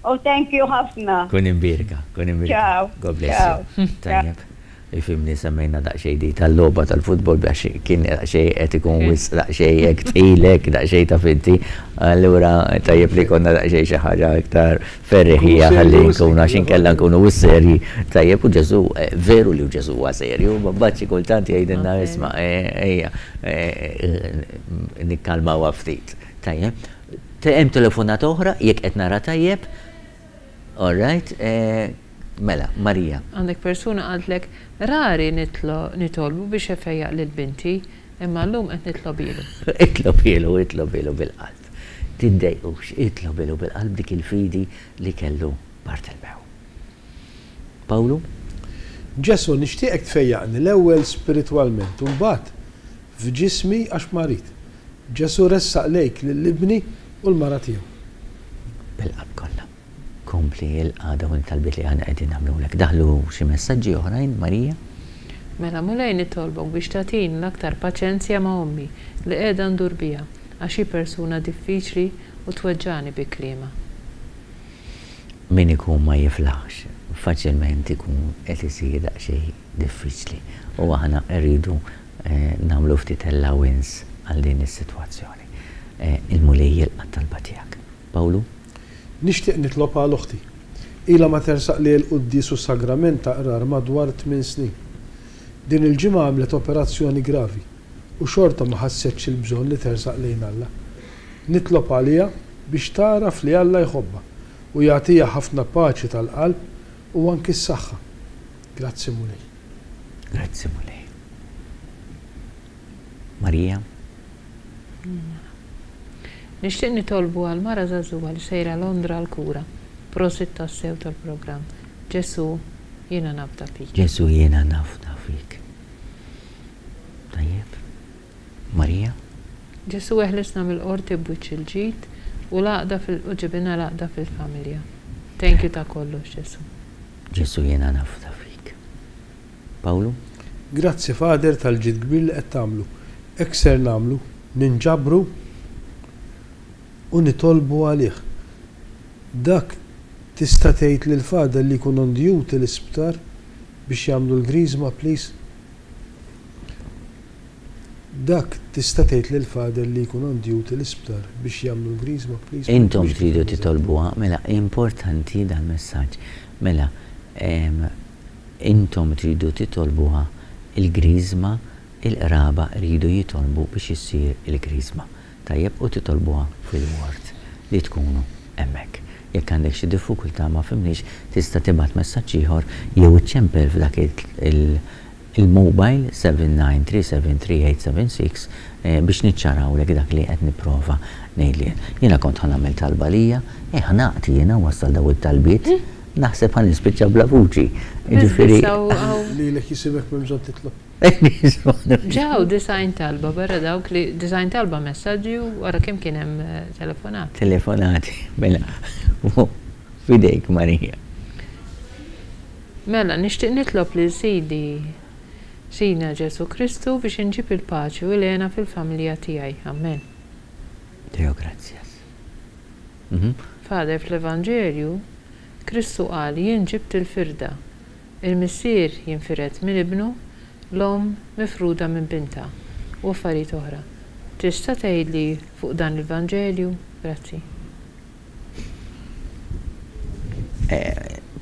U thank you ħafna. Kun imbierka, kun imbierka. Ciao. God bless you. Tajjeb. Ifimni semmejna daqsxejn di tal-logħba tal-futbol biex kien daqsxejn qed ikun wisq daqsxejn hekk tqil hekk daqsxejn ta' finti. Allura tajjeb li konna daqsxejn xi ħaġa iktar ferriħija ħalli nkunu għax inkella nkunu wisq serji. Tajjeb u Ġesù veru li Ġesù huwa serju, ma mbagħad xi kultant jgħidilna isma' ejja nikkalmawha ftit. Tajjeb. Hemm telefonata oħra, jekk qed nara tajjeb. All right. Mela, Marija. Għandek persuna qaltlek, rari nitolbu biex ifejjaq lil binti, imma llum qed nitlobilu. Itlobilu, itlobilu bil-qalb. Tiddejqux, itlobilu bil-qalb dik il-fidi li kellu Bartilmew. Pawlu? Ġesù, nixtieqek tfejjaqni l-ewwel spiritwalment u mbagħad f'ġismi għax marid. Ġesù ressaq lejk lil ibni u l-mara tiegħu. Bil-qalb kollha. Kompli ilqa' dawn it-talbiet li aħna qegħdin nagħmlulek. Daħlu xi messaġġi oħrajn, Marija? Mela Mulej nitolbok biex tagħtini l-aktar paċenzja ma' ommi li qiegħda ndur biha għax hi persuna diffiċli u tweġġagħni bi kliemha. Min ikun ma jiflaħx, faċilment ikun qed isir daqsxejn diffiċli u aħna rridu nagħmlu ftit allowance għal din is-sitwazzjoni. Il-Mulej jilqa' t-talba tiegħek. Pawlu? Nixtieq nitlob għal oħti. Ilha ma tersaq lejn il-quddies u s-sagrament ta' qrar madwar tmien snin. Din il-ġimgħa għamlet operazzjoni gravi u xorta ma ħassetx il-bżonn li tersaq lejn Alla. Nitlob għaliha biex tagħraf li Alla jħobbha u jagħtiha ħafna paċi tal-qalb u anki s-saħħa. Grazzi Mulej. Grazzi Mulej. Marija. Nixtieq nitolbu għal mara żagħżugħa li sejra Londra għall-kura. Prosit tassew tal-programm. Ġesù, jiena nafda fik. Ġesù jiena nafda fik. Tajjeb. Marija. Ġesù eħlisna mill-qorti b'wiċċ il-ġid u l-għaqda fil u ġibilna l-għaqda fil-familja. Thank you ta' kollox Ġesù. Ġesù jiena nafda fik. Pawlu? Grazzi Father tal-ġid kbir li qed tagħmlu. Hekk ser nagħmlu, ninġabru u nitolbu għalih. Dak tista' tgħid lil Father li jkun on duty l-isptar biex jagħmlu l-griżma please? Dak tista' tgħid lil Father li jkun on duty l-isptar biex jagħmlu l-griżma please Intom tridu titolbuha, mela importanti dal-messaġġ. Mela intom tridu titolbuha il-griżma, il-qraba jridu jitolbu biex issir il-griżma. Tajjeb u titolbuha fil-ward li tkunu hemmhekk. Jekk għandek xi diffikultà ma fhimniex tista' tibgħat messaġġ ieħor jew iċċempel f'dak il il-mobile 79373876 biex niċċarawlek dak li qed nipprova ngħid jien. Jiena kont ħa nagħmel talba għalija, eh ħnaqt jiena nwassal dawn it-talbiet, naħseb ħa nispiċċa bla vuċi. Jiġifieri. Lilek jisimek m'hemm bżonn titlob. Ġew 90 talba barra dawk li 90 talba messaġġi u wara kemm kien hemm telefonati. Telefonati, mela. F'idejk Marija. Mela, nixtieq nitlob lil Sidi, Sidna Ġesù Kristu, biex inġib il-paċi u l-hena fil-familja tiegħi. Ammen. Deo gratias. Father, fl-Evanġelju, Kristu qal jien ġibt il-firda. Il-missier jinfired minn ibnu, l-omm mifruda minn bintha, u affarijiet oħra. Tista' tgħidli fuq dan il-Vanġelju? Grazzi.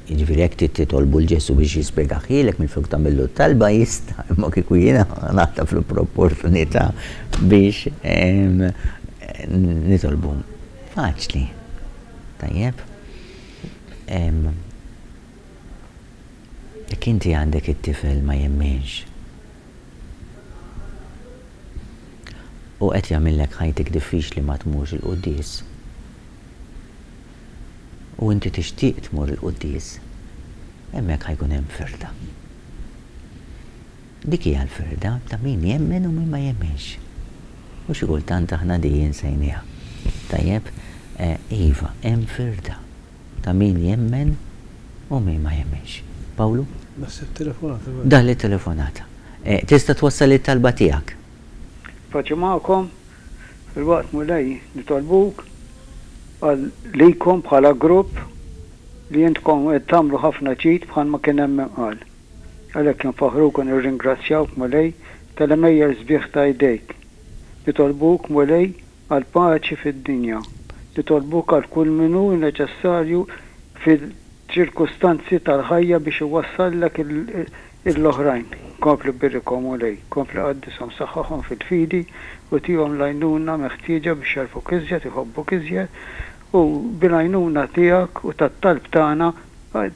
Jiġifieri jekk trid titolbu 'l Ġesù biex jispjegahielek minflok tagħmillu t-talba jista', imma kieku jiena naħtaf l-opportunità biex nitolbu. Faċli. Tajjeb? Jekk inti għandek it-tifel ma jemminx u qed jagħmillek ħajtek diffiċli ma tmurx il-quddies, u inti tixtieq tmur il-quddies, hemmhekk ħa jkun hemm firda. Dik hija l-firda ta' min jemmen u min ma jemminx. U xi kultant aħna di insejniha. Tajjeb? Iva, hemm firda ta' min jemmen u min ma jemminx. Pawlu? Naħseb telefonata. Daħlet telefonata. Tista' twassal it-talba tiegħek. Paċi magħkom. Filwaqt Mulej nitolbuk għal likom bħala grupp li intkom qed tagħmlu ħafna ġid bħalma kien hemm min qal. Għalhekk infaħħruk u nirringrazzjawk Mulej tal-għemejjel sbieħ ta' jdejk. Nitolbuk Mulej għall-paċi fid-dinja. Nitolbuk għal kull min hu neċessarju fil-ċirkustanzi tal-ħajja biex iwassallek il-oħrajn. Kompli birikhom, Mulej, kompli qaddishom, saħħaħhom fil-fidi u tihom l-għajnuna meħtieġa biex jagħrfuk iżjed, iħobbuk iżjed, u bil-għajnuna tiegħek u tat-talb tagħna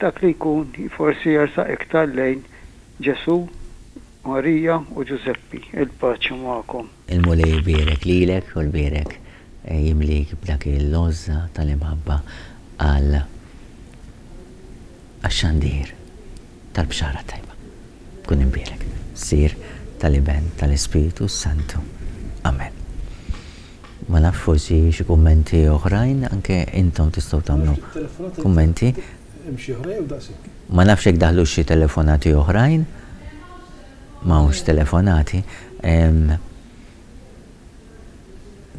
dak li jkun forsi jersaq iktar lejn Ġesù, Marija u Ġużeppi. Il-paċi magħkom. Il-Mulej ibierek lilek u jbierek jimlik b'dak il-għożża tal-imħabba għal għax-xandir tal-Bxara t-Tajba. Kun imbierek. Missier, tal-Iben, tal-Ispirtu s-Santu. Amen. Ma nafx forsi xi kummenti oħrajn, anke intom tistgħu tagħmlu kummenti. Hemm xi oħra jew daqshekk? Ma nafx jekk daħlux xi telefonati oħrajn. M'hawnx telefonati.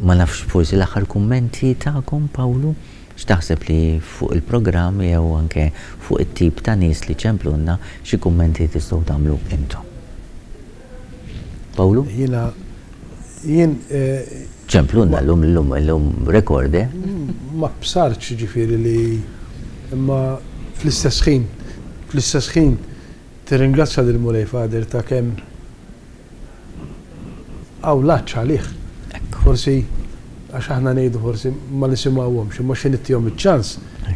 Ma nafx forsi l-aħħar kummenti tagħkom Pawlu, x'taħseb li fuq il-programm jew anke fuq it-tip ta' nies li ċemplulna xi kummenti tistgħu tagħmlu intom. Pawlu? Jiena jien Ċemplulna llum illum illum rekord eh? Ma bsartx jiġifieri li imma fl-istess ħin fl-istess ħin tirringrazzja lill-Mulej Father ta' kemm Hawn l-għatx għalih. Forsi għax aħna ngħidu forsi ma nisimgħuhomx, imma xi nittihom iċ-ċans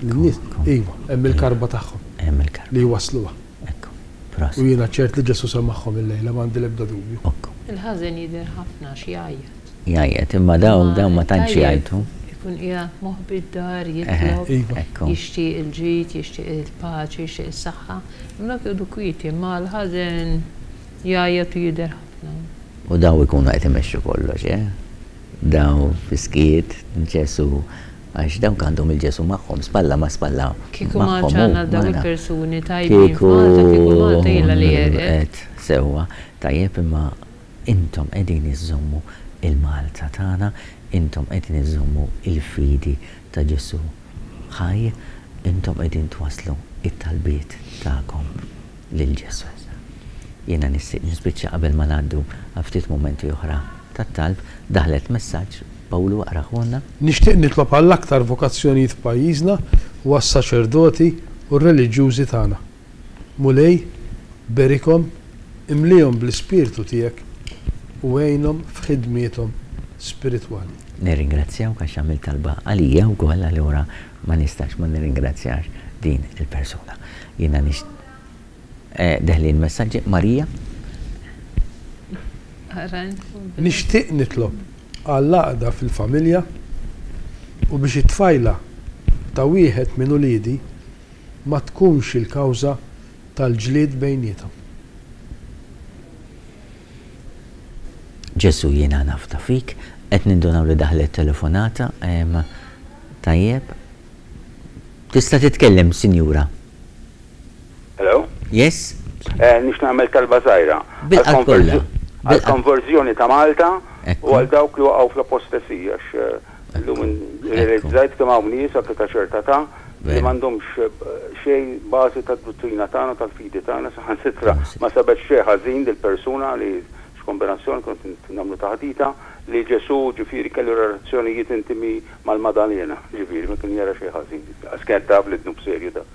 lin-nies, iva, hemm il-karba tagħhom li jwassluha. U jiena ċert li Ġesù semagħhom illejla, m'għandi l-ebda dubju. Il-ħażen jidher ħafna għax jgħajjat. Jgħajjat, imma dawn dawn ma tantx jgħajtu. Ikun qiegħed moħbi d-dar jitlob, jixtieq il-ġid, jixtieq il-paċi, jixtieq is-saħħa. Imma dawk joqogħdu kwieti, imma l-ħażen Jgħajjat u jidher ħafna. U daw ikunu qed imexxu kollox, eh? Daw fis-skiet, Ġesù, għax dawk għandhom il-Ġesù magħhom, spalla ma' spalla magħhom. Kieku ma għadx għandna dawn il-persuni tajbin f'Malta, kieku Malta ilha li għerqet. Sewwa, tajjeb imma intom qegħdin iżżommu il-Malta tagħna, intom qegħdin iżżommu il-fidi ta' Ġesù ħaj, intom qegħdin twasslu t-talbiet tagħkom lil Ġesù. Jiena nixtieq nispiċċa qabel ma ngħaddu għal ftit mumenti oħra ta' talb. Daħlet messaġġ, Pawlu aqrahulna. Nixtieq nitlob għall-aktar vokazzjonijiet f'pajjiżna u għas-saċerdoti u r-reliġjużi tagħna. Mulej, berikhom, imlihom bl-Ispirtu tiegħek u għinhom f'ħidmiethom spiritwali. Nirringrazzjawk għax għamilt talba għalija wkoll allura ma nistax ma nirringrazzjax din il-persuna. Jiena nix deħlin messaġġi. Marija? Nixtieq nitlob għall-għaqda fil-familja u biex it-tfajla ta' wieħed minn uliedi ma tkunx il-kawża tal-ġlied bejniethom. Ġesù jiena nafda fik. Qed nindunaw li daħlet telefonata. Tajjeb. Tista' titkellem, sinjura. Hello? Yes? Nix nagħmel talba żgħira. Bil-qalb kollha. Għall-konverżjoni ta' Malta u għal dawk li waqgħu fl-apostesija għax illum irrealizzajt kemm hawn nies anke ta' ċerta età. Li m'għandhomx xejn bażi tad-duttrina tagħna, tal-fidi tagħna, saħansitra ma sabet xejn ħażin dil-persuna li x'kombinazzjoni kont nagħmlu taħdita li Ġesù ġifieri kellu relazzjonijiet intimi mal-Madalena, ġifieri ma kien jara xejn ħażin. Qas kienet taf li dnub serju dak.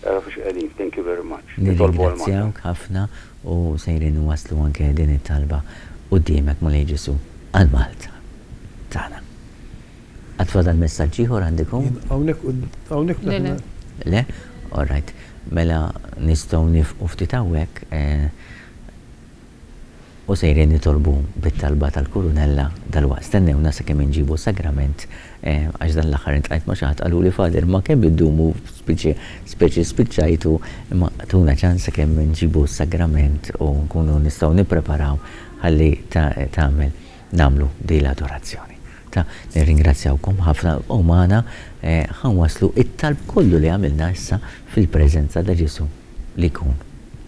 Ara fiex qegħdin. Thank you very much. Nitolbu għal Malta. Nirringrazzjawk ħafna u sejrin inwasslu anke din it-talba quddiemek Mulej Ġesù għal Malta tagħna. Għad fadal messaġġ ieħor għandikom? Jien hawnhekk hawnhekk Le, le. Le? All right. Mela nistgħu nifqu ftit hawnhekk u sejrin nitolbu bit-talba tal-Kurunella dalwaqt. Stennewna sakemm inġibu s-sagrament għax dan l-aħħar intqajt ma' xi ħadd qaluli Father ma kemm iddumu speċi speċi spiċċajtu imma tuna ċans sakemm inġibu s-sagrament u nkunu nistgħu nippreparaw ħalli tagħmel nagħmlu din l-adorazzjoni. Ta' nirringrazzjawkom ħafna u magħna ħa nwasslu t-talb kollu li għamilna issa fil-preżenza ta' Ġesù li jkun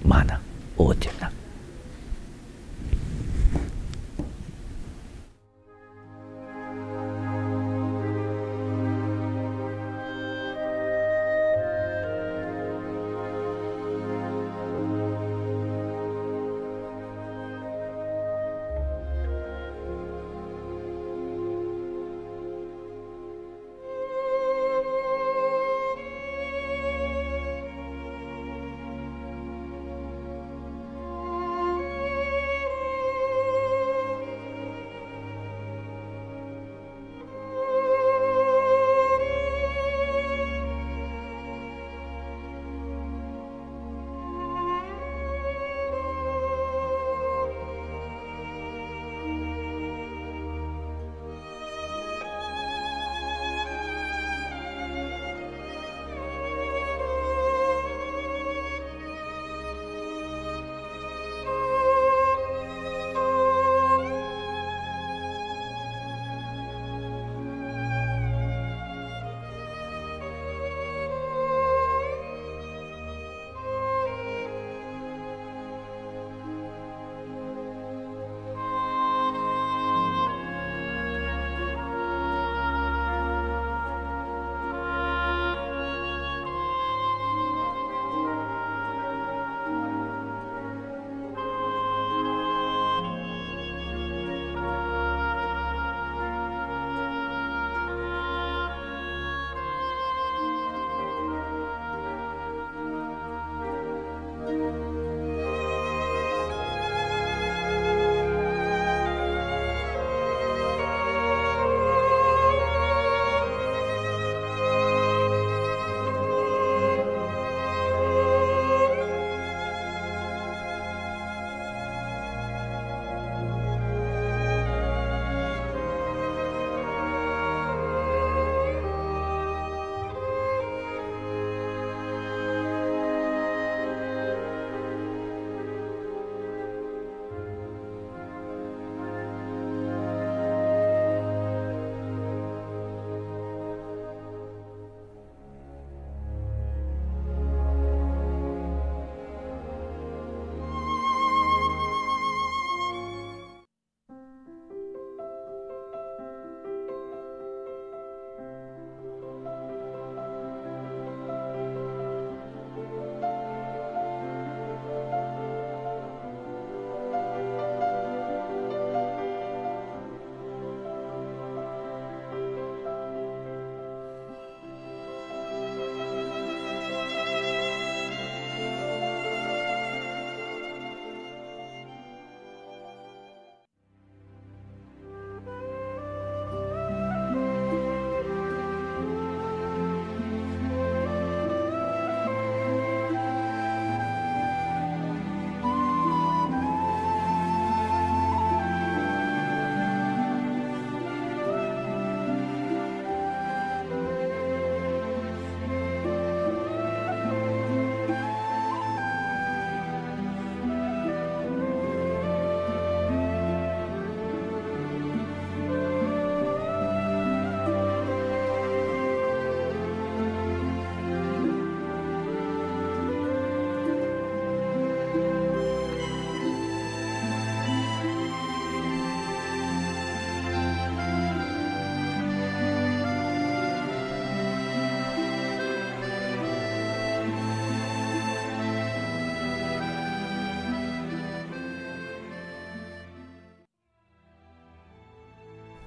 magħna u quddiemna.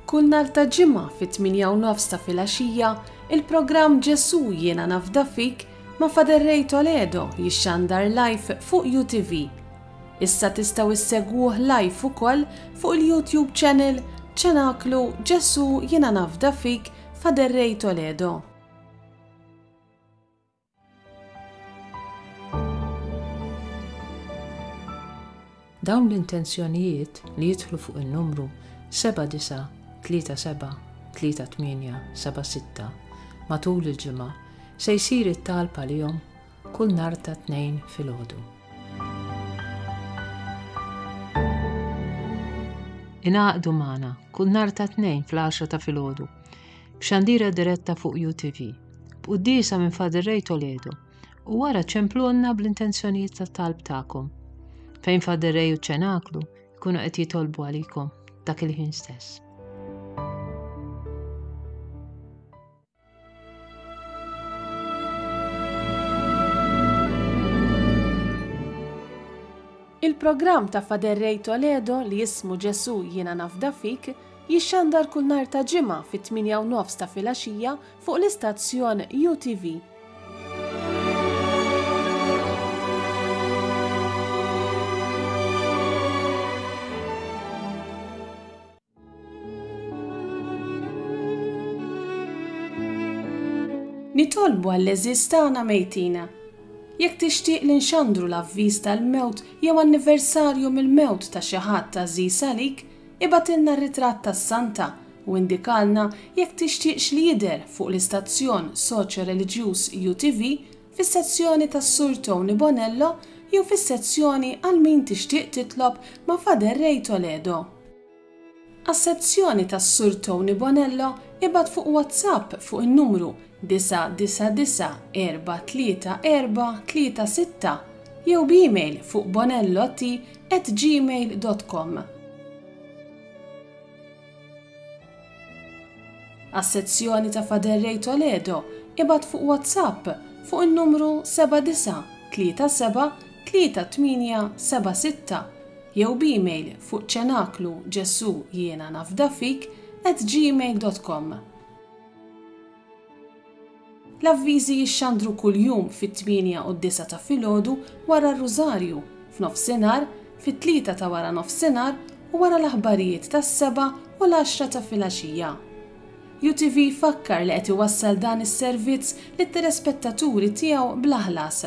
Kull nhar ta' Ġimgħa fit-tmienja u nofs ta' filgħaxija, il-programm Ġesù Jiena Nafda Fik ma' Father Ray Toledo jixxandar live fuq UTV. Issa tistgħu issegwuh live ukoll fuq il-YouTube channel Ċenaklu Ġesù Jiena Nafda Fik Father Ray Toledo. Dawn l-intenzjonijiet li jidħlu fuq in-numru 7937 3876 matul il-ġimgħa se jsir it-talb għalihom kull nhar ta' Tnejn filgħodu. Ingħaqdu magħna kull nhar ta' Tnejn fl-għaxra ta' filgħodu b'xandira diretta fuq UTV, b'quddiesa minn Father Ray Toledo u wara ċemplulna bl-intenzjonijiet ta' talb tagħkom, fejn Father Ray u ċ-Ċenaklu jkunu qed jitolbu għalikom dak il-ħin stess. Il-programm ta' Father Ray Toledo li jismu Ġesù Jiena Nafda Fik jixxandar kull nhar ta' Ġimgħa fit-tmienja u nofs ta' filgħaxija fuq l-istazzjon UTV. Nitolbu għall-għeżież tagħna mejtin. Jekk tixtieq li nxandru l-avviż tal-mewt jew anniversarju mill-mewt ta' xi ħadd għażiż għalik, ibgħatilna r-ritratt tas-santa u indikalna jekk tixtieqx li jidher fuq l-istazzjon soċjo-reliġjuż UTV fis-sezzjoni tas-Sur Tony Bonello jew fis-sezzjoni għal min tixtieq titlob ma' Father Ray Toledo. Għas-sezzjoni tas-Sur Tony Bonello ibgħat fuq WhatsApp fuq in-numru 999 434 36 jew b'email fuq bonellot at gmail dot com. Għas-sezzjoni ta' Father Ray Toledo ibgħat fuq WhatsApp fuq in-numru 7937 3876 jew b'email fuq ċenaklu ġesu jiena nafda fik at gmail dot com. L-avviżi jixxandru kuljum fit-tmienja u d-disgħa ta' filgħodu wara r-Rużarju, f'nofsinhar, fit-tlieta ta' wara nofsinhar u wara l-aħbarijiet tas-sebgħa u l-għaxra ta' filgħaxija. UTV jfakkar li qed iwassal dan is-servizz lit-telespettaturi tiegħu bla ħlas.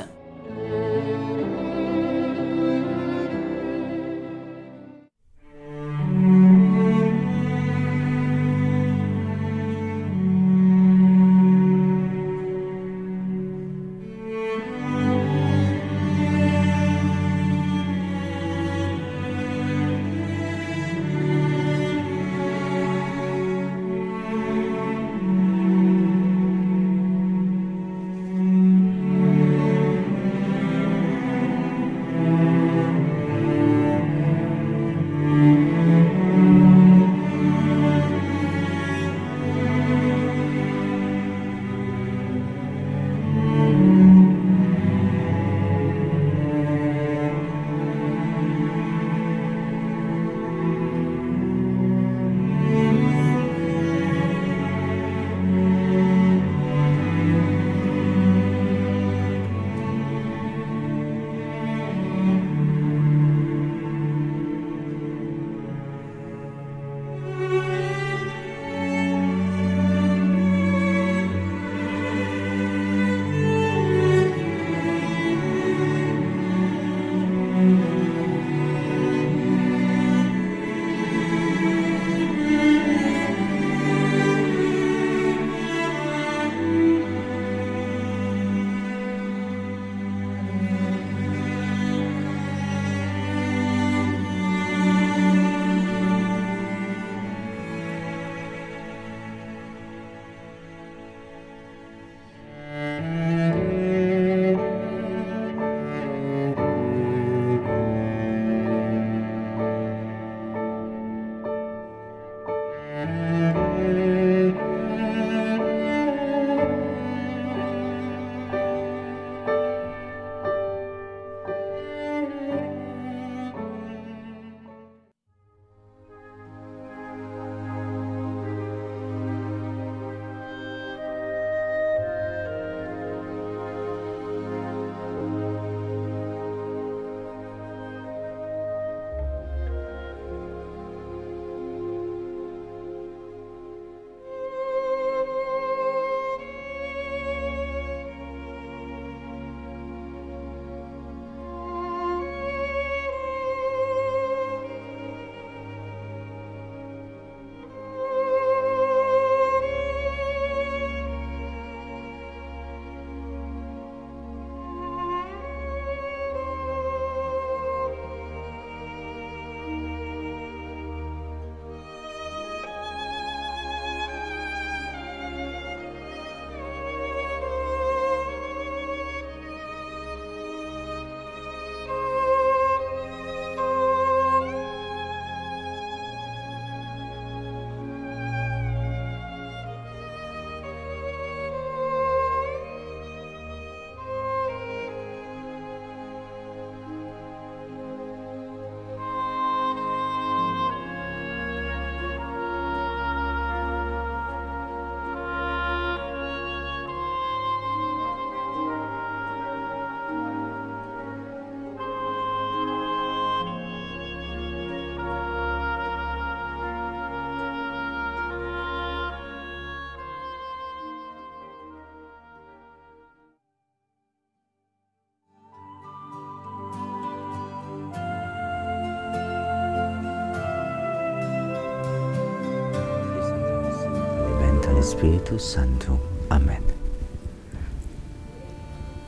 tal-Ispirtu s-Santu. Amen.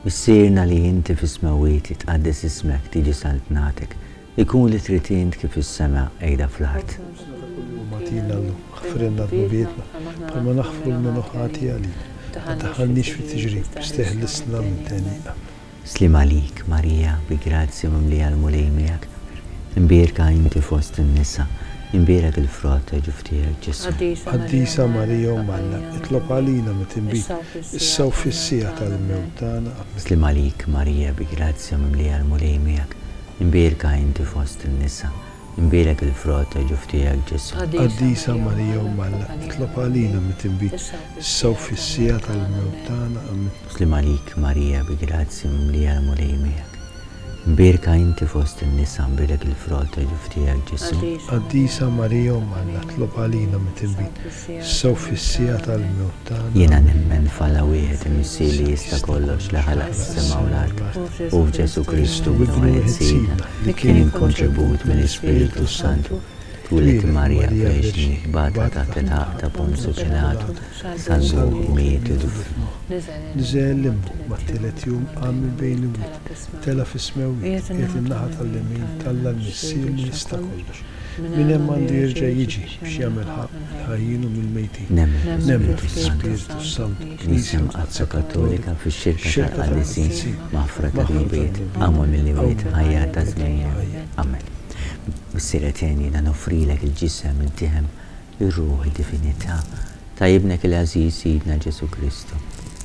Missierna li inti fis-smewwiet jitqaddes ismek, tiġi saltnatek, ikun li trid int kif fis-sema qiegħda fl-art. Ħobżna ta' kuljum agħtina llum, aħfrilna dnubietna, bħalma naħfru 'l min hu ħati għalina. Ma ddaħħalniex fit-tiġrib, biss teħlisna mid-deni. Amen. Sliem għalik, Marija, bi grazzja mimlija l-Mulej miegħek, imbierka inti fost in-nisa, imbierek il-frott ta' ġuf tiegħek, Ġesù. Qaddisa Marija Omm Alla, itlob għalina midinbin, issa u fis-siegħa tal-mewt tagħna. Amen. Sliem għalik, Marija, bi grazzja mimlija l-Mulej miegħek, imbierka inti fost in-nisa, Imbierek il-frott ta' ġuf tiegħek, Ġesù. Qaddisa Marija Omm Alla, itlob għalina midinbin, issa u fis-siegħa tal-mewt tagħna. Amen. Sliem għalik, Marija, bi grazzja mimlija l-Mulej miegħek. Imbierka inti fost in-nisa, imbierek il-frott ta' ġuf tiegħek, Ġesù. Qaddisa Marija Omm Alla, itlob għalina midinbin, issa u fis-siegħa tal-mewt tagħna. Jiena nemmen f'Alla wieħed, il-Missier li jista' kollox, li ħalaq is-sema u l-art, u f'Ġesù Kristu, Ibnu wieħed Sidna, Li kien inkonċebut mill-Ispirtu s-Santu, twieled Marija Verġni, bata taħt il-ħaqq ta' Ponzju Pilatu, salbuh, miet u dufnuh. Niżel il-limbu, mat-tielet jum qam minn bejn l-imwiet, tela' fis-smewwiet, qiegħed in-naħa tal-lemin t'Alla l-Missier li jista' kollox. Minn hemm għandu jerġa' jiġi biex jagħmel ħaqq mill-ħajjin u mill-mejtin. Nemmen fl-Ispirtu s-Santu, Knisja Mqaddsa Kattolika, fix-xirka tal-qaddisin, maħfra ta' dnubiet, qawma mill-imwiet, ħajja ta' żmien ieħor. Amen. Missier Etern, jiena noffrilek il-ġisem, id-demm, ir-ruħ, id-divinità ta' Ibnek il-għażiż Sidna Ġesù Kristu,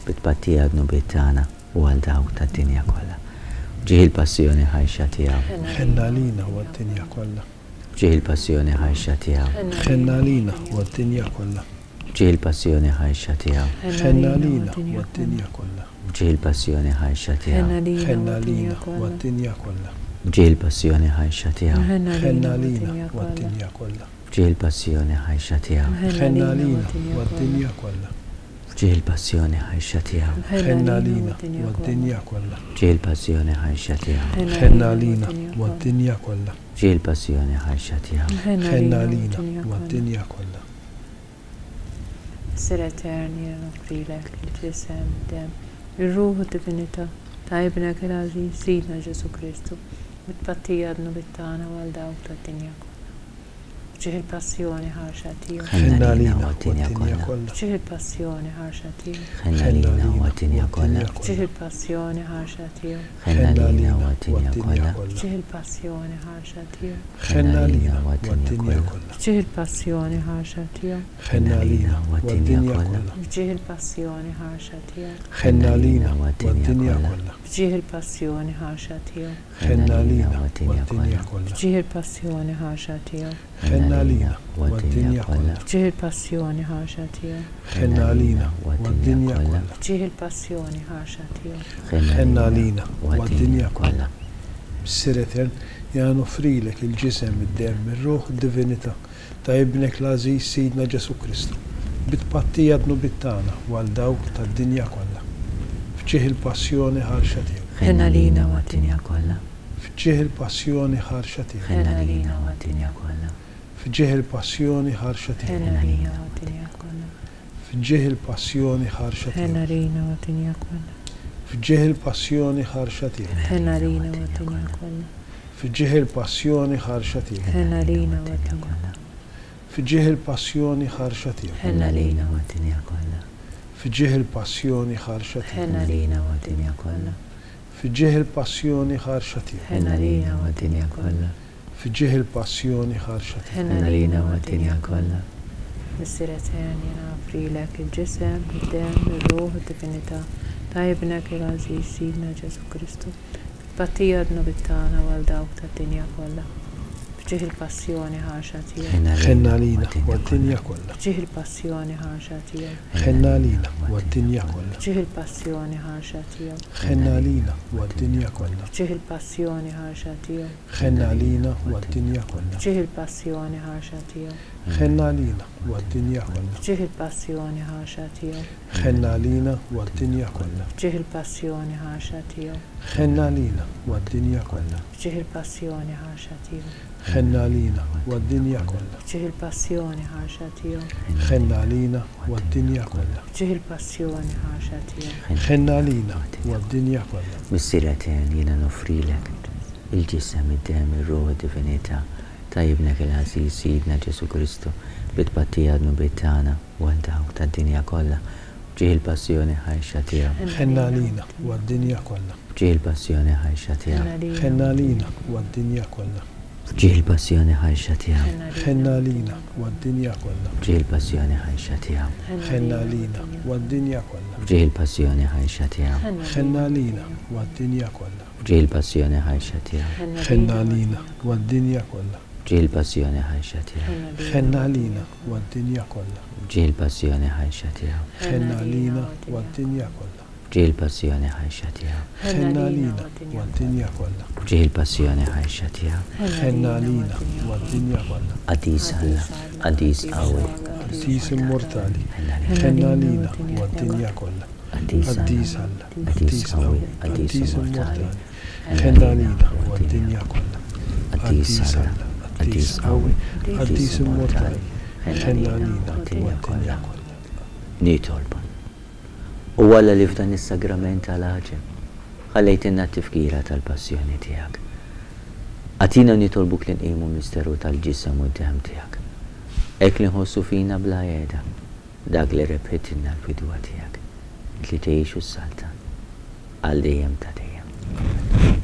bi tpattija għad-dnubiet tagħna u għal dawk tad-dinja kollha. F'ġieħ il-passjoni ħarxa tiegħu. Ħenn għalina u għad-dinja kollha. F'ġieħ il-passjoni ħarxa tiegħu. Ħenn għalina u għad-dinja kollha. F'ġieħ il-passjoni ħarxa tiegħu. Ħenn għalina u għad-dinja kollha. F'ġieħ il-passjoni ħarxa tiegħu. Ħenn għalina u għad-dinja kollha. F'ġieħ il-passjoni ħarxa tiegħu. Ħenn għalina u għad-dinja kollha. F'ġieħ il-passjoni ħarxa tiegħu. Ħenn għalina u għad-dinja kollha. F'ġieħ il-passjoni ħarxa tiegħu. Ħenn għalina u għad-dinja kollha. F'ġieħ il-passjoni ħarxa tiegħu. Ħenn għalina u għad-dinja kollha. F'ġieħ il-passjoni ħarxa tiegħu. Ħenn għalina u għad-dinja kollha. Missier Etern, jiena noffrilek il-ġisem, id-demm, ir-ruħ u d-divinità ta' Ibnek il-għażiż, Sidna Ġesù Kristu, bi tpattija għad-dnubiet tagħna u għal dawk tad-dinja kollha. F'ġieħ il-passjoni ħarxa tiegħu. Ħenn għalina u għad-dinja kollha. F'ġieħ il-passjoni ħarxa tiegħu. Ħenn għalina u għad-dinja kollha. F'ġieħ il-passjoni ħarxa tiegħu. Ħenn għalina u għad-dinja kollha. F'ġieħ il-passjoni ħarxa tiegħu. Ħenn għalina u għad-dinja kollha. F'ġieħ il-passjoni ħarxa tiegħu. Ħenn għalina u għad-dinja kollha. F'ġieħ il-passjoni ħarxa tiegħu. Ħenn għalina u għad-dinja kollha. F'ġieħ il-passjoni ħarxa tiegħu. Ħenn għalina u għad-dinja kollha. F'ġieħ il-passjoni ħarxa tiegħu. Ħenn għalina u għad-dinja kollha. F'ġieħ il-passjoni ħarxa tiegħu. Ħenn għalina u għad-dinja kollha. F'ġieħ il-passjoni ħarxa tiegħu. Ħenn għalina u għad-dinja kollha. Missier Etern, jiena noffrilek il-ġisem, id-demm, ir-ruħ u d-divinità ta' Ibnek l-għażiż Sidna Ġesù Kristu, bi tpattija għad-dnubiet tagħna u għal dawk tad-dinja kollha. F'ġieħ il-passjoni ħarxa tiegħu. Ħenn għalina u għad-dinja kollha. F'ġieħ il-passjoni ħarxa tiegħu. Ħenn għalina u għad-dinja kollha. F'ġieħ il-passjoni ħarxa tiegħu. Ħenn għalina u għad-dinja kollha. F'ġieħ il-passjoni ħarxa tiegħu. Ħenn għalina u għad-dinja kollha. F'ġieħ il-passjoni ħarxa tiegħu. Ħenn għalina u għad-dinja kollha. F'ġieħ il-passjoni ħarxa tiegħu. Ħenn għalina u għad-dinja kollha. F'ġieħ il-passjoni ħarxa tiegħu. Ħenn għalina u għad-dinja kollha. F'ġieħ il-passjoni ħarxa tiegħu. Ħenn għalina u għad-dinja kollha. F'ġieħ il-passjoni ħarxa tiegħu. Ħenn għalina u għad-dinja kollha. F'ġieħ il-passjoni ħarxa tiegħu. Ħenn għalina u għad-dinja kollha. Missier Etern, jiena noffrilek il-ġisem, id-demm, ir-ruħ u d-divinità ta' Ibnek il-għażiż Sidna Ġesù Kristu, bi tpattija għad-dnubiet tagħna u għal dawk tad-dinja kollha. F'ġieħ il-passjoni ħarxa tiegħu. Ħenn għalina u għad-dinja kollha. F'ġieħ il-passjoni ħarxa tiegħu. Ħenn għalina u għad-dinja kollha. F'ġieħ il-passjoni ħarxa tiegħu. Ħenn għalina u għad-dinja kollha. F'ġieħ il-passjoni ħarxa tiegħu. Ħenn għalina u għad-dinja kollha. F'ġieħ il-passjoni ħarxa tiegħu. Ħenn għalina u għad-dinja kollha. F'ġieħ il-passjoni ħarxa tiegħu. Ħenn għalina u għad-dinja kollha. F'ġieħ il-passjoni ħarxa tiegħu. Ħenn għalina u għad-dinja kollha. F'ġieħ il-passjoni ħarxa tiegħu. Ħenn għalina u għad-dinja kollha. F'ġieħ il-passjoni ħarxa tiegħu. Ħenn għalina u għad-dinja kollha. F'ġieħ il-passjoni ħarxa tiegħu. Ħenn għalina u għad-dinja kollha. Missier Etern, jiena noffrilek il-Ġisem, id-Demm, ir-Ruħ u d-Divinità ta' Ibnek il-għażiż, Sidna Ġesù Kristu, bi tpattija għad-dnubiet tagħna u għal dawk tad-dinja kollha, f'ġieħ il-passjoni ħarxa tiegħu. Ħenn għalina u għad-dinja kollha. F'ġieħ il-passjoni ħarxa tiegħu. Ħenn għalina u għad-dinja kollha. F'ġieħ il-passjoni ħarxa tiegħu. Ħenn għalina u għad-dinja kollha. F'ġieħ il-passjoni ħarxa tiegħu. Ħenn għalina u għad-dinja kollha. F'ġieħ il-passjoni ħarxa tiegħu. Ħenn għalina u għad-dinja kollha. F'ġieħ il-passjoni ħarxa tiegħu. Ħenn għalina u għad-dinja kollha. F'ġieħ il-passjoni ħarxa tiegħu. Ħenn għalina u għad-dinja kollha. F'ġieħ il-passjoni ħarxa tiegħu. Ħenn għalina u għad-dinja kollha. F'ġieħ il-passjoni ħarxa tiegħu. Ħenn għalina u għad-dinja kollha. F'ġieħ il-passjoni ħarxa tiegħu. Ħenn għalina u għad-dinja kollha. Qaddis Alla, Qaddis qawwi. Qaddis immortali. Ħenn għalina u għad-dinja kollha. Qaddis Alla, Qaddis qawwi, Qaddis immortali. Ħenn għalina u għad-dinja kollha. Qaddis Alla, Qaddis qawwi, Qaddis immortali. Ħenn għalina u għad-dinja kollha. Nitolbu. O Alla li f'dan is-sagrament tal-għaġeb ħallejtilna t-tifkira tal-passjoni tiegħek. Agħtina nitolbuk li nqimu l-misteru tal-ġisem u d-demm tiegħek, hekk li nħossu fina bla qiegħda dak li rebħitilna l-fidwa tiegħek, int li tgħix u ssaltan għal dejjem ta' dejjem. Amen.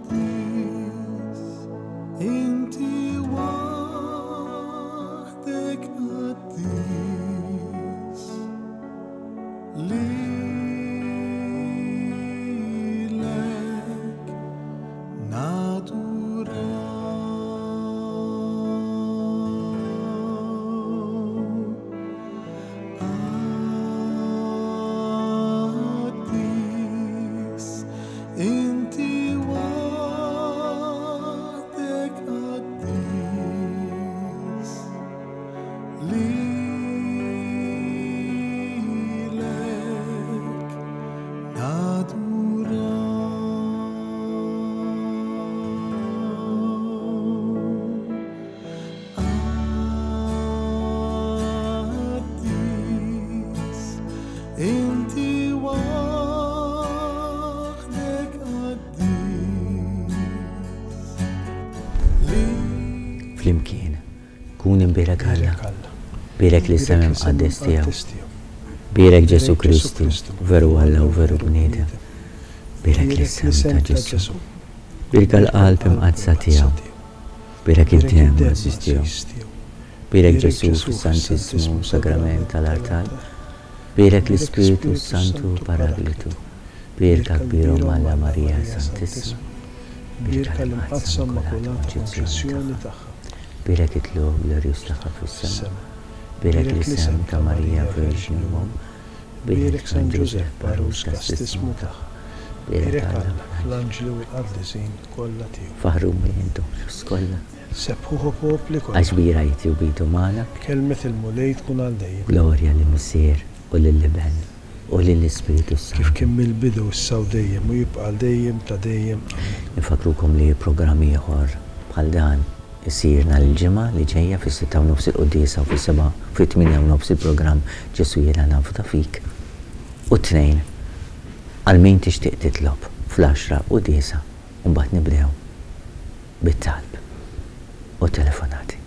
Qaddis, inti waħdek qaddis, lilek naduraw. Qaddis, inti waħdek qaddis, lilek naduraw. Qaddis, inti waħdek qaddis. Flimkien, kun imbierek Alla, bierek l-isem imqaddes tiegħu, bierek Ġesù Kristu, veru Alla u veru bniedem, bierek l-isem ta' Ġesù, bierek l-qalb imqaddsa tiegħu, bierek id-demm għażiż tiegħu, bierek Ġesù fis-Santissmu Sagrament tal-artal, bierek l-Ispirtu s-Santu Paraglitu, bierka kbir Omm Alla Marija Santissima, Bierka l-Imqaddsa Immakulata Konċezzjoni tagħha. Bierek it-tlugħ glorjuż tagħha fis-sema. Bierek l-isem ta' Marija Verġni u Omm. Bierek San Ġużepp għarus kastissmu tagħha. Bierek Alla fl-anġli u l-qaddisin kollha tiegħu. Faħħruni intom ġust kollha. Sebbħuh o popli kollha. Għax kbira hi tjubitu magħna. Kelmet il-Mulej tkun għal dejjem. Glorja lill-Missier u lill-Iben u lill-Ispirtu s-Santu. Kif kien mill-bidu, issa u dejjem, u jibqa' għal dejjem ta' dejjem. Amen. Infakkrukom li programm ieħor bħal dan isir nhar il-Ġimgħa li ġejja fis-sitta u nofs il-quddiesa u fis-sebgħa fit-tmienja u nofs il-programm Ġesù Jiena Nafda Fik u t-Tnejn għal min tixtieq titlob fl-għaxra u diesa' u mbagħad nibdew bit-talb u t-telefonati.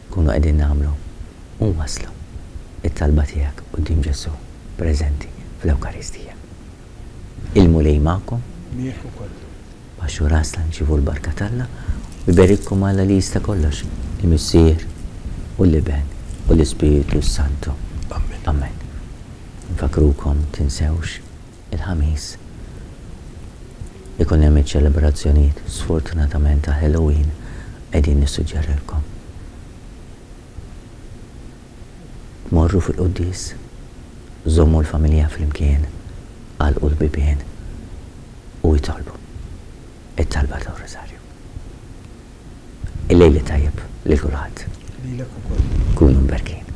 Nkunu qegħdin nagħmlu u nwasslu t-talba tiegħek quddiem Ġesù preżenti fl-Ewkaristija. Il-Mulej magħkom. Miegħek ukoll. Baxxu rasna nirċievu l-barka t'Alla u jberikkom Alla li jista' kollox, il-Missier u l-Iben u l-Ispirtu s-Santu. Amen. Amen. Infakkrukom tinsewx il-Ħamis ikun hemm iċ-ċelebrazzjonijiet sfortunatament ta' Halloween qegħdin nissuġġerilkom. Tmorru fil-quddies, żommu l-familja flimkien, għalqu l-bibien u itolbu. It-talba tar-Rużarju. Il-lejl it-tajjeb lil kulħadd. Lilek ukoll. Kunu mberkin.